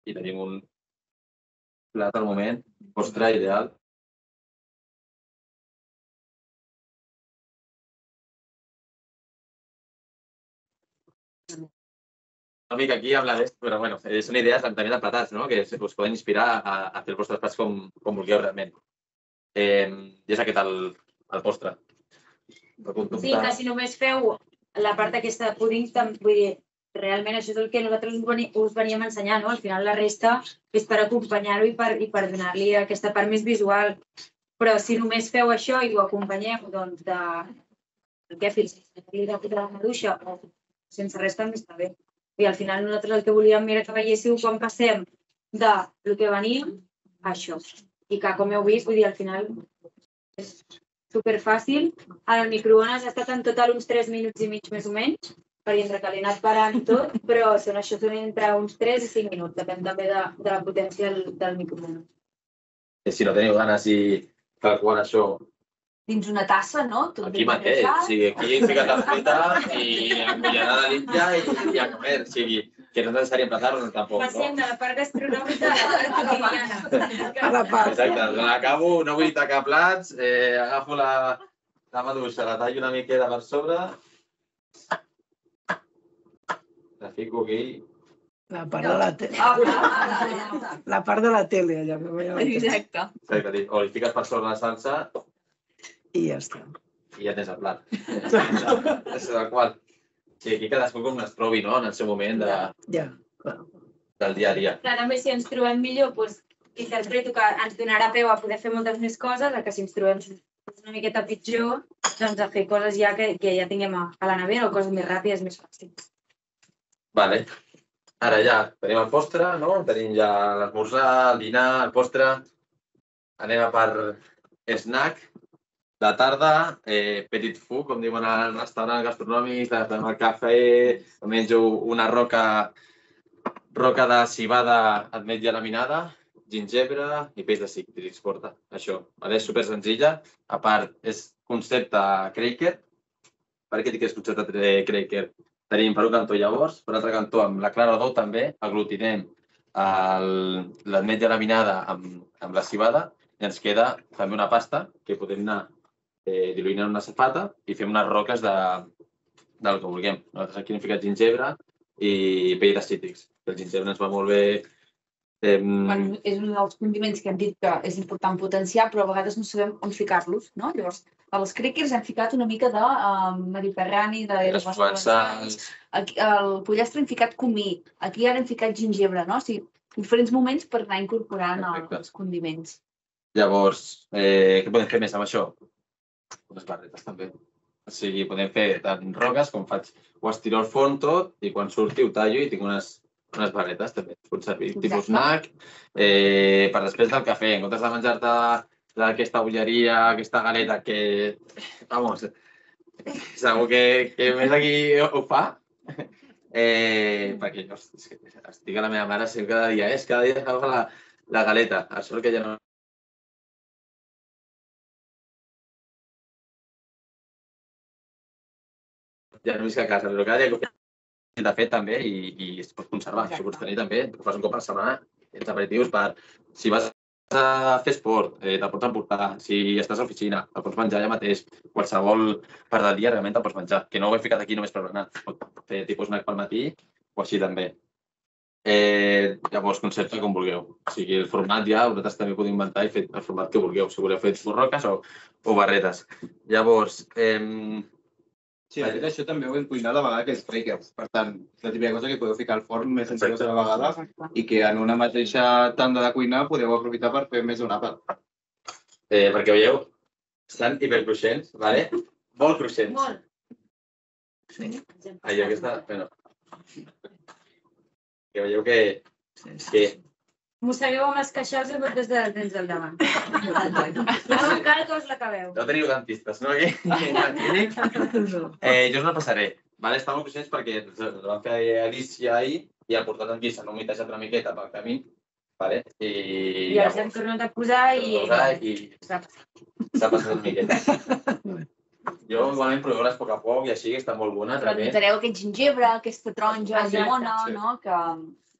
I tenim un plat al moment, postre ideal. Una mica aquí amb la d'est, però bueno, són idees també de platats, no? Que us poden inspirar a, a fer els vostres plats com, com vulgueu realment. Eh, I és aquest el, el postre. Sí, que si només feu la part aquesta de púding, vull dir, realment això és el que nosaltres us veníem a ensenyar, no? Al final la resta és per acompanyar-ho i per, i per donar-li aquesta part més visual. Però si només feu això i ho acompanyeu, doncs, de... El kèfir, de la maduixa, o sense res també està bé. I al final nosaltres el que volíem era que veiéssiu quan passem del que veníem a això. I que, com heu vist, vull dir, al final és superfàcil. En el microones ha estat en total uns tres minuts i mig més o menys, perquè entre que l'he anat parant i tot, però són això són entre uns tres i cinc minuts, depèn també de, de la potència del, del microones. Si no teniu ganes i calcular això... Dins una tassa, no? Tot aquí mateix, o sigui, aquí fiques la fruita i la cullerada limpia i, i a comer, o sigui, que no és necessari emplatar-ho tampoc, no? Passem de la part gastronòmica a la part quotidiana. A la part. Exacte, l'acabo, no vull tacar plats, eh, agafo la, la maduixa, la tallo una miqueta per sobre, la fico aquí. La part de la tele. La part de la tele, allà. Exacte. Exacte, o li fiques per sobre la salsa i ja està. I ja tens el plat. És el qual. Sí, aquí cadascú com es trobi, no?, en el seu moment de... Ja, clar. del dia a dia. Clar, també si ens trobem millor, doncs, interpreto que ens donarà peu a poder fer moltes més coses, a que si ens trobem una miqueta pitjor, doncs a fer coses ja que, que ja tinguem a, a la nevera o coses més ràpides, més fàcils. Vale. Ara ja tenim el postre, no? Tenim ja l'esmorzar, el dinar, el postre. Anem a per snack. De tarda, eh, petit food, com diuen al restaurant gastronòmic, fem el cafè, menjo una roca, roca de cibada ametlla laminada, gingebre i peix de cítrics porta. Això, vale? És super senzilla. A part, és concepte Cracker. Per què dic que és concepte Cracker? Tenim per un cantó llavors, per l'altre cantó amb la clara d'ou també, aglutinem l'ametlla laminada amb, amb la cibada i ens queda també una pasta que podem anar eh, diluint en una safata i fem unes roques de, del que vulguem. Nosaltres aquí hem ficat gingebre i pell de cítrics. El gingebre ens va molt bé. Eh... Bueno, és un dels condiments que hem dit que és important potenciar, però a vegades no sabem on ficar-los, no? Llavors, als crackers hem ficat una mica de uh, mediterrani, de les provençals. Al pollastre hem ficat comí, aquí ara hem ficat gingebre, no? O sigui, diferents moments per anar incorporant el, els condiments. Llavors, eh, què podem fer més amb això? Unes barretes també. O sigui, podem fer tant roques com faig, ho estiro al forn tot i quan surti ho tallo i tinc unes, unes barretes també. Es pot servir tipus snack, eh, per després del cafè, en comptes de menjar-te d'aquesta bolleria, aquesta galeta que, vamos, segur que, que més aquí ho fa. Eh, perquè jo estic a la meva mare sempre cada dia, és cada dia agafa la, la galeta, a sort que ja no... Ja no visc a casa, però cada dia que de fet també i, i es pot conservar. Això pots tenir també, ho fas un cop a la setmana, els aperitius per, si vas a fer esport, eh, te'l pots emportar, si estàs a l'oficina, te'l pots menjar allà mateix, qualsevol part del dia realment te'l pots menjar, que no ho he ficat aquí només per berenar, pot fer tipus snack pel matí o així també. Eh, llavors, concepte com vulgueu. O sigui, el format ja, vosaltres també podeu inventar i fer el format que vulgueu, si voleu fer roques o, o barretes. Llavors, eh, sí, de fet, això també ho hem cuinat a vegades que és crackers. Per tant, la típica cosa que podeu ficar al forn més senzilles a la vegada i que en una mateixa tanda de cuinar podeu aprofitar per fer més d'un àpat. Eh, perquè veieu, estan hipercruixents, ¿vale? Molt cruixents. Molt. Sí. Allò que està... Bueno, que veieu que... que Mossegueu amb les queixals i des de dents del davant. No encara que us l'acabeu. no teniu dentistes, no? Aquí, eh, jo us la passaré. Vale? Està molt cruixents perquè el vam fer a Alicia ahir i ha portat aquí, s'han humitejat una miqueta pel camí. Vale? I, I els hem tornat a posar i... i s'ha passat una miqueta. Jo igualment proveu-les a poc a poc i així, que està molt bona. Però notareu aquest gingebre, aquesta taronja, Exacte. llimona, Sí. no? Que,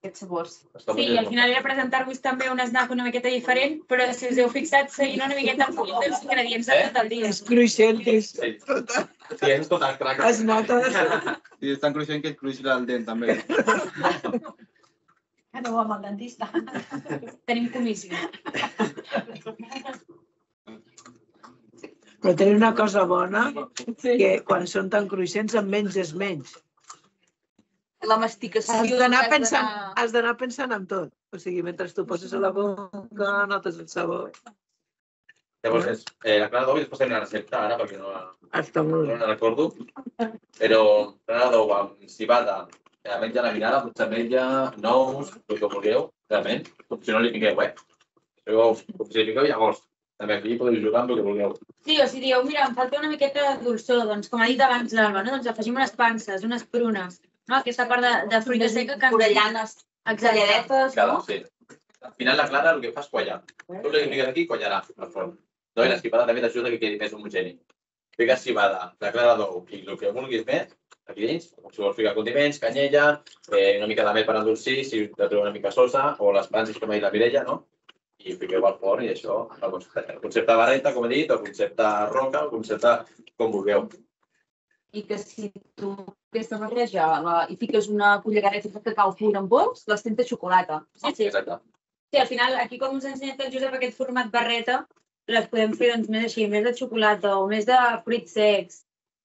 aquests sabors. Sí, i al final era presentar-vos també un snack una miqueta diferent, però si us heu fixat, seguint una miqueta el full dels ingredients de tot el dia. És cruixentis. Sí, és tot el crac. Es nota. I és tan cruixent que et cruixi el dent, també. Aneu amb el dentista. Tenim comissió. Però tenen una cosa bona, que quan són tan cruixents en menys és menys. La masticació... Has d'anar pensant, has d'anar pensant en tot. O sigui, mentre tu poses a la boca, notes el sabor. Llavors, és, eh, la clara d'ou, i després tenim la recepta ara, perquè no la, Està molt no bé. la recordo, però clara d'ou amb cibada, ametlla laminada, potser ametlla, nous, el que vulgueu, realment, com si no li fiqueu, eh? Com si li fiqueu llavors. També aquí podeu jugar amb el que vulgueu. Sí, o si dieu, mira, em falta una miqueta de dolçor, doncs com ha dit abans l'Alba, no? Doncs afegim unes panses, unes prunes, no? Aquesta part de, de fruita seca que... Corellanes, talladetes, Cada, no? sí. Al final la clara el que fa és quallar. Tu li fiques aquí i quallarà al forn. No? I l'esquipada també t'ajuda que quedi més homogeni. Fiques cibada, la clara d'ou i el que vulguis més, aquí dins, si vols ficar condiments, canyella, eh, una mica de mel per endolcir, si te treu una mica sosa, o les panses com ha dit la Mireia, no? I fiqueu al forn i això, el concepte barreta, com he dit, el concepte roca, el concepte com vulgueu. I que si tu aquesta barreja la, i fiques una cullerada de cacau pur en pols, les tens de xocolata. Sí, sí. Exacte. Sí, al final, aquí com us ha ensenyat el Josep aquest format barreta, les podem fer doncs, més així, més de xocolata o més de fruits secs,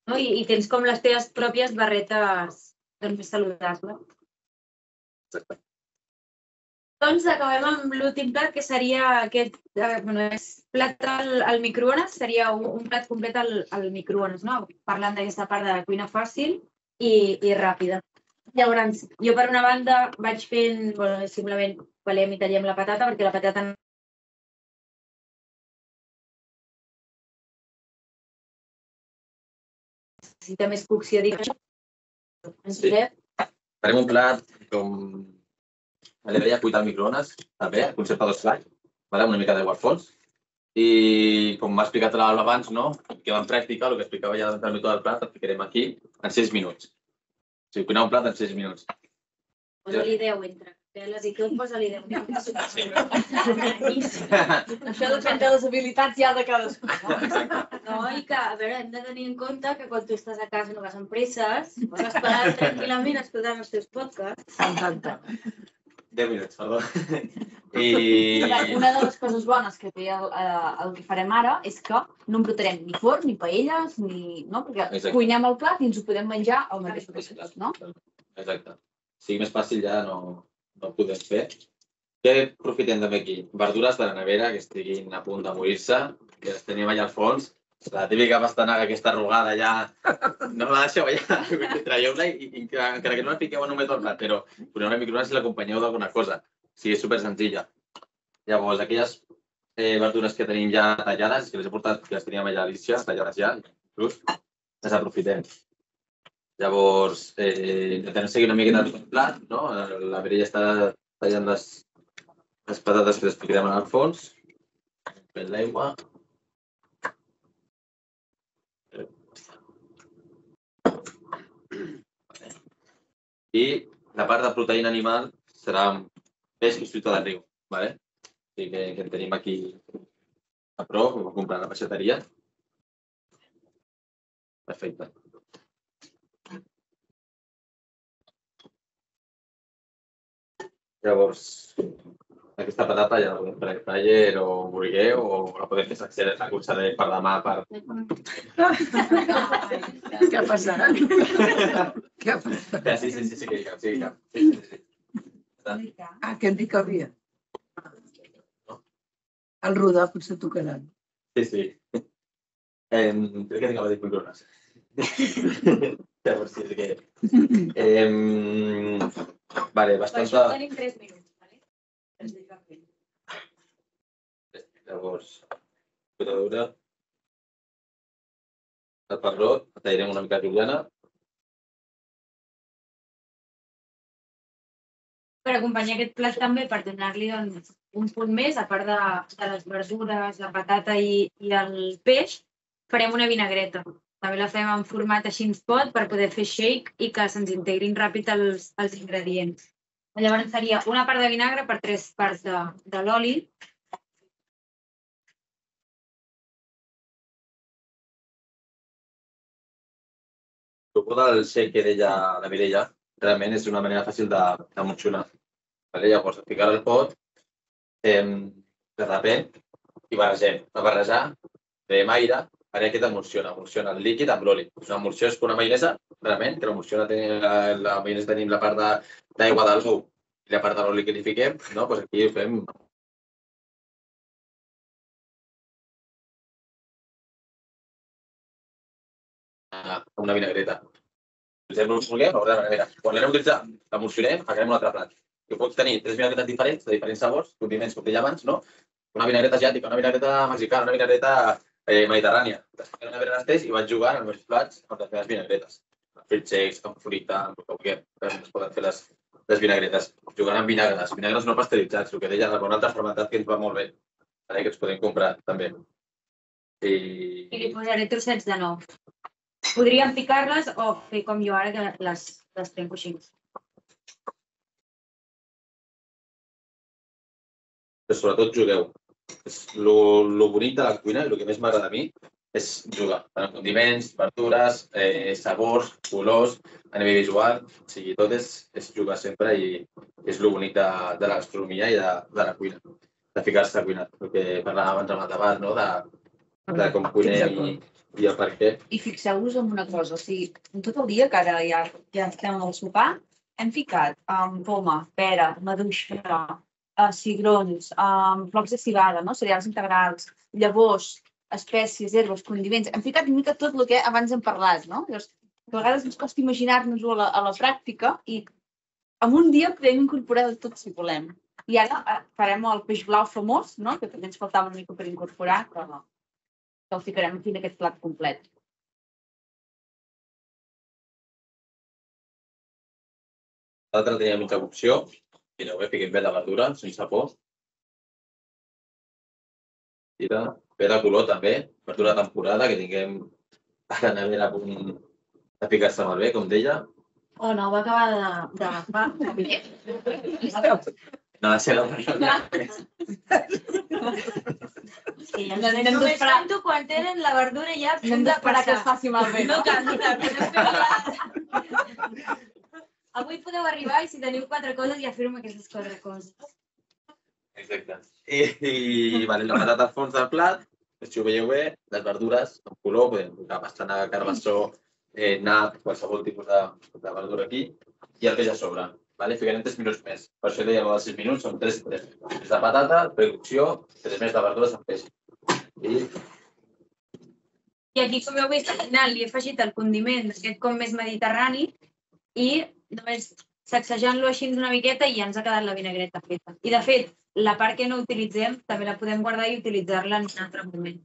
no? I, i tens com les teves pròpies barretes doncs, més saludables. Exacte. Doncs acabem amb l'últim plat, que seria aquest, bueno, és plat al microones, seria un plat complet al microones, no? Parlant d'aquesta part de cuina fàcil i ràpida. Llavors, jo per una banda vaig fent, bueno, simplement pelem i tallem la patata, perquè la patata necessita més cocció, dic. Farem un plat com li deia cuita al microones, també, el concepte dos flac, una mica d'aigua al fons. I com m'ha explicat abans, queda en pràctica, el que explicava ja del mètode del plat, el ficarem aquí en sis minuts. O sigui, cuinar un plat en sis minuts. Posa-li deu entre peles i tot, posa-li deu. Això depèn de les habilitats ja de cadascú. No, i que, a veure, hem de tenir en compte que quan tu estàs a casa no vas amb presses, pots esperar tranquil·lament escoltant els teus podcasts. Exacte. deu minuts, perdó. Una de les coses bones que té el que farem ara és que no embrutarem ni forn, ni paelles, perquè cuinem el plat i ens ho podem menjar al mateix temps, no? Exacte. Si més fàcil ja no ho podem fer. Què aprofitem també aquí? Verdures de la nevera que estiguin a punt de morir-se, que les tenim allà al fons. La típica pastanaga aquesta arrugada ja, no la deixeu allà, traieu-la i encara que no la fiqueu només al plat, però poseu una microones i l'acompanyeu d'alguna cosa. O sigui, és supersenzilla. Llavors, aquelles verdures que tenim ja tallades, que les he portat, que les teníem allà a Alicia, tallades ja, inclús, les aprofitem. Llavors, intentem seguir una miqueta tot el plat, no? La Mireia està tallant les patates que les ficarem al fons, fent l'aigua. I la part de proteïna animal serà peix i fruita del riu. O sigui que en tenim aquí a prop, ho vam comprar a la peixateria. Perfecte. Llavors, aquesta patata ja la podem fer taller o burguer o la podem fer sencera, la cursaré per demà per... Què ha passat? Què ha passat? Sí, sí, sí, que hi cap, sí que hi cap. Ah, que hem dit que havia. El rodar potser tocaran. Sí, sí. Crec que tinc a dir microones. Llavors, sí, és que... Vale, bastanta... Per això tenim tres minuts, vale? Llavors, potadura, el pebrot, el tallarem una mica juliana. Per acompanyar aquest plat també, per donar-li un punt més, a part de les verdures, la patata i el peix, farem una vinagreta. També la fem en format així ens pot per poder fer shake i que se'ns integrin ràpid els ingredients. Llavors seria una part de vinagre per tres parts de l'oli. El truc del shake que deia la Mireia realment és una manera fàcil d'emulsionar. Llavors, ficar al pot, derrapem i barregem. A barrejar, fem aire, farem que t'emulsiona. Emulsiona el líquid amb l'oli. Una emulsió és com una maionesa, realment, que l'emulsiona, la maionesa tenim la part d'aigua de l'ou i la part de l'oli que li fiquem, doncs aquí fem una vinagreta. Utilitzem l'ús vulguem, a la nevera. Quan l'anem a utilitzar, l'emulsionem, farem un altre plat. Que pots tenir tres vinagretes diferents, de diferents sabors, condiments, com deia abans, no? Una vinagreta asiàtica, una vinagreta mexicana, una vinagreta mediterrània. Després una vinagreta i vaig jugant amb els plats amb les meves vinagretes. Fruits secs, amb fruita, amb el que es poden fer les vinagretes. Jugant amb vinagres, vinagres no pasteuritzats, el que deia, un altre fermentat que ens va molt bé, que ens podem comprar també. I li posaré trossets de nous. Podríem picar-les o fer com jo ara, que les trenco així. Però sobretot jugueu. El bonic de la cuina i el que més m'agrada a mi és jugar. Tant en condiments, verdures, sabors, colors, a nivell visual. O sigui, tot és jugar sempre i és el bonic de la gastronomia i de la cuina. De ficar-se a cuinar. El que parlàvem abans amb el debat, de com cuinem i el per què. I fixeu-vos en una cosa, o sigui, tot el dia, que ara ja estem al sopar, hem ficat poma, pera, maduixa, cigrons, flocs de civada, cereals integrals, llavors, espècies, herbes, condiments. Hem ficat una mica tot el que abans hem parlat, no? Llavors, a vegades ens costa imaginar-nos-ho a la pràctica i en un dia podem incorporar tot si volem. I ara farem el peix blau famós, que també ens faltava una mica per incorporar, que el ficarem aquí en aquest plat complet. L'altre tenia mitja cocció. Mireu, bé, fiquem bé de verdura, sense por. Mira, bé de color també, verdura de temporada, que tinguem a la nevera a punt de picar-se molt bé, com deia. O no, va acabar d'agafar. No ha de ser la persona. Només tanto quan tenen la verdura ja a punt de esperar que es faci malbé. No cal, no cal. Avui podeu arribar i si teniu quatre coses ja fem aquestes quatre coses. Exacte. I la patata al fons del plat, si ho veieu bé, les verdures amb color, podem posar pastanaga, carbassó, nap, qualsevol tipus de verdura aquí, i el peix a sobre. Ficarem tres minuts més. Per això deia els sis minuts, són tres i tres. Tres de patata, precocció, tres més de verdures amb peix. I aquí, com heu vist, al final li he afegit el condiment d'aquest com més mediterrani i només sacsejant-lo així una miqueta i ja ens ha quedat la vinagreta feta. I de fet, la part que no utilitzem també la podem guardar i utilitzar-la en un altre moment.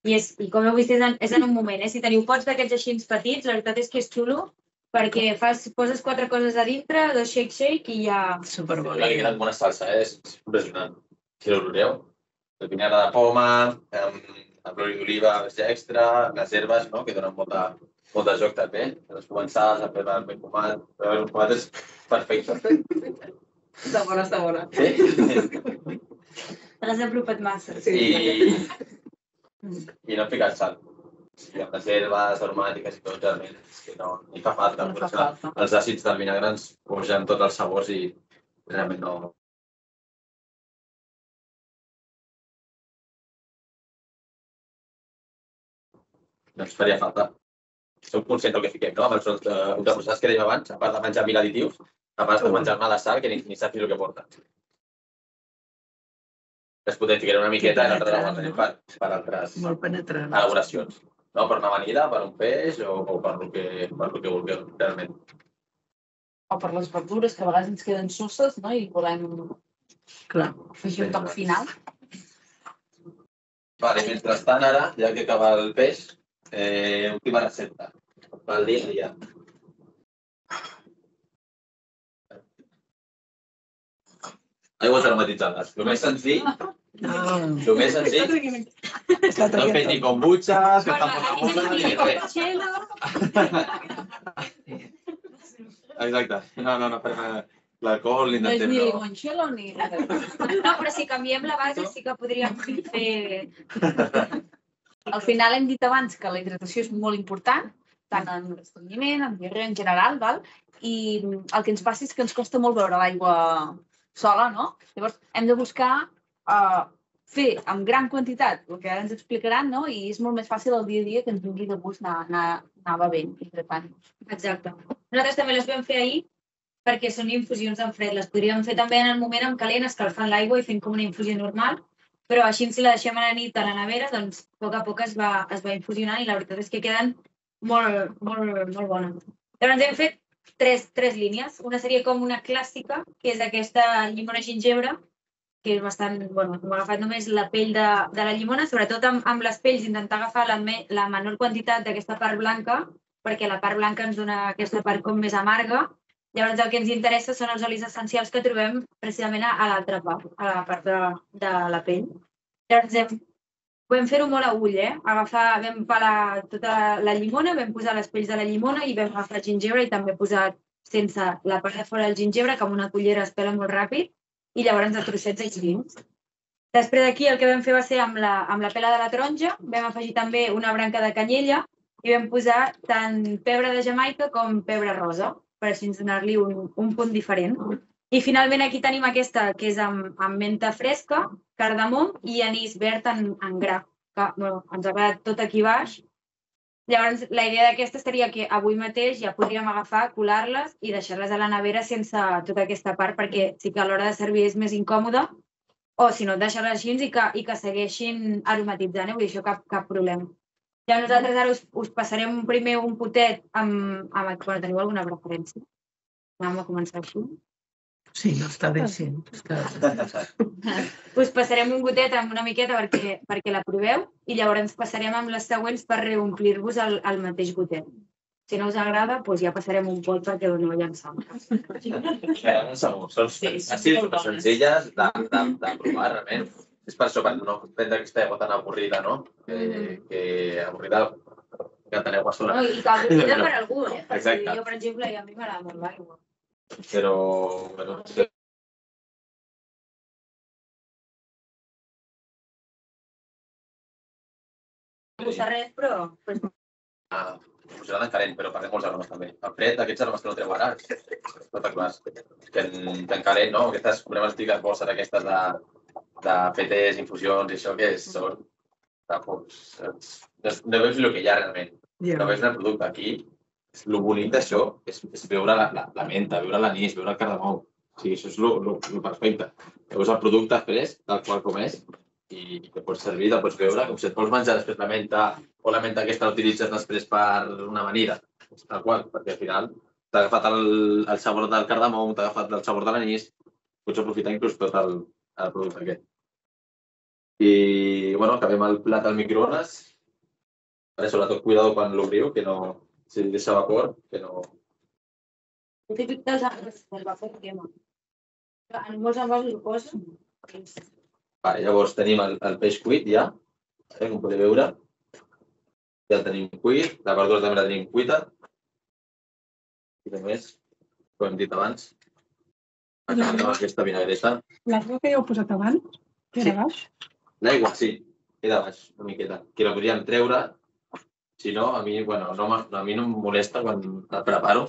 I com heu vist, és en un moment. Si teniu pots d'aquests així petits, la veritat és que és xulo, perquè poses quatre coses a dintre, dos shake-shake i ja... Superbo. L'ha quedat amb una salsa, és impressionant. Si l'oloreu, el vinagre de poma, amb l'oli d'oliva extra, les herbes, que donen molt de joc també. Les començades, el pebre ben fumat, el ben fumat és perfecte. Està bona, està bona. Sí? Te l'has apropat massa. I no hem ficat sal. Amb les herbes aromàtiques i tot, realment, és que no hi fa falta. Els àcids del vinagre ens posen tots els sabors i realment no... No ens faria falta. Sou conscients del que fiquem, no? Amb els ultraprocessats que dèiem abans, a part de menjar mil additius, a part de menjar-me la sal, que ni saps el que porta. Es podem ficar una miqueta i l'altre la guardem per altres elaboracions. Per una amanida, per un peix o per el que vulgueu, realment. O per les verdures, que a vegades ens queden sosses i volem afegir un toc final. Mentrestant, ara, ja que acaba el peix, última recepta pel dia a dia. Aigües aromatitzades. El més senzill, el més senzill, no fes ni kombuchas, que tampoc no ni res. Exacte. No, no, no farem l'alcohol, No és l'intentem ni no. limoncello ni res. No, però si canviem la base sí que podríem fer... Al final hem dit abans que la hidratació és molt important, tant en l'estrenyiment, en diarrea en general, i el que ens passa és que ens costa molt beure l'aigua sola, no? Llavors hem de buscar fer amb gran quantitat el que ara ens explicaran, no? I és molt més fàcil el dia a dia que ens vingui de gust anar bevent, hidratant-nos. Exacte. Nosaltres també les vam fer ahir perquè són infusions en fred. Les podríem fer també en el moment en calent, escalfant l'aigua i fent com una infusió normal, però així si la deixem a la nit a la nevera, doncs a poc a poc es va infusionant i la veritat és que queden molt bones. Llavors hem fet tres línies. Una seria com una clàssica, que és aquesta llimona gingebre, que és bastant, bueno, hem agafat només la pell de la llimona, sobretot amb les pells intentar agafar la menor quantitat d'aquesta part blanca, perquè la part blanca ens dona aquesta part com més amarga. Llavors el que ens interessa són els olis essencials que trobem precisament a l'altra part, a la part de la pell. Llavors vam fer-ho molt a ull, eh? Vam pelar tota la llimona, vam posar les pells de la llimona i vam agafar el gingebre i també posar sense la part de fora del gingebre, que amb una cullera es pela molt ràpid, i llavors a trossets així dins. Després d'aquí el que vam fer va ser amb la pela de la taronja, vam afegir també una branca de canyella i vam posar tant pebre de Jamaica com pebre rosa, per així donar-li un punt diferent. I finalment aquí tenim aquesta, que és amb menta fresca, cardamom i anís verd en gra, que ens ha quedat tot aquí baix Llavors, la idea d'aquesta seria que avui mateix ja podríem agafar, colar-les i deixar-les a la nevera sense tota aquesta part, perquè sí que a l'hora de servir és més incòmode, o si no, deixar-les així i que, i que segueixin aromatitzant, eh? Vull dir, això cap, cap problema. Ja nosaltres ara us, us passarem primer un potet amb... amb bueno, teniu alguna preferència? Anem a començar així. Sí, no està bé, sí. Us passarem un gotet amb una miqueta perquè, perquè la proveu i llavors passarem amb les següents per reomplir-vos el, el mateix gotet. Si no us agrada, doncs ja passarem un pot perquè doneu llançar. Segur, són àcids super senzilles de, de, de provar, realment. És per això, per no prendre aquesta aigua tan avorrida, no? Que, que avorrida que teneu aigua sola. No, i que avorrida per algú, eh? Exacte. Jo, per exemple, a mi m'agrada molt l'aigua. Però, bueno, sí. No passa res, però... Ah, posarà de calent, però parlem molts aromes també. El fred, aquests aromes que no treu ara, espectaculars. Que en, que en calent, no? Aquestes, podem explicar bolses aquestes de, de P Ts, infusions i això, que són... Doncs, no veus el que hi ha realment. No veus el producte. Aquí, el bonic d'això és, és veure la, la, la menta, veure l'anís, veure el cardamom. O sigui, això és el perfecte. Veus el producte fresc, tal qual com és, i que pots servir, te'l pots veure, com si et vols menjar després la menta o la menta aquesta l'utilitzes després per una amanida, tal qual, perquè al final t'ha agafat el, el sabor del cardamom, t'ha agafat el sabor de l'anís, pots aprofitar inclús tot el, el producte aquest. I, bueno, acabem el plat al microones. Ara, sobretot, cuidado quan l'obriu, que no... Si deixa vapor, que no... El típic dels arbres del vapor crema. En molts envasos ho posen. Vale, llavors tenim el, el peix cuit ja, eh, com podeu veure. Ja el tenim cuit, la verdura també la tenim cuita. I a més, com hem dit abans, acabem amb aquesta vinagreta. L'aigua que ja heu posat abans, que era baix? L'aigua, sí, queda baix, una miqueta. Que la podríem treure, si no, a mi, bueno, no, a mi no em molesta quan el preparo,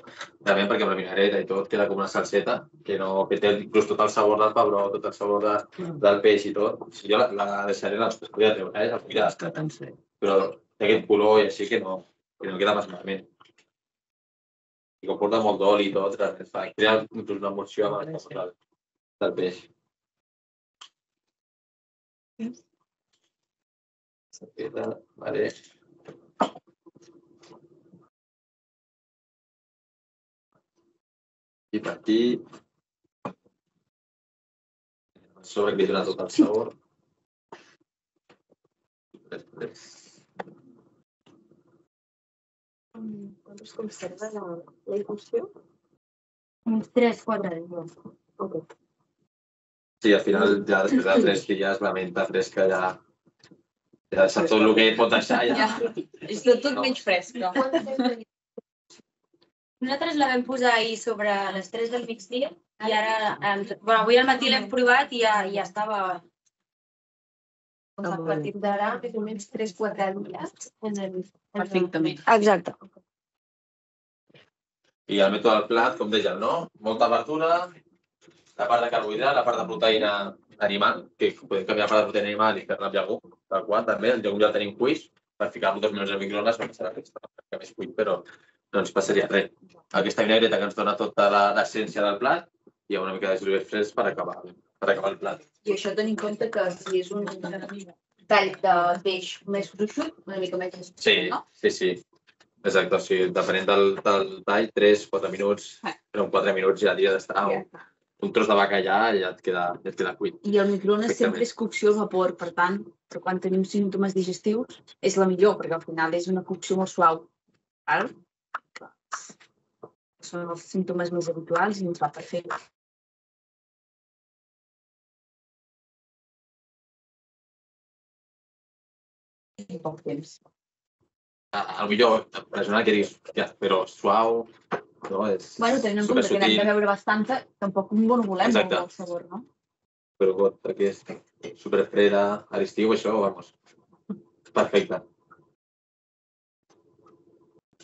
també perquè amb la vinagreta i tot queda com una salseta, que, no, que té inclús tot el sabor del pebró, tot el sabor de, del peix i tot. Si jo la, la deixaré, la podria treure, eh? La podria, però té aquest color i així que no, que no queda més malament. I com porta molt d'oli i tot, fa, crea inclús una emulsió amb el sabor del, del peix. Salseta, vale. I per aquí, a sobre que li dona tot el sabor. Després. Quan es conserva la, la infusió? Uns tres quatre dies. Ok. Sí, al final, ja després de tres dies, la menta fresca ja... Ja deixa tot el que pot deixar ja. És tot, tot menys fresca. Nosaltres la vam posar ahir sobre les tres del migdia i ara, bueno, avui al matí l'hem provat i ja, ja estava... A partir d'ara, més o menys tres quatre dies. Perfectament. Exacte. I el mètode del plat, com dèiem, no? Molta verdura, la part de carbohidrat, la part de proteïna animal, que podem canviar la part de proteïna animal i fer-la amb llegum, tal qual, també. El llegum ja el tenim cuit, per ficar-lo dos minuts al microones, perquè serà que més cuit, però no ens passaria res. Aquesta vinagreta que ens dona tota l'essència del plat i una mica de julivert fresc per acabar, per acabar el plat. I això tenint en compte que si és un tall de peix més gruixut, una mica més... Sí, sí, sí. Exacte, o sigui, depenent del, del tall, tres quatre minuts, però en quatre minuts ja hauria d'estar un tros de bacallà i ja et queda, ja et queda cuit. I el microones sempre és cocció al vapor, per tant, quan tenim símptomes digestius és la millor, perquè al final és una cocció molt suau. Val? Són els símptomes més habituals i ens va perfecte. En poc temps. El millor, personal que diguis, però suau, no? És bueno, tenint en compte que n'hem de beure bastanta, tampoc no volem molt el sabor, no? Però got, perquè és superfreda, a l'estiu, això, vamos, perfecte.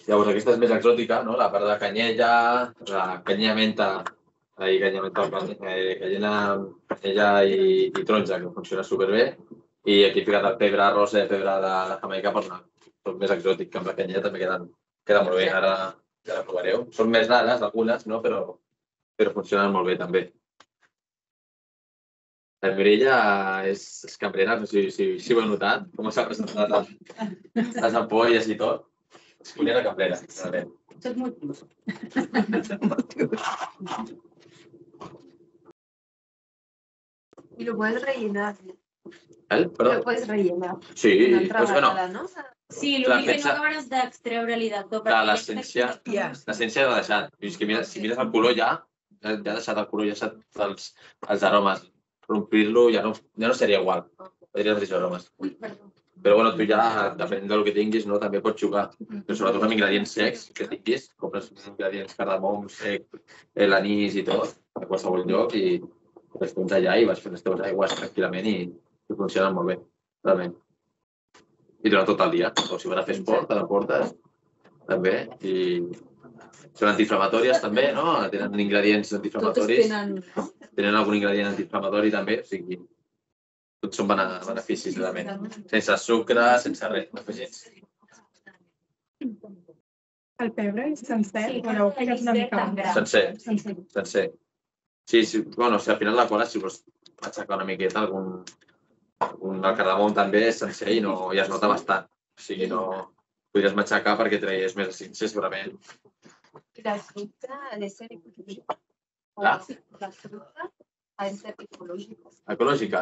Llavors, aquesta és més exòtica, no? La part de canyella, la canyella menta, i canyella menta, canyella, canyella i, i taronja, que funciona superbé. I aquí he ficat el pebre rosa i el pebre de, de Jamaica per donar són més exòtic que amb la canyeta, també queden, queden molt bé. Ara ja la provareu. Són més rares algunes, no? però, però funcionen molt bé també. La Mireia és, és cambrera, no sé si, si ho heu notat, com s'ha presentat les ampolles i tot. És cuinera cambrera, realment. Tots motius. Y lo puedes rellenar. Eh? Perdó? Lo puedes rellenar. Sí, Una altra doncs, bueno, vegada, no? Sí, Clar, l'únic que no pensa- acabaràs d'extreure-li del tot. clar, l'essència l'essència l'ha deixat. I és que mires, si mires el color ja, ja ha deixat el color, ja ha deixat els, els aromes. Rompir-lo ja no, ja no seria igual. Podria els mateixos aromes. Però bueno, tu ja, depenent del que tinguis, no, també pots jugar. Però sobretot amb ingredients secs que tinguis, compres ingredients cardamom, sec, eh, l'anís i tot, a qualsevol lloc, i els tens allà i vas fent les teves aigües tranquil·lament i, i funcionen molt bé, realment. I durant tot el dia. O si vas a fer esport, te l'emportes, també. I són antiinflamatòries també, no? Tenen ingredients Totes antiinflamatoris. tenen... Tenen algun ingredient antiinflamatori també, o sigui, tots són bene- beneficis realment. Sense sucre, sense res, afegits. El pebre és sencer, o l'heu ficat una mica més? Sencer, Sencer. sencer. Sí, sí, bueno, si al final la cola, si vols aixecar una miqueta, algun, algun el cardamom també és sencer i, no, i es nota bastant. O sigui, no podries matxacar perquè traies més essència, segurament. La fruta ha de ser ecológica. La? La fruta ha de ser ecológica. Ecològica?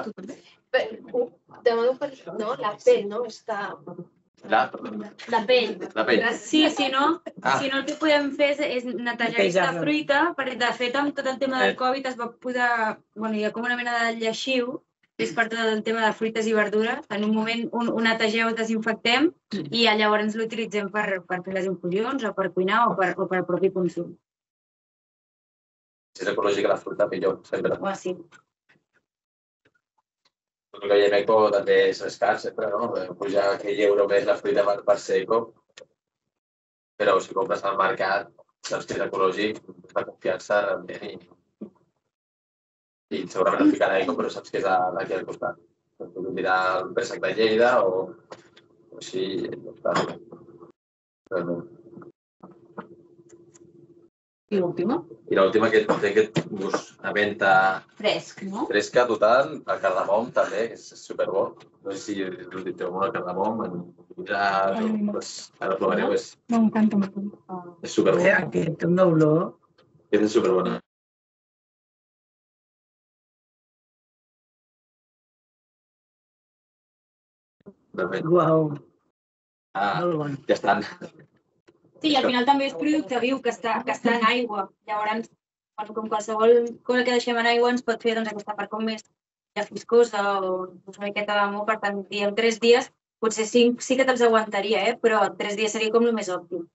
Pero, de modo que no, la pell no està... La, perdó. La pell. La pell. Sí, si no, Ah. si no el que podem fer és, és netejar aquesta Netejar-la. fruita, perquè de fet amb tot el tema del Eh. Covid es va posar, bueno, hi ha com una mena de lleixiu, que és per tot el tema de fruites i verdures. En un moment un, ho netegeu, ho desinfectem i llavors l'utilitzem per, per fer les infusions o per cuinar o per, o per propi consum. Si és ecològica la fruita, millor, sempre. O així. Tot el que hi ha eco també és escàs, sempre, no? Puja aquell euro més la fruita per, per ser eco. Però si compres al mercat, saps que és ecològic, la confiança realment i, i segurament no ficarà eco, però saps que és d'aquí al costat. Pots mirar el préssec de Lleida o, o així, està bé. Realment. I l'última? I l'última que té aquest gust a menta Fresc, no? fresca total, el cardamom també, que és superbo. No sé si us dit alguna el cardamom, en mirar, pues, ara provareu, és, M'encanta, m'encanta. és superbo. Bé, aquest té una olor. Aquest és superbona. Uau. Ah, ja estan. Sí, al final també és producte viu que està, que està en aigua. Llavors, bueno, com qualsevol cosa que deixem en aigua ens pot fer doncs, aquesta part com més ja fiscosa o una miqueta d'amor. Per tant, diem tres dies, potser cinc sí que te'ls aguantaria, eh? Però tres dies seria com el més òptim.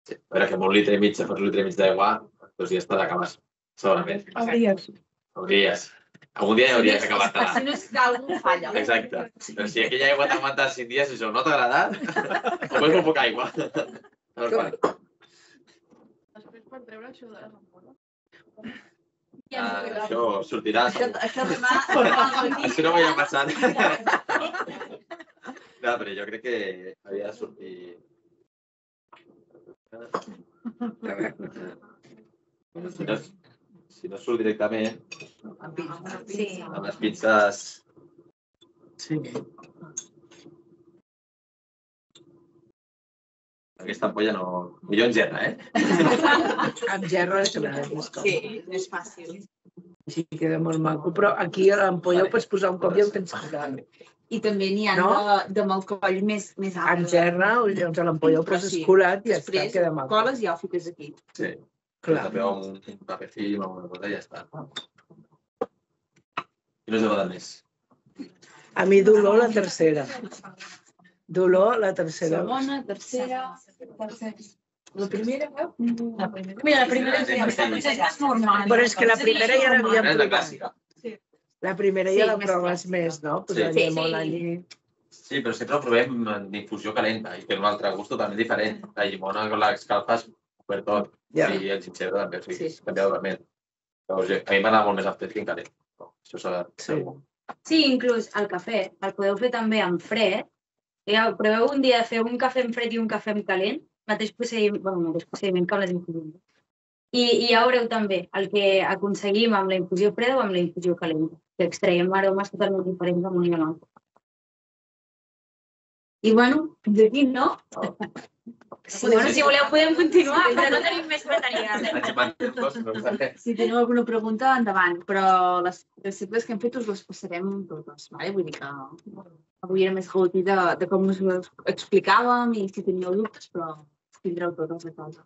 A veure, que amb un litre i mig, si fas un litre i mig d'aigua, dos dies te l'acabes, segurament. Hauries. Hauries. Algun dia hauries acabat-te-la. Si no és que algú falla. Exacte. Però si aquella aigua t'ha aguantat cinc dies i això no t'ha agradat, o és molt poca aigua. A veure, quan. Després per treure això de les ampolles. Ah, això sortirà. Això, això demà... Això no ho havia passat. No, però jo crec que havia de sortir... Si no, si no surt directament, Sí. amb les pinces... Sí. Aquesta ampolla no... Millor en gerra, eh? Amb gerra és clar. Sí, és fàcil. Sí, queda molt maco, però aquí a l'ampolla ho pots posar un cop i ho tens posat. I també n'hi ha No? de, de amb el coll més, més alt. Amb gerra, llavors a l'ampolla ho Però poses sí, colat i ja està, després queda maco. coles i ja ho fiques aquí. Sí. Clar. També amb un paper film o alguna cosa i ja està. I no us agrada més. A mi dolor la tercera. Dolor la tercera. Segona, tercera, tercera. La primera, eh? La primera. Mira, la primera és més normal. Però és que la primera ja l'havíem És la provat. clàssica. La primera ja Sí, la més proves més, no? Sí. Posar Sí, llimó sí. allí. Sí, però sempre ho provem en infusió calenta i té un altre gust totalment diferent. La llimona con l'escalfes per tot. Ja. I el gingebre també, o sigui, Sí. canvia totalment. Llavors, a mi m'agrada molt més el fred que en calent. No, això s'ha de... Sí. Sí, inclús el cafè el podeu fer també en fred, Proveu un dia fer un cafè en fred i un cafè en calent, mateix procediment, bueno, mateix procediment que amb les infusions. I, i ja veureu també el que aconseguim amb la infusió freda o amb la infusió calenta, que extraiem aromes totalment diferents amb un i l'altre. I bueno, fins aquí, no? Sí, bueno, si voleu podem continuar, però no tenim més bateria. Si teniu alguna pregunta, endavant, però les receptes que hem fet us les passarem totes, vale? Vull dir que avui era més gaudí de, de com us ho explicàvem i si teníeu dubtes, però tindreu totes a casa.